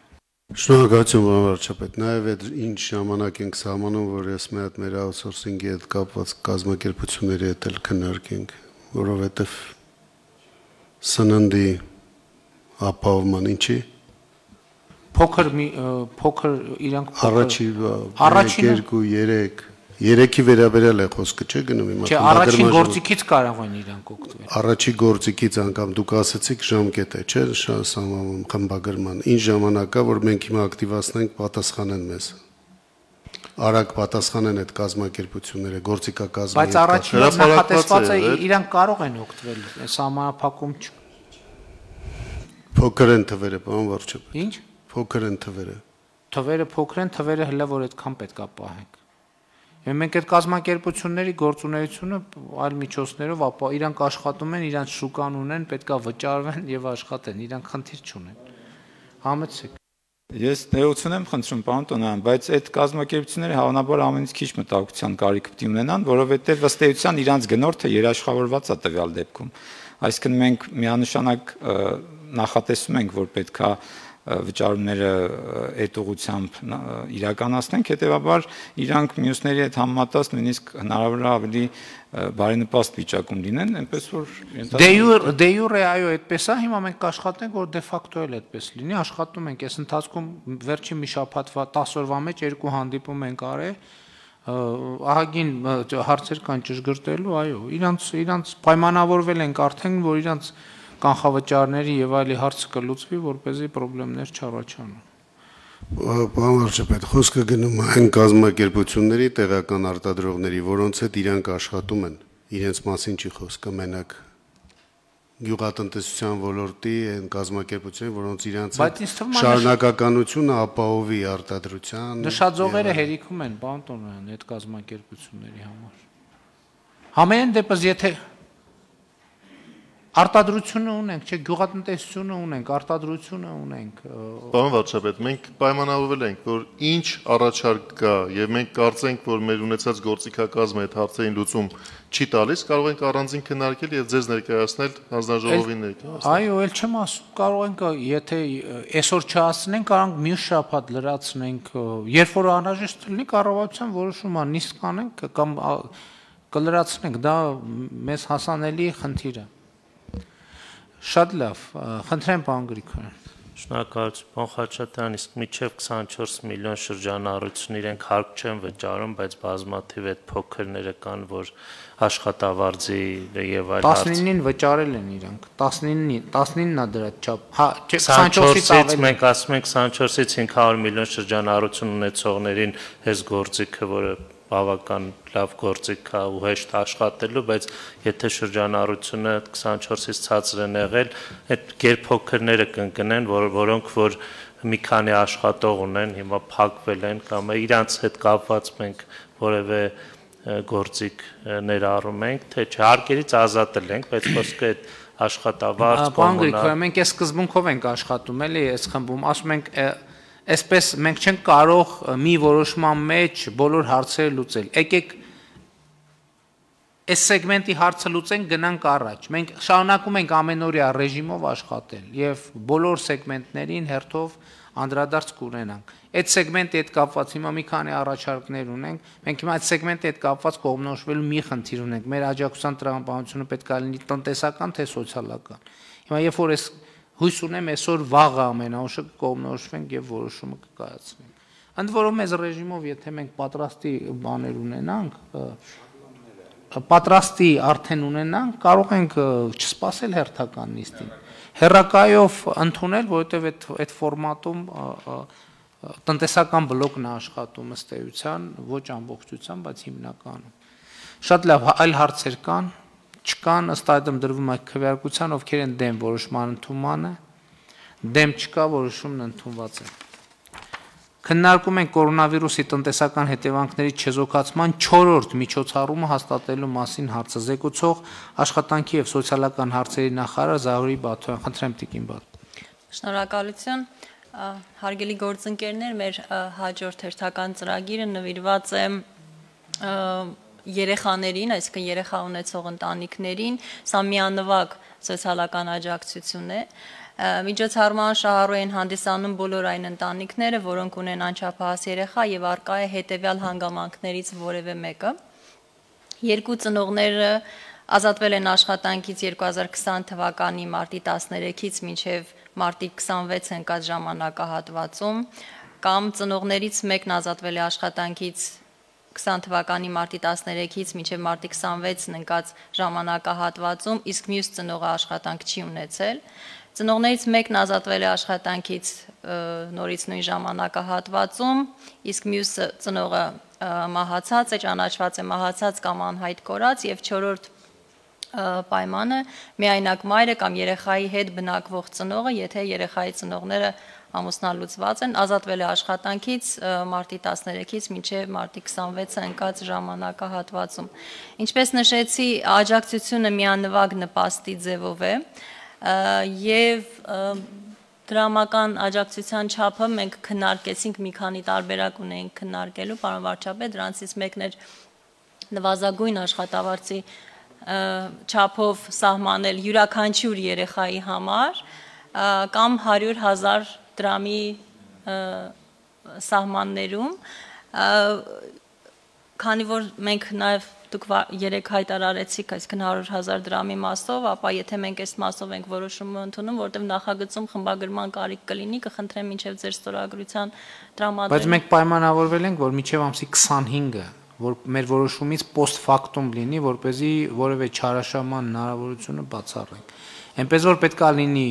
Շնորհակալություն, պարոն վարչապետ։ Նաև այդ ինչ ժամանակ ենք սահմանում, որ ես մի հատ մեր աութսորսինգի հետ կապված կազմակերպությունների հետ էլ քննարկենք, որովհետև սննդի ապահովման ինչի փոքր իրանք առաջի 3-ի վերաբերյալ է խոսքը, չէ՞ գնում հիմա։ Չէ, առաջին գործիքից կարող են իրանք օգտվել։ Առաջի գործիքից անգամ դուք ասացիք ժամկետ է, չէ՞, սահմանում խմբագրման։ Ինչ ժամանակ կա, որ մենք հիմա ակտիվացնենք, պատասխանեն մեզ։ Արագ պատասխանեն այդ կազմակերպությունները, գործիքակազմի։ Բայց առաջին նախատեսված է իրանք կարող են օգտվել, սահմանափակում չի։ Փոքր են թվերը, պարոն վարչապետ։ Ինչ։ Փոքր են թվերը։ Թվերը փոքր են, թվերը հələ որ այդքան պետքա պահենք։ Մենք այդ կազմակերպությունների գործունեությունը այլ միջոցներով ապա իրանք աշխատում են, իրանք շուկան ունեն, պետքա վճարվեն եւ աշխատեն, իրանք խնդիր չունեն։ Համեցեք։ Ես ներողություն եմ խնդրում, պարոն Տոնյան, բայց այդ կազմակերպությունները հավանաբար ամենից քիչ մտահոգության կարիք պետք ունենան, որովհետեւ ըստ էության իրանք գնորդը երաշխավորված է տվյալ դեպքում։ Այսինքն մենք միանշանակ նախատեսում ենք, որ պետքա վճարումները այդ ուղղությամբ իրականացնենք, հետեւաբար իրանք մյուսների հետ համեմատած նույնիսկ հնարավոր է ավելի բարենպաստ վիճակում լինեն, այնպես որ դե յուրե այո, այդպես է, հիմա մենք կաշխատենք, որ դե ֆակտո էլ այդպես լինի, աշխատում ենք, այս ընթացքում վերջին մի շաբաթվա 10 օրվա մեջ 2 հանդիպում ենք արել, ահագին հարցեր կան ճշգրտելու, այո, իրանց պայմանավորվել ենք արդեն, որ իրանց կանխավճարների եւ այլի հարցը կլուծվի, որպեսզի խնդիրներ չառաջանան։ Պարոն վարչապետ, խոսքը գնում է այն կազմակերպությունների տեղական արտադրողների, որոնց հետ իրանք աշխատում են, իրենց մասին չի խոսքը մենակ գյուղատնտեսության ոլորտի այն կազմակերպությունների, որոնց իրանց շարունակականությունը ապահովի արտադրության։ Նշաձողերը հերիքում են, պարոն Տոնյան, այդ կազմակերպությունների համար։ Համենայն դեպս եթե արտադրությունը ունենք, չէ, գյուղատնտեսությունը ունենք, արտադրությունը ունենք։ Պարոն վարչապետ, մենք պայմանավորվել ենք, որ ինչ առաջարկ կա եւ մենք կարծենք, որ մեր ունեցած գործիքակազմը այդ հարցերին լուծում չի տալիս, կարող ենք առանձին քննարկել եւ ձեզ ներկայացնել հանձնաժողովին ներկայացնել։ Այո, ել չեմ ասում, կարող ենք, եթե այսօր չհասցնենք, կարող ենք մյուս շաբաթ լրացնենք, երբ որ անհրաժեշտ լինի կառավարության որոշումը նիստ կանենք կամ կլրացնենք, դա մեզ հասանելի խնդիր է։ Շատ լավ, խնդրեմ պարոն Գրիգորյան։ Շնորհակալություն, պարոն Խաչատրյան, իսկ մինչև 24 միլիոն շրջանառություն իրենք հարկ չեն վճարում, բայց բազմաթիվ այդ փոքրները կան, որ աշխատավարձի եւ այլ հարց 19-ին վճարել են իրանք, 19-ն է դրա չափ, հա, 24-ից ավելի։ Մենք ասում ենք 24-ից 500 միլիոն շրջանառություն ունեցողներին այս գործիքը, որը բավական լավ գործիք է ու հեշտ աշխատելու, բայց եթե շրջանառությունը 24-ից ցածր են եղել, այդ գերփոքրները կընկնեն, որոնք որ մի քանի աշխատող ունեն, հիմա փակվել են կամ իրանց հետ կապված մենք որևէ գործիք ներառում ենք, թե չհարկերից ազատել ենք, բայց խոսքը այդ աշխատավարձ կոմունալ։ Մենք այս սկզբունքով ենք աշխատում, էլի, այս խմբում, ասում ենք Այսպես մենք չենք կարող մի որոշման մեջ բոլոր հարցերը լուծել։ Եկեք այս սեգմենտի հարցը լուծենք, գնանք առաջ։ Մենք շարունակում ենք ամենօրյա ռեժիմով աշխատել եւ բոլոր սեգմենտներին հերթով անդրադարձ կունենանք։ Այդ սեգմենտի հետ կապված հիմա մի քանի առաջարկներ ունենք։ Մենք հիմա այդ սեգմենտի հետ կապված կողմնորոշվելու մի խնդիր ունենք։ Մեր աջակցության տրամաբանությունը պետք է լինի տնտեսական թե սոցիալական։ Հիմա երբ որ այս հույս ունեմ այսօր վաղը ամենաուշը կողմնորոշվենք եւ որոշումը կկայացնենք։ Ընդ որում այս ռեժիմով եթե մենք պատրաստի բաներ ունենանք, պատրաստի արդեն ունենանք, կարող ենք չսպասել հերթական նիստին։ Հերրակայով ընդունել, որովհետեւ այդ ֆորմատում տնտեսական բլոկն է աշխատում ըստ էության, ոչ ամբողջությամբ, բայց հիմնականում։ Շատ լավ, այլ հարցեր կան։ Չկան, ըստ այդմ դրվում է քվեարկության, ովքեր են դեմ որոշման ընդունմանը, դեմ չկա, որոշումն ընդունված է։ Քննարկում ենք կորոնավիրուսի տնտեսական հետևանքների չեզոքացման 4-րդ միջոցառումը հաստատելու մասին հարցը զեկուցող աշխատանքի եւ սոցիալական հարցերի նախարար Զահուրի Բաթոյան, խնդրեմ տիկին Բաթ։ Շնորհակալություն, հարգելի գործընկերներ, մեր հաջորդ հերթական ծրագիրը նվիրված է երեխաներին, այսինքն երեխա ունեցող ընտանիքներին, սա միանվագ սոցիալական աջակցություն է։ Միջոցառման շահառու են հանդիսանում բոլոր այն ընտանիքները, որոնք ունեն անչափահաս երեխա եւ առկա է հետեւյալ հանգամանքներից որևէ մեկը։ Երկու ծնողները ազատվել են աշխատանքից 2020 թվականի մարտի 13-ից մինչև մարտի 26 ընկած ժամանակահատվածում, կամ ծնողներից մեկն ազատվել է աշխատանքից 20 թվականի մարտի 13-ից մինչև մարտի 26-ն ընկած ժամանակահատվածում, իսկ մյուս ծնողը աշխատանք չի ունեցել։ Ծնողներից մեկն ազատվել է աշխատանքից նորից նույն ժամանակահատվածում, իսկ մյուս ծնողը մահացած է, ճանաչված է մահացած կամ անհայտ կորած, եւ 4-րդ պայմանը միայնակ մայրը կամ երեխայի հետ բնակվող ծնողը, եթե երեխայի ծնողները ամուսնալուծված են, ազատվել է աշխատանքից մարտի 13-ից մինչև մարտի 26-ը ընկած ժամանակահատվածում։ Ինչպես նշեցի, աջակցությունը միանվագ նպաստի ձևով է եւ դրամական աջակցության չափը մենք քննարկեցինք, մի քանի տարբերակ ունենք քննարկելու, պարոն վարչապետ, դրանցից մեկն էր նվազագույն աշխատավարձի չափով սահմանել յուրաքանչյուր երեխայի համար կամ 100,000 դրամի սահմաններում, քանի որ մենք նաև դուք երեք հայտարարեցիք այսքան 100,000 դրամի մասով, ապա եթե մենք այս մասով ենք որոշումը ընդունում, որտեղ նախագծում խմբագրման կարիք կլինի, կխնդրեմ մինչև ձեր ստորագրության տրամադրել։ Բայց մենք պայմանավորվել ենք, որ մինչև ամսի 25-ը, որ մեր որոշումից post factum լինի, որպեսզի որևէ չարաշահման հնարավորությունը բացառենք։ Այնպես որ պետքա լինի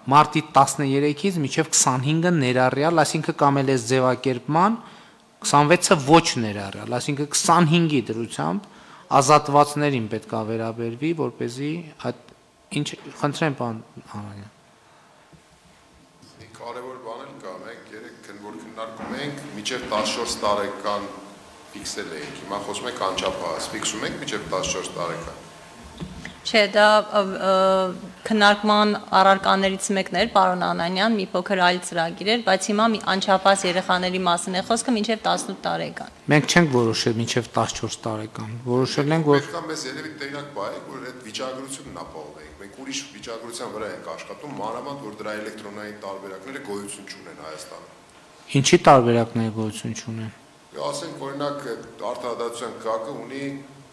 մարտի 13-ից մինչև 25-ը ներառյալ, այսինքն կամ էլ այս ձևակերպման 26-ը ոչ ներառյալ, այսինքն 25-ի դրությամբ ազատվածներին պետք է վերաբերվի, որպեսզի այդ ինչ խնդրեմ պարոն Անանյան։ Մի կարևոր բան էլ կա, մենք երեք որ քննարկում ենք, մինչև 14 տարեկան ֆիքսել ենք։ Հիմա խոսում ենք անչափահաս, ֆիքսում ենք մինչև 14 տարեկան։ Չէ, դա քննարկման առարկաներից մեկն էր, պարոն Անանյան, մի փոքր այլ ծրագիր էր, բայց հիմա անչափահաս երեխաների մասին է խոսքը մինչև 18 տարեկան։ Մենք չենք որոշել մինչև 14 տարեկան, որոշել ենք, որ Պետք է մեզ երևի տեղյակ բայեք, որ այդ վիճակագրությունն ապահովենք։ Մենք ուրիշ վիճակագրության վրա ենք աշխատում, մանավանդ որ դրա էլեկտրոնային տարբերակները գոյություն չունեն Հայաստանում։ Ինչի տարբերակներ գոյություն չունեն։ Ասենք օրինակ արտադրության կարգը ունի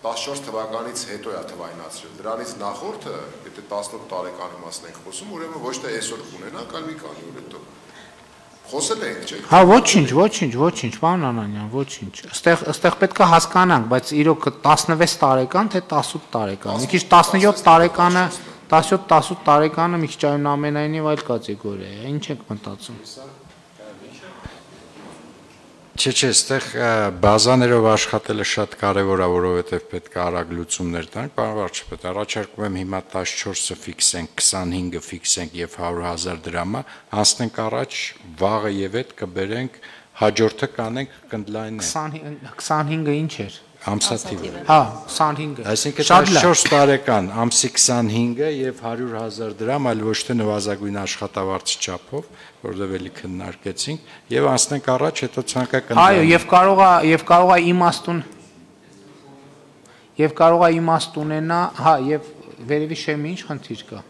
14 թվականից հետո է թվայնացրել։ Դրանից նախորդը, եթե 18 տարեկանի մասն ենք խոսում, ուրեմն ոչ թե այսօր կունենանք, այլ մի քանի օր հետո։ Խոսել ենք, չէ՞։ Հա, ոչինչ, պարոն Անանյան, ոչինչ։ Այստեղ պետք է հասկանանք, բայց իրոք 16 տարեկան թե 18 տարեկան։ Մի քիչ 17 տարեկանը, 17-18 տարեկանը մի քիչ այնուամենայնիվ այլ կատեգորիա է։ Ինչ եք մտածում։ Չէ, այստեղ բազաներով աշխատելը շատ կարևոր է, որովհետև պետք է արագ լուծումներ տանք, պարոն վարչապետ, առաջարկում եմ հիմա 14-ը ֆիքսենք, 25-ը ֆիքսենք եւ 100,000 դրամը, անցնենք առաջ, վաղը եւ այդ կբերենք, հաջորդը կանենք կնդլայնեն։ 25-ը ինչ էր։ Ամսաթիվը։ Հա, 25-ը։ Այսինքն 14 տարեկան, ամսի 25-ը եւ 100,000 դրամ, այլ ոչ թե նվազագույն աշխատավարձի չափով, որովհետեւ էլի քննարկեցինք, եւ անցնենք առաջ, հետո ցանկական։ Այո, եւ կարող է իմաստ ունենա, հա, եւ վերևի շեմի ինչ խնդիր կա։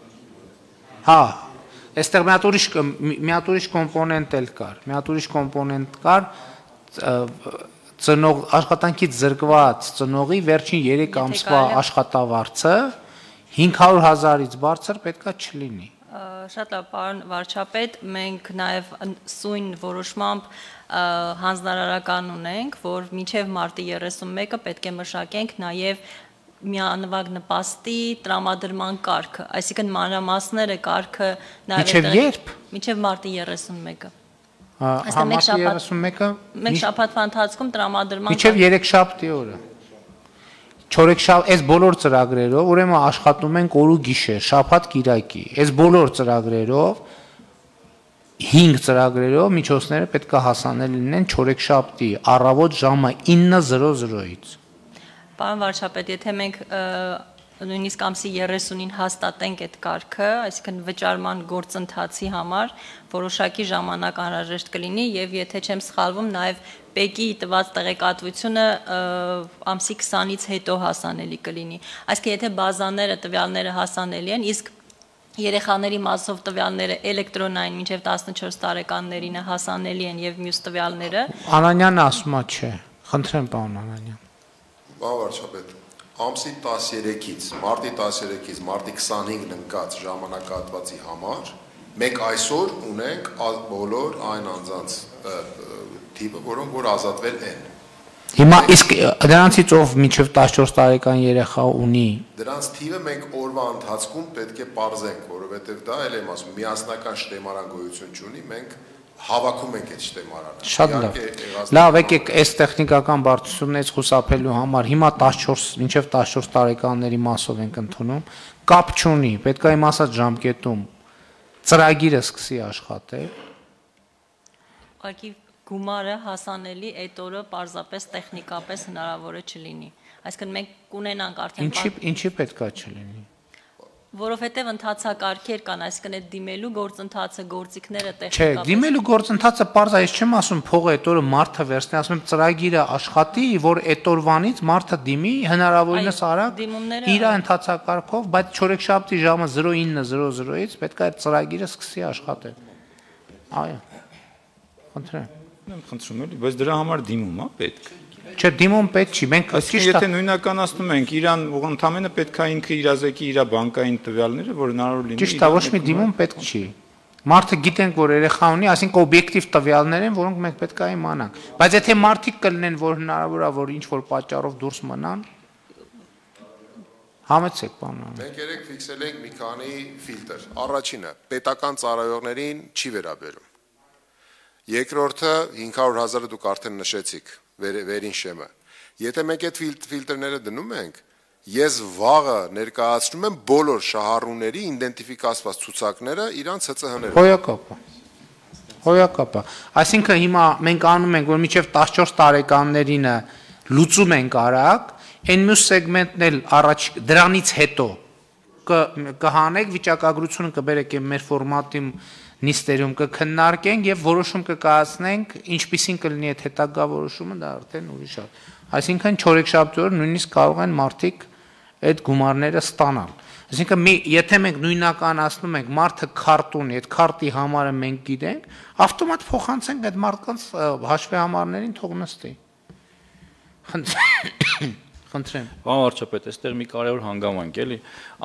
Հա, այստեղ մի հատ ուրիշ կոմպոնենտ կար, ծնող աշխատանքից զրկված ծնողի վերջին 3 ամսվա աշխատավարձը 500,000-ից բարձր պետքա չլինի։ Շատ լավ, պարոն վարչապետ, մենք նաև սույն որոշմամբ հանձնարարական ունենք, որ մինչև մարտի 31-ը պետք է մշակենք նաև միանվագ նպաստի տրամադրման կարգը, այսինքն մանրամասները կարգը Մինչև երբ։ Մինչև մարտի 31-ը։ Մարտի 31-ը մեկ շաբաթվա ընթացքում տրամադրման մինչև 3 շաբթի օրը։ 4 այս բոլոր ծրագրերով, ուրեմն աշխատում ենք օր ու գիշեր, շաբաթ կիրակի։ Այս բոլոր ծրագրերով 5 ծրագրերով միջոցները պետք է հասանելի լինեն 4 շաբթի առավոտ ժամը 9:00-ից։ Պարոն վարչապետ, եթե մենք նույնիսկ ամսի 30-ին հաստատենք այդ կարգը, այսինքն վճարման գործընթացի համար որոշակի ժամանակ անհրաժեշտ կլինի եւ եթե չեմ սխալվում, նաեւ ՊԵԿ-ի տված տեղեկատվությունը ամսի 20-ից հետո հասանելի կլինի։ Այսինքն եթե բազաները տվյալները հասանելի են, իսկ երեխաների մասով տվյալները էլեկտրոնային մինչև 14 տարեկաններին հասանելի են եւ մյուս տվյալները։ Անանյանը ասում է չէ։ Խնդրեմ, պարոն Անանյան։ Պարոն վարչապետ, ամսի 13-ից, մարտի 13-ից մարտի 25-ն ընկած ժամանակահատվածի համար Մենք այսօր ունենք բոլոր այն անձանց թիվը, որոնք որ ազատվել են։ Հիմա իսկ դրանցից ով մինչև 14 տարեկան երեխա ունի։ Դրանց թիվը մենք օրվա ընթացքում պետք է պարզենք, որովհետև դա էլ եմ ասում, միասնական շտեմարան գոյություն չունի, մենք հավաքում ենք այդ շտեմարանը։ Շատ լավ։ Լավ, եկեք այս տեխնիկական բարդություններից խուսափելու համար հիմա 14 մինչև 14 տարեկանների մասով ենք ընդունում, կապ չունի, պետք է իմ ասած ժամկետում ծրագիրը սկսի աշխատել։ Ուղղակի գումարը հասանելի այդ օրը պարզապես տեխնիկապես հնարավոր է չլինի։ Այսինքն մենք կունենանք արդեն Ինչի պետքա չլինի։ Որովհետև ընթացակարգեր կան, այսինքն այդ դիմելու գործընթացը, գործիքները Չէ, տեխնիկապես դիմելու գործընթացը պարզ է, ես չեմ ասում փողը այդ օրը մարդը վերցնի, ասում եմ ծրագիրը աշխատի, որ այդ օրվանից մարդը դիմի հնարավորինս արագ իր ընթացակարգով, բայց չորեքշաբթի ժամը 09:00-ից պետք է այդ ծրագիրը սկսի աշխատել։ Այո։ Խնդրեմ։ Եմ խնդրում եմ, բայց դրա համար դիմում է պետք։ Չէ, դիմում պետք չի, մենք Եթե նույնականացնում ենք, իրան ընդամենը պետք է ինքը իրազեկի իր բանկային տվյալները, որ հնարավոր լինի։ Ճիշտ է, ոչ մի դիմում պետք չի։ Մարդը գիտենք, որ երեխա ունի, այսինքն օբյեկտիվ տվյալներ են, որոնք մենք պետք է իմանանք։ Բայց եթե մարդիկ կլինեն, որ հնարավոր է, որ ինչ որ պատճառով դուրս մնան, համեցեք, պարոն։ Մենք երեք ֆիքսել ենք մի քանի ֆիլտր։ Առաջինը պետական ծառայողներին չի վերաբերում։ Երկրորդը 500,000-ը դուք արդեն նշեցիք, վերին շեմը։ Եթե մենք այդ ֆիլտրները դնում ենք, ես վաղը ներկայացնում եմ բոլոր շահառուների իդենտիֆիկացված ցուցակները իրանց ՀՑՀ-ներով։ Հոյակապա։ Այսինքն հիմա մենք անում ենք, որ մինչև 14 տարեկաններինը լուծում ենք արագ, այն մյուս սեգմենտն էլ առաջ դրանից հետո կհանեք վիճակագրությունը կբերեք մեր ֆորմատի նիստերում կքննարկենք եւ որոշում կկայացնենք, ինչպիսին կլինի այդ հետագա որոշումը, դա արդեն ուրիշ է։ Այսինքն չորեքշաբթի օրը նույնիսկ կարող են մարդիկ այդ գումարները ստանալ։ Այսինքն եթե մենք նույնականացնում ենք մարդը քարտ ունի, այդ քարտի համարը մենք գիտենք, ավտոմատ փոխանցենք այդ մարդկանց հաշվի համարներին թող նստի։ Խնդրեմ։ Պարոն վարչապետ, այստեղ մի կարևոր հանգամանք էլի,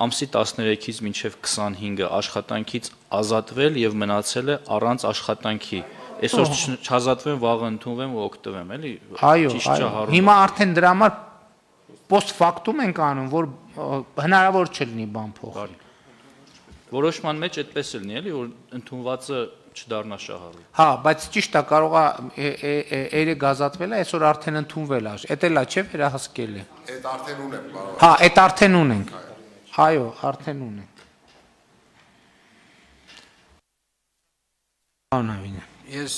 ամսի 13-ից մինչև 25-ը աշխատանքից ազատվել եւ մնացել է առանց աշխատանքի։ Այսօր չազատվեմ, վաղը ընդունվեմ ու օգտվեմ, էլի։ Այո, հիմա արդեն դրա համար post factum ենք անում, որ հնարավոր չլինի բան փոխել։ Որոշման մեջ այդպես է լինի, էլի, որ ընդունվածը չդառնա շահառու։ Հա, բայց ճիշտ է, կարող է երեք ազատվել է, այսօր արդեն ընդունվել է։ Էդ էլա չէ վերահսկել է։ Այդ արդեն ունենք, պարոն։ Հա, այդ արդեն ունենք։ Այո, արդեն ունենք։ Պարոն Ես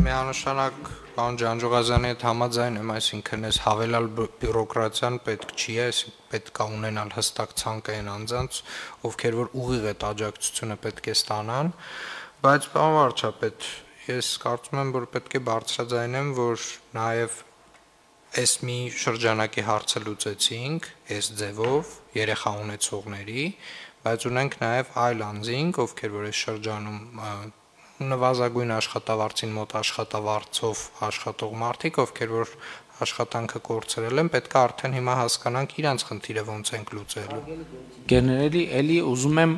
միանշանակ պարոն Ջանջուղազյանի հետ համաձայն եմ, այսինքն այս հավելյալ բյուրոկրատիան պետք չի, պետք է ունենալ հստակ ցանկային անձանց, ովքեր որ ուղիղ այդ աջակցությունը պետք է ստանան, բայց պարոն վարչապետ, ես կարծում եմ, որ պետք է բարձրաձայնեմ, որ նաև այս մի շրջանակի հարցը լուծեցինք, այս ձևով երեխա ունեցողների, բայց ունենք նաև այլ անձինք, ովքեր որ այս շրջանում նվազագույն աշխատավարձին մոտ աշխատավարձով աշխատող մարդիկ, ովքեր որ աշխատանքը կորցրել են, պետք է արդեն հիմա հասկանանք իրանց խնդիրը ոնց ենք լուծելու։ Գերներելի էլի ուզում եմ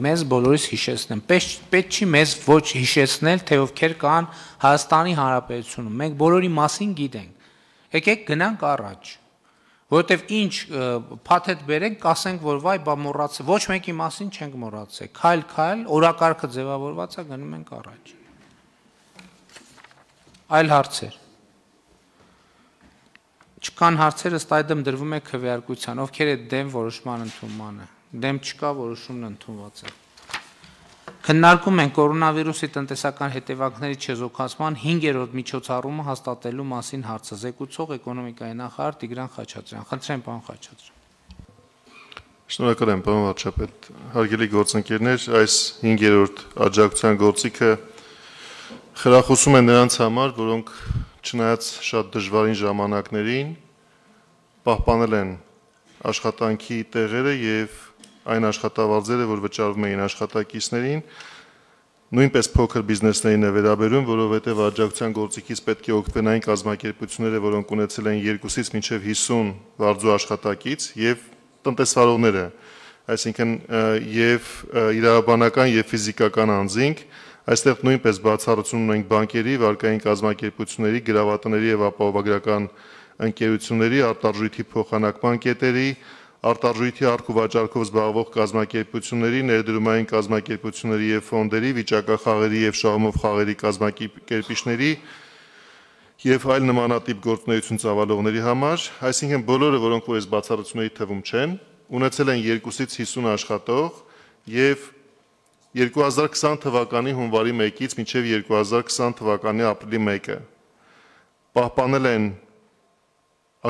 մեզ բոլորիս հիշեցնեմ։ Պետք չի մեզ ոչ հիշեցնել, թե ովքեր կան Հայաստանի Հանրապետությունում։ Մենք բոլորի մասին գիտենք։ Եկեք գնանք առաջ։ Որովհետև ինչ փաթեթ բերենք, կասենք, որ վայ, բա մոռացել, ոչ մեկի մասին չենք մոռացել։ Քայլ, օրակարգը ձևավորված է, գնում ենք առաջ։ Այլ հարցեր։ Չկան հարցեր, ըստ այդմ դրվում է քվեարկության, ովքեր է դեմ որոշման ընդունմանը։ Դեմ չկա, որոշումն ընդունված է։ Քննարկում են կորոնավիրուսի տնտեսական հետևանքների չեզոքացման 5-րդ միջոցառումը հաստատելու մասին հարցը, զեկուցող էկոնոմիկայի նախարար Տիգրան Խաչատրյան։ Խնդրեմ, պարոն Խաչատրյան։ Շնորհակալ եմ, պարոն վարչապետ։ Հարգելի գործընկերներ, այս 5-րդ աջակցության գործիքը խրախուսում է նրանց համար, որոնք չնայած շատ դժվարին ժամանակներին պահպանել են աշխատանքի տեղերը եւ այն աշխատավարձերը, որ վճարվում էին աշխատակիցներին, նույնպես փոքր բիզնեսներին է վերաբերում, որովհետև աջակցության գործիքից պետք է օգտվեն այն կազմակերպությունները, որոնք ունեցել են 2-ից մինչև 50 վարձու աշխատակից եւ տնտեսվարողները, այսինքն եւ իրավաբանական եւ ֆիզիկական անձինք, այստեղ նույնպես բացառություն ունենք բանկերի, վարկային կազմակերպությունների, գրավատների եւ ապահովագրական ընկերությունների, արտարժույթի փոխանակման կետերի, արտարժույթի առք ու վաճառքով զբաղվող կազմակերպությունների, ներդրումային կազմակերպությունների եւ ֆոնդերի, վիճակախաղերի եւ շահումով խաղերի կազմակերպիչների եւ այլ նմանատիպ գործունեություն ծավալողների համար, այսինքն բոլորը, որոնք որ այս բացառությունների թվում չեն, ունեցել են 2-ից 50 աշխատող եւ 2020 թվականի հունվարի 1-ից մինչեւ 2020 թվականի ապրիլի 1-ը պահպանել են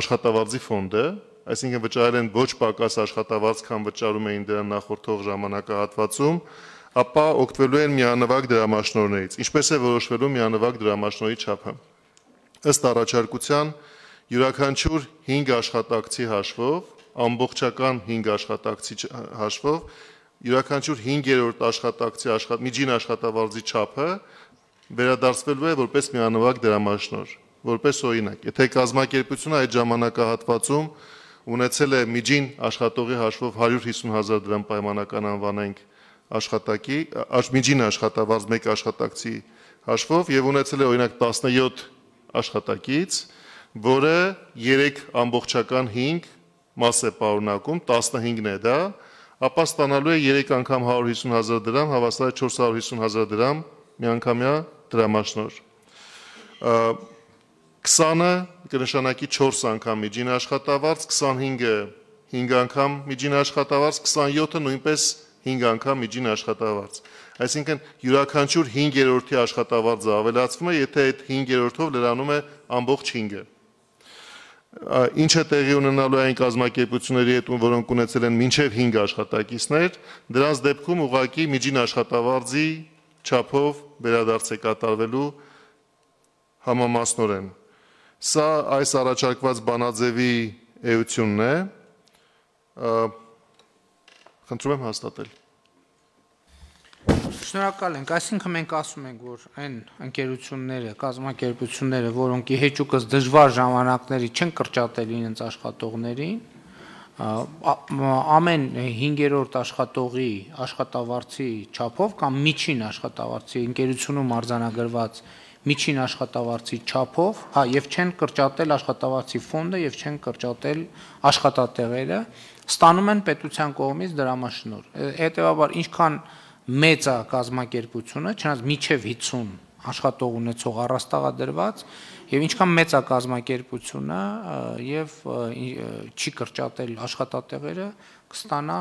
աշխատավարձի ֆոնդը, այսինքն վճարել են ոչ պակաս աշխատավարձ, քան վճարում էին դրան նախորդող ժամանակահատվածում, ապա օգտվելու են միանվագ դրամաշնորհներից։ Ինչպես է որոշվելու միանվագ դրամաշնորհի չափը։ Ըստ առաջարկության յուրաքանչյուր 5 աշխատակցի հաշվով, ամբողջական 5 աշխատակցի հաշվով, յուրաքանչյուր 5-րդ աշխատակցի միջին աշխատավարձի չափը վերադարձվելու է որպես միանվագ դրամաշնորհ, որպես օրինակ։ Եթե կազմակերպությունը այդ ժամանակահատվածում ունեցել է միջին աշխատողի հաշվով 150,000 դրամ պայմանական անվանենք աշխատակի, միջին աշխատավարձ մեկ աշխատակցի հաշվով եւ ունեցել է օրինակ 17 աշխատակից, որը 3 ամբողջական 5 մաս է պարունակում, 15-ն է դա, ապա ստանալու է 3 անգամ 150,000 դրամ, հավասար 450,000 դրամ միանգամյա դրամաշնորհ։ 20-ը կնշանակի 4 անգամ միջին աշխատավարձ, 25-ը 5 անգամ միջին աշխատավարձ, 27-ը նույնպես 5 անգամ միջին աշխատավարձ։ Այսինքն յուրաքանչյուր 5-րդի աշխատավարձը ավելացվում է, եթե այդ 5-րդով լրանում է ամբողջ 5-ը։ Ինչը տեղի ունենալու է այն կազմակերպությունների հետ, որոնք ունեցել են մինչև 5 աշխատակիցներ, դրանց դեպքում ուղղակի միջին աշխատավարձի չափով վերադարձ է կատարվելու համամասնորեն։ Սա այս առաջարկված բանաձևի էությունն է, խնդրում եմ հաստատել։ Շնորհակալ ենք, այսինքն մենք ասում ենք, որ այն ընկերությունները, կազմակերպությունները, որոնք իհեճուկս դժվար ժամանակների չեն կրճատել իրենց աշխատողներին, ամեն 5-րդ աշխատողի աշխատավարձի չափով կամ միջին աշխատավարձի ընկերությունում արձանագրված միջին աշխատավարձի չափով, եւ չեն կրճատել աշխատավարձի ֆոնդը եւ չեն կրճատել աշխատատեղերը, ստանում են պետության կողմից դրամաշնորհ։ Հետեւաբար ինչքան մեծ է կազմակերպությունը, չնայած միջև 50 աշխատող ունեցող առաստաղադրված, եւ ինչքան մեծ է կազմակերպությունը եւ չի կրճատել աշխատատեղերը, կստանա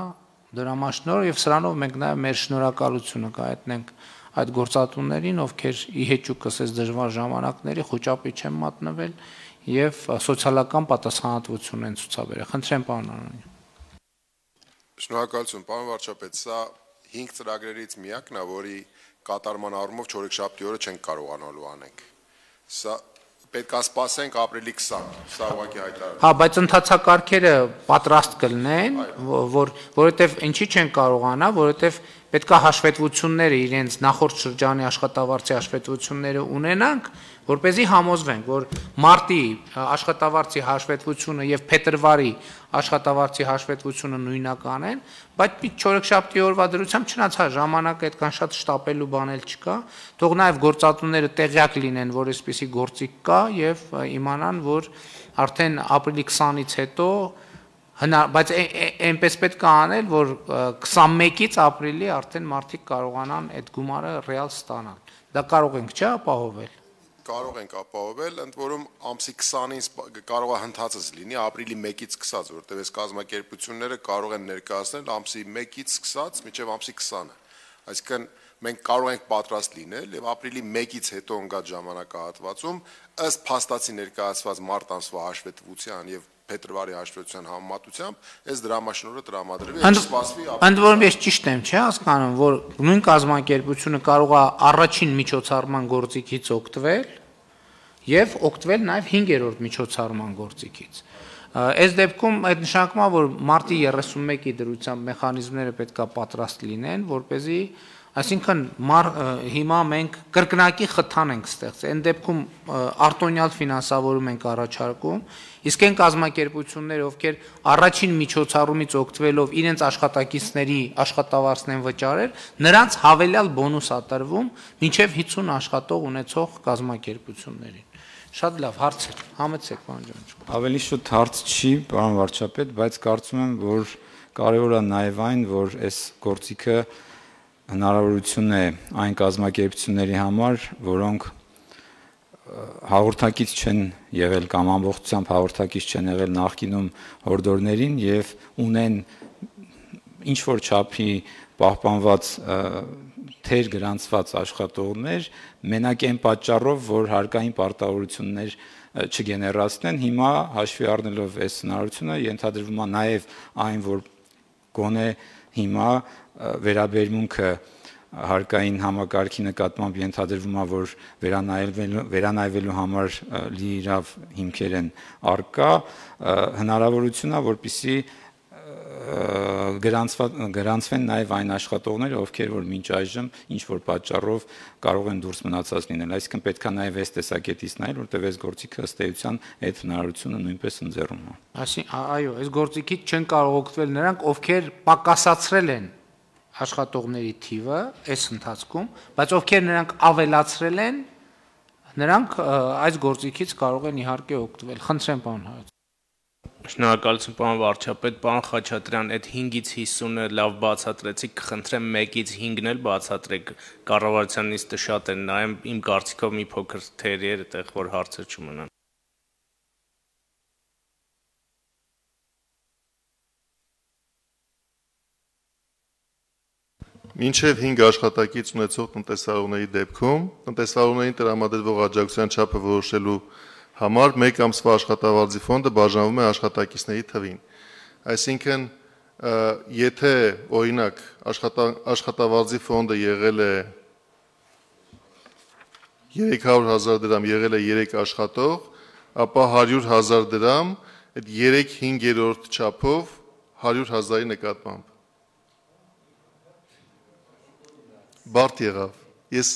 դրամաշնորհ եւ սրանով մենք նաեւ մեր շնորհակալությունը կհայտնենք այդ գործատուներին, ովքեր իհեճուկս այս դժվար ժամանակների խոճապի չեն մատնվել եւ սոցիալական պատասխանատվություն են ցուցաբերել։ Խնդրեմ, պարոն Անանյան։ Շնորհակալություն, պարոն վարչապետ, սա 5 ծրագրերից միակն է, որի կատարման առումով չորեքշաբթի օրը չենք կարողանալու անենք։ Սա պետք է սպասենք ապրիլի 20, սա ուղղակի հայտարարություն։ Հա, բայց ընթացակարգերը պատրաստ կլինեն, որովհետեւ ինչի չեն կարողանա, որովհետեւ պետք է հաշվետվությունները իրենց նախորդ շրջանի աշխատավարձի հաշվետվությունները ունենանք, որպեսզի համոզվենք, որ մարտի աշխատավարձի հաշվետվությունը եւ փետրվարի աշխատավարձի հաշվետվությունը նույնական են, բայց չորեքշաբթի օրվա դրությամբ չնայած ժամանակը այդքան շատ շտապելու բան էլ չկա, թող նաեւ գործատուները տեղյակ լինեն, որ այսպիսի գործիք կա եւ իմանան, որ արդեն ապրիլի 20-ից հետո բայց այնպես պետք է անել, որ 21-ից ապրիլի արդեն մարդիկ կարողանան այդ գումարը ռեալ ստանալ։ Դա կարող ենք չէ՞ ապահովել։ Կարող ենք ապահովել, ընդ որում ամսի 20-ից կարող է հնդածս լինի, ապրիլի 1-ից սկսած, որտեղ այս կազմակերպությունները կարող են ներկայացնել ամսի 1-ից սկսած մինչև ամսի 20-ը։ Այսինքն մենք կարող ենք պատրաստ լինել եւ ապրիլի 1-ից հետո ընկած ժամանակահատվածում ըստ փաստացի ներկայացված մարտ ամսվա հաշվետվության եւ փետրվարի հաշվետվության համեմատությամբ այս դրամաշնորհը տրամադրվի, եւ սպասվի։ Ընդ որում ես ճիշտ եմ, չէ՞ հասկանում, որ նույն կազմակերպությունը կարող է առաջին միջոցառման գործիքից օգտվել եւ օգտվել նաեւ 5-րդ միջոցառման գործիքից։ Այս դեպքում այդ նշանակում է, որ մարտի 31-ի դրությամբ մեխանիզմները պետք է պատրաստ լինեն, որպեսզի Այսինքն հիմա մենք կրկնակի խթան ենք ստեղծել, այն դեպքում արտոնյալ ֆինանսավորում ենք առաջարկում, իսկ այն կազմակերպությունները, ովքեր առաջին միջոցառումից օգտվելով իրենց աշխատակիցների աշխատավարձն վճարել, նրանց հավելյալ բոնուս ատրվում մինչև 50 աշխատող ունեցող կազմակերպություններին։ Շատ լավ հարց է, համեցեք պարոն Ջանջյան։ Ավելի շուտ հարց չի, պարոն վարչապետ, բայց կարծում եմ, որ կարևոր է նաև այն, որ այս գործիքը հնարավորություն է այն կազմակերպությունների համար, որոնք հաղորդակից չեն եղել կամ ամբողջությամբ հաղորդակից չեն եղել նախկինում հորդորներին եւ ունեն ինչ որ չափի պահպանված թեր գրանցված աշխատողներ, մենակ այն պատճառով, որ հարկային պարտավորություններ չգեներացնեն, հիմա հաշվի առնելով այս հնարավորությունը ենթադրվում է նաև այն, որ գոնե հիմա վերաբերմունքը հարկային համակարգի նկատմամբ ենթադրվում է, որ վերանայվելու համար լիիրավ հիմքեր են առկա, հնարավորություն է, որպեսզի գրանցվեն նաև այն աշխատողները, ովքեր որ մինչ այժմ ինչ որ պատճառով կարող են դուրս մնացած լինել, այսինքն պետք է նաև այս տեսակետից նայել, որտեղ այս գործիքը ըստ էության այդ հնարավորությունը նույնպես ընձեռում է։ Այո, այս գործիքից չեն կարող օգտվել նրանք, ովքեր պակասացրել են աշխատողների թիվը այս ընթացքում, բայց ովքեր նրանք ավելացրել են, նրանք այս գործիքից կարող են իհարկե օգտվել։ Խնդրեմ, պարոն Հայոց։ Շնորհակալություն, պարոն վարչապետ, պարոն Խաչատրյան, այդ 5-ից 50-ը լավ բացատրեցիք, կխնդրեմ 1-ից 5-ն էլ բացատրեք, կառավարության նիստը շատ են նայում, իմ կարծիքով մի փոքր թերի էր, այդտեղ որ հարցեր չմնան։ Մինչև 5 աշխատակից ունեցող տնտեսավարների դեպքում տնտեսավարներին տրամադրվող աջակցության չափը որոշելու համար 1 ամսվա աշխատավարձի ֆոնդը բաժանվում է աշխատակիցների թվին։ Այսինքն, եթե օրինակ աշխատավարձի ֆոնդը եղել է 300,000 դրամ, եղել է 3 աշխատող, ապա 100,000 դրամ այդ 3/5 չափով 100,000-ի նկատմամբ։ Բարդ եղավ։ Ես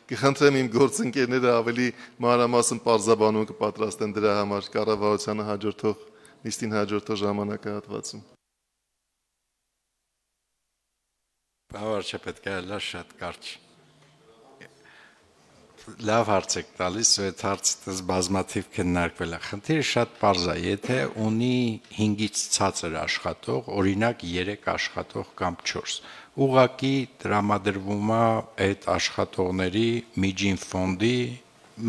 կխնդրեմ իմ գործընկերները ավելի մանրամասն պարզաբանում կպատրաստեն դրա համար կառավարությանը հաջորդող նիստին հաջորդող ժամանակահատվածում։ Վարչապետ կարելի շատ կարճ։ Լավ հարց եք տալիս, այդ հարցը բազմաթիվ քննարկվել է։ Խնդիրը շատ պարզ է, եթե ունի 5-ից ցածր աշխատող, օրինակ 3 աշխատող կամ 4, ուղղակի տրամադրվում է այդ աշխատողների միջին ֆոնդի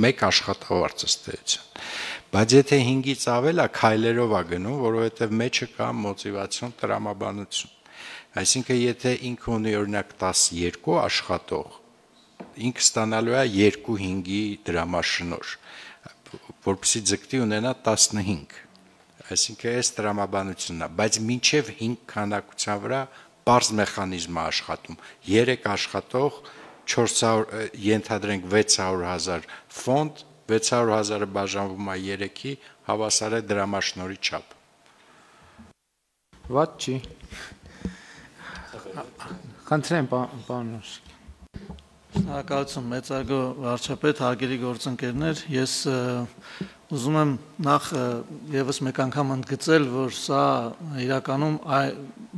1 աշխատավարձ ըստ էության։ Բայց եթե 5-ից ավել է, քայլերով է գնում, որովհետև մեջը կա մոտիվացիոն տրամաբանություն։ Այսինքն, եթե ինքը ունի օրինակ 12 աշխատող, ինքը ստանալու է 2/5-ի դրամաշնոր, որպեսզի ձգտի ունենա 15։ Այսինքն, այս տրամաբանությունն է, բայց մինչև 5 քանակության վրա բարձ մեխանիզմ է աշխատում։ 3 աշխատող, 400, ենթադրենք 600,000 ֆոնդ, 600,000-ը բաժանվում է 3-ի, հավասար է դրամաշնորի չափ։ Վատ չի։ Խնդրեմ, պարոն։ Շնորհակալություն, մեծարգո վարչապետ, հարգելի գործընկերներ, ես ուզում եմ նախ եւս մեկ անգամ ընդգծել, որ սա իրականում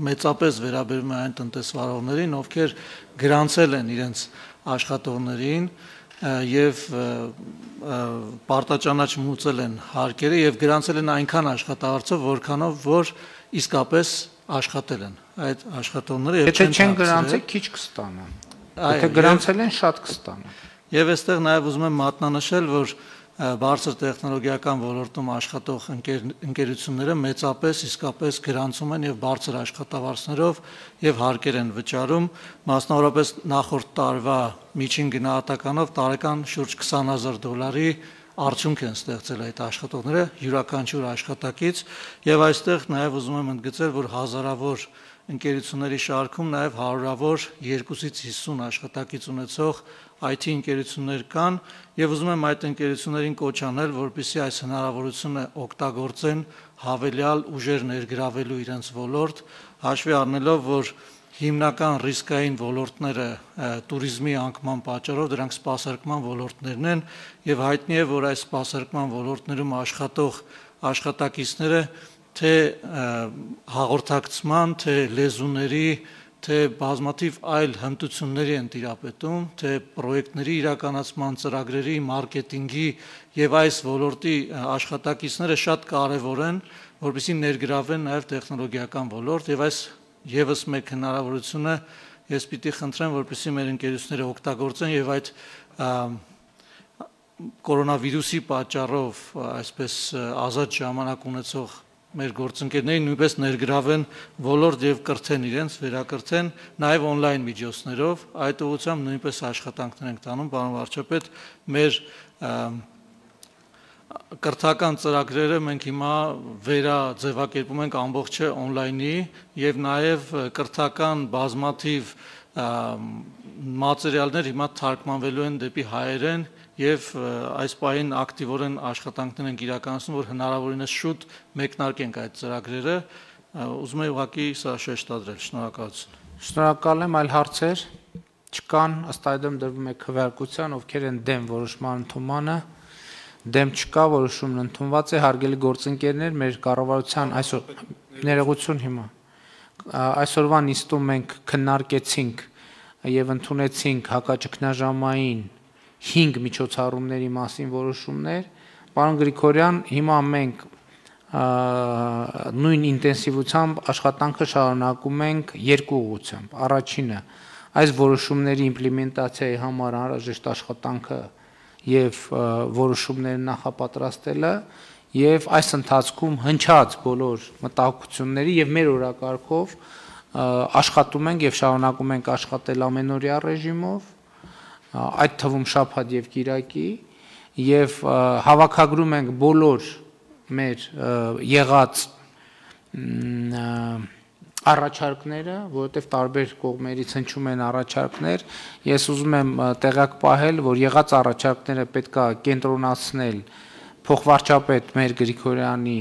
մեծապես վերաբերում է այն տնտեսվարողներին, ովքեր գրանցել են իրենց աշխատողներին եւ պարտաճանաչ մուծել են հարկերը եւ գրանցել են այնքան աշխատավարձով, որքանով որ իսկապես աշխատել են այդ աշխատողները եւ չեն գրանցել, քիչ կստանան։ Եթե գրանցել են, շատ կստանան։ Եվ այստեղ նաև ուզում եմ մատնանշել, որ բարձր տեխնոլոգիական ոլորտում աշխատող ընկերությունները մեծապես իսկապես գրանցում են եւ բարձր աշխատավարձներով եւ հարկեր են վճարում, մասնավորապես նախորդ տարվա միջին գնահատականով տարեկան շուրջ $20,000 արդյունք են ստեղծել այդ աշխատողները յուրաքանչյուր աշխատակից եւ այստեղ նաեւ ուզում եմ ընդգծել, որ հազարավոր ընկերությունների շարքում նաև հարյուրավոր 2-ից 50 աշխատակից ունեցող IT ընկերություններ կան եւ ուզում եմ այդ ընկերություններին կոչ անել, որպեսզի այս հնարավորությունը օգտագործեն հավելյալ ուժեր ներգրավելու իրենց ոլորտ, հաշվի առնելով, որ հիմնական ռիսկային ոլորտները туриզմի անկման պատճառով դրանք սպասարկման ոլորտներն են եւ հայտնի է, որ այս սպասարկման ոլորտներում աշխատող աշխատակիցները թե հաղորդակցման, թե լեզուների, թե բազմաթիվ այլ հմտությունների են տիրապետում, թե պրոյեկտների իրականացման, ծրագրերի, մարքեթինգի եւ այս ոլորտի աշխատակիցները շատ կարեւոր են, որպեսզի ներգրավեն նաեւ տեխնոլոգիական ոլորտ եւ այս եւս մեկ հնարավորությունը ես պիտի խնդրեմ, որպեսզի մեր ընկերությունները օգտագործեն եւ այդ կորոնավիրուսի պատճառով այսպես ազատ ժամանակ ունեցող մեր գործընկերներին նույնպես ներգրավեն ոլորտ եւ կրթեն իրենց, վերակրթեն նաեւ on-line միջոցներով, այդ ուղղությամբ նույնպես աշխատանքներ ենք տանում, պարոն վարչապետ, մեր կրթական ծրագրերը մենք հիմա վերաձևակերպում ենք ամբողջը on-line-ի եւ նաեւ կրթական բազմաթիվ մատերիալներ հիմա թարգմանվելու են դեպի հայերեն եւ այս պահին ակտիվորեն աշխատանքներ ենք իրականացնում, որ հնարավորինս շուտ մեկնարկենք այդ ծրագրերը, ուզում եմ ուղղակի սա շեշտադրել, շնորհակալություն։ Շնորհակալ եմ, այլ հարցեր չկան, ըստ այդմ դրվում է քվեարկության, ովքեր են դեմ որոշման ընդունմանը, դեմ չկա, որոշումն ընդունված է, հարգելի գործընկերներ, մեր կառավարության այսօր ներողություն հիմա այսօրվա նիստում մենք քննարկեցինք եւ ընդունեցինք հակաճգնաժամային 5 միջոցառումների մասին որոշումներ, պարոն Գրիգորյան, հիմա մենք նույն ինտենսիվությամբ աշխատանքը շարունակում ենք երկու ուղղությամբ։ Առաջինը այս որոշումների իմպլեմենտացիայի համար անհրաժեշտ աշխատանքը եւ որոշումները նախապատրաստելը եւ այս ընթացքում հնչած բոլոր մտահոգությունների եւ մեր օրակարգով աշխատում ենք եւ շարունակում ենք աշխատել ամենօրյա ռեժիմով, այդ թվում շաբաթ եւ կիրակի եւ հավաքագրում ենք բոլոր մեր եղած առաջարկները, որովհետև տարբեր կողմերից հնչում են առաջարկներ, ես ուզում եմ տեղյակ պահել, որ եղած առաջարկները պետք է կենտրոնացնել փոխվարչապետ մեր Գրիգորյանի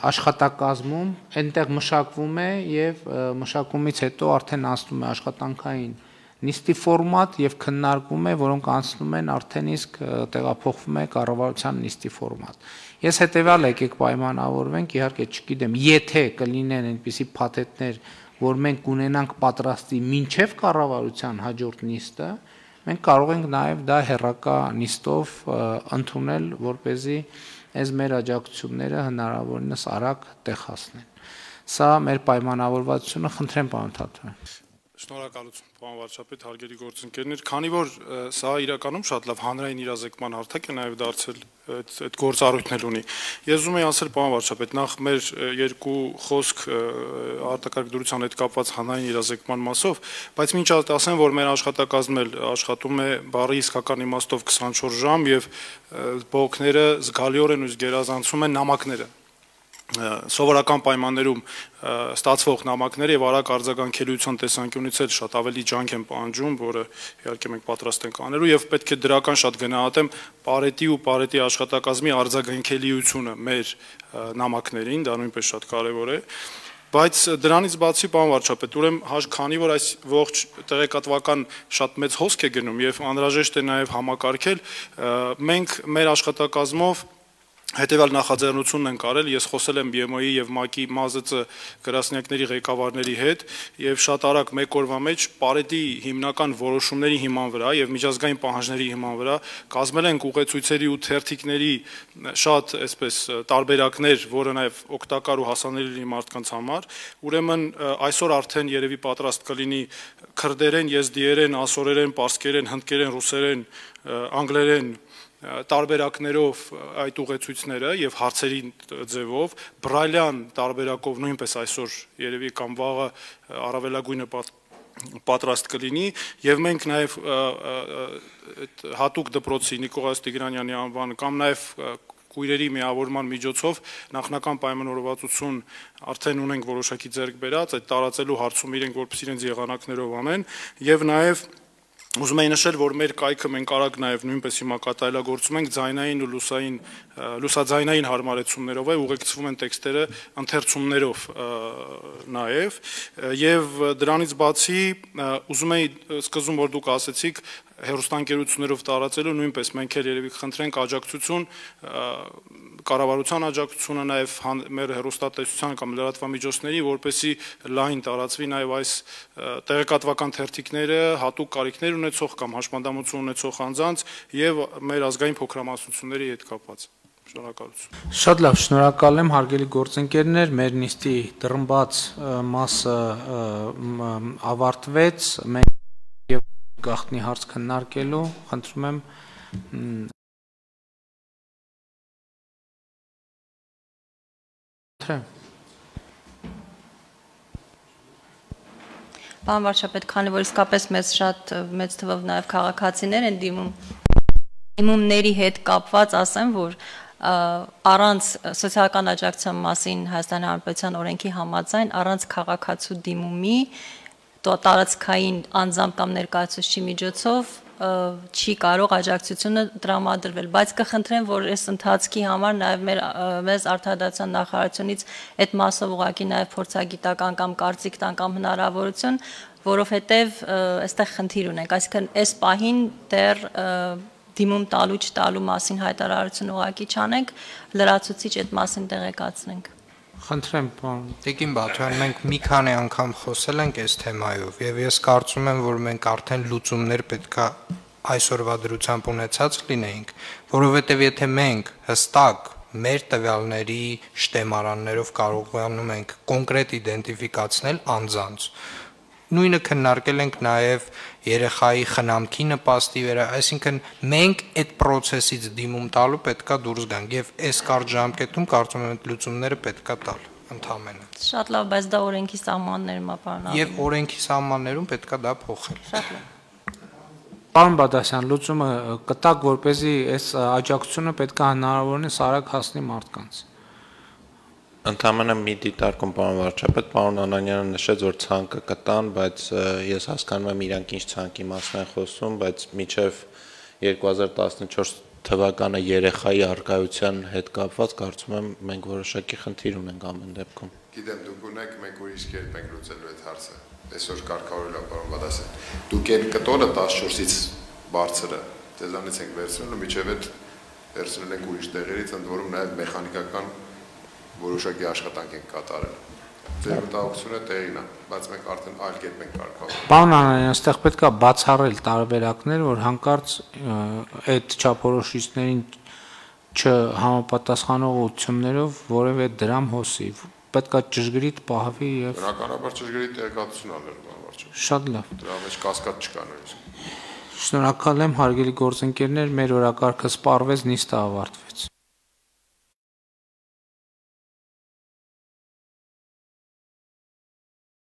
աշխատակազմում, այնտեղ մշակվում է եւ մշակումից հետո արդեն անցնում է աշխատանքային նիստի ֆորմատ եւ քննարկվում է, որոնք անցնում են արդեն իսկ տեղափոխվում է կառավարության նիստի ֆորմատ։ Ես հետեւյալ եկեք պայմանավորվենք, իհարկե չգիտեմ, եթե կլինեն այնպիսի փաթեթներ, որ մենք կունենանք պատրաստի մինչև կառավարության հաջորդ նիստը, մենք կարող ենք նաեւ դա հերրակա նիստով ընդունել, որ เป զի այս մեր աջակցությունները հնարավորինս արագ տեղ հասնեն։ Սա մեր պայմանավորվածությունը, խնդրեմ պարոն Թաթոյան։ Շնորհակալություն, պարոն վարչապետ, հարգելի գործընկերներ, քանի որ սա իրականում շատ լավ հանրային իրազեկման հարթակ է նաև դարձել այդ գործառույթն էլ ունի։ Ես ուզում եմ ասել, պարոն վարչապետ, նախ մեր երկու խոսք արտակարգ դրության հետ կապված հանրային իրազեկման մասով, բայց մինչ այդ ասեմ, որ մեր աշխատակազմն էլ աշխատում է բառի իսկական իմաստով 24 ժամ եւ բողոքները զգալիորեն ու գերազանցում են նամակները։ Սովորական պայմաններում ստացվող նամակները եւ արագ արձագանքելիության տեսանկյունից էլ շատ ավելի ջանք են պահանջում, որը իհարկե մենք պատրաստ ենք անելու եւ պետք է դրական շատ գնահատեմ Պարետի ու Պարետի աշխատակազմի արձագանքելիությունը մեր նամակներին, դա նույնպես շատ կարեւոր է։ Բայց դրանից բացի, պարոն վարչապետ, ուրեմն քանի որ այս ողջ տեղեկատվական շատ մեծ հոսք է գնում եւ անհրաժեշտ է նաեւ համակարգել, մենք մեր աշխատակազմով հետևյալ նախաձեռնությունն ենք արել, ես խոսել եմ BMO-ի եւ ՄԱԿ-ի ՄԱԶԾ գրասենյակների ղեկավարների հետ եւ շատ արագ մեկ օրվա մեջ Պարետի հիմնական որոշումների հիման վրա եւ միջազգային պահանջների հիման վրա կազմել ենք ուղեցույցերի ու թերթիկների շատ այսպես տարբերակներ, որը նաեւ օգտակար ու հասանելի մարդկանց համար։ Ուրեմն այսօր արդեն երևի պատրաստ կլինի քրդերեն, եզդիերեն, ասորերեն, պարսկերեն, հնդկերեն, ռուսերեն, անգլերեն տարբերակներով այդ ուղեցույցները եւ հարցերի ձևով բրայլյան տարբերակով նույնպես այսօր երևի կամ վաղը առավելագույնը պատրաստ կլինի եւ մենք նաեւ հատուկ դպրոցի Նիկողաս Տիգրանյանի անվան կամ նաեւ քույրերի միավորման միջոցով նախնական պայմանավորվածություն արդեն ունենք որոշակի ձեռք բերած, այդ տարածելու հարցում իրենք որպես իրենց եղանակներով անեն եւ նաեւ Ուզում եի նշել, որ մեր կայքը մենք արագ նաև նույնպես հիմա կատարելագործում ենք ձայնային ու լուսաձայնային հարմարեցումներով է, ուղեկցվում են տեքստերը ընթերցումներով նաև, եւ դրանից բացի ուզում եի սկզբում որ դուք ասեցիք հեռուստաընկերություններով տարածելու նույնպես մենք էլ երևի կխնդրենք աջակցություն կառավարության աջակցությունը նաև մեր հեռուստատեսության կամ լրատվամիջոցների, որպեսզի լայն տարածվի նաև այս տեղեկատվական թերթիկները հատուկ կարիքներ ունեցող կամ հաշմանդամություն ունեցող անձանց եւ մեր ազգային փոքրամասնությունների հետ կապված։ Շնորհակալություն։ Շատ լավ, շնորհակալ եմ հարգելի գործընկերներ, մեր նիստի դռնբաց մասը ավարտվեց, մենք եւ գաղտնի հարց քննարկելու, խնդրում եմ Պարոն վարչապետ, քանի որ իսկապես շատ մեծ թվով նաև քաղաքացիներ են դիմումների հետ կապված, ասեմ, որ առանց սոցիալական աջակցության մասին Հայաստանի Հանրապետության օրենքի համաձայն առանց քաղաքացու դիմումի տարածքային անձամբ կամ ներկայացուցիչի միջոցով չի կարող աջակցությունը տրամադրվել, բայց կխնդրեմ, որ այս ընթացքի համար նաև մեզ արդարադատության նախարարությունից այդ մասով ուղղակի նաև փորձագիտական կամ կարծիք տան կամ հնարավորություն, որովհետև այստեղ խնդիր ունենք, այսինքն այս պահին դեռ դիմում տալու չտալու մասին հայտարարություն ուղղակի չանենք, լրացուցիչ այդ մասին տեղեկացնենք։ Խնդրեմ, պարոն Տիկին Բաթյան, մենք մի քանի անգամ խոսել ենք այս թեմայով եւ ես կարծում եմ, որ մենք արդեն լուծումներ պետքա այսօրվա դրությամբ ունեցած լինեինք, որովհետեւ եթե մենք հստակ մեր տվյալների շտեմարաններով կարողանում ենք կոնկրետ իդենտիֆիկացնել անձանց, նույնը քննարկել ենք նաև երեխայի խնամքի նպաստի վրա, այսինքն մենք այդ process-ից դիմում տալու պետքա դուրս գանք եւ այս կարճ ժամկետում կարծում եմ այդ լուծումները պետքա տալ ընդհանրապես։ Շատ լավ, բայց դա օրենքի սահմաններում է, պարոն։ Եվ օրենքի սահմաններում պետքա դա փոխել։ Շատ լավ։ Պարոն Բադասյան, լուծումը կտակ, որպեսզի այս աջակցությունը պետքա հնարավորինս արագ հասնի մարդկանց։ Ընդհանրապես մի դիտարկում պարոն վարչապետ, պարոն Անանյանը նշեց, որ ցանկը կտան, բայց ես հասկանում եմ իրանք ինչ ցանկի մասն են խոսում, բայց մինչև 2014 թվականը երեխայի առկայության հետ կապված կարծում եմ մենք որոշակի խնդիր ունենք ամեն դեպքում։ Գիտեմ, դուք ունեք, մենք ուրիշ կերպ ենք լուծելու այդ հարցը։ Այսօր կարգավորել է պարոն Բադասյան։ Դուք այն կտորը 14-ից բարձրը ձեզանից ենք վերցնելու, միջև այդ վերցնել ենք ուրիշ տեղերից, ընդ որում նաև մեխանիկական որոշակի աշխատանք ենք կատարել։ Ձեր մտահոգությունը տեղին է, բայց մենք արդեն այլ կերպ ենք կարգավորել։ Պարոն Անանյան, այստեղ պետքա բացառել տարբերակներ, որ հանկարծ այդ չափորոշիչներին չհամապատասխանողություններով որևէ դրամ հոսի։ Պետքա ճշգրիտ պահվի եւ Բնականաբար ճշգրիտ տեղեկատվություն անել, պարոն վարչապետ։ Շատ լավ։ Դրա մեջ կասկած չկա նույնիսկ։ Շնորհակալ եմ հարգելի գործընկերներ, մեր օրակարգը սպառվեց, նիստը ավարտվեց։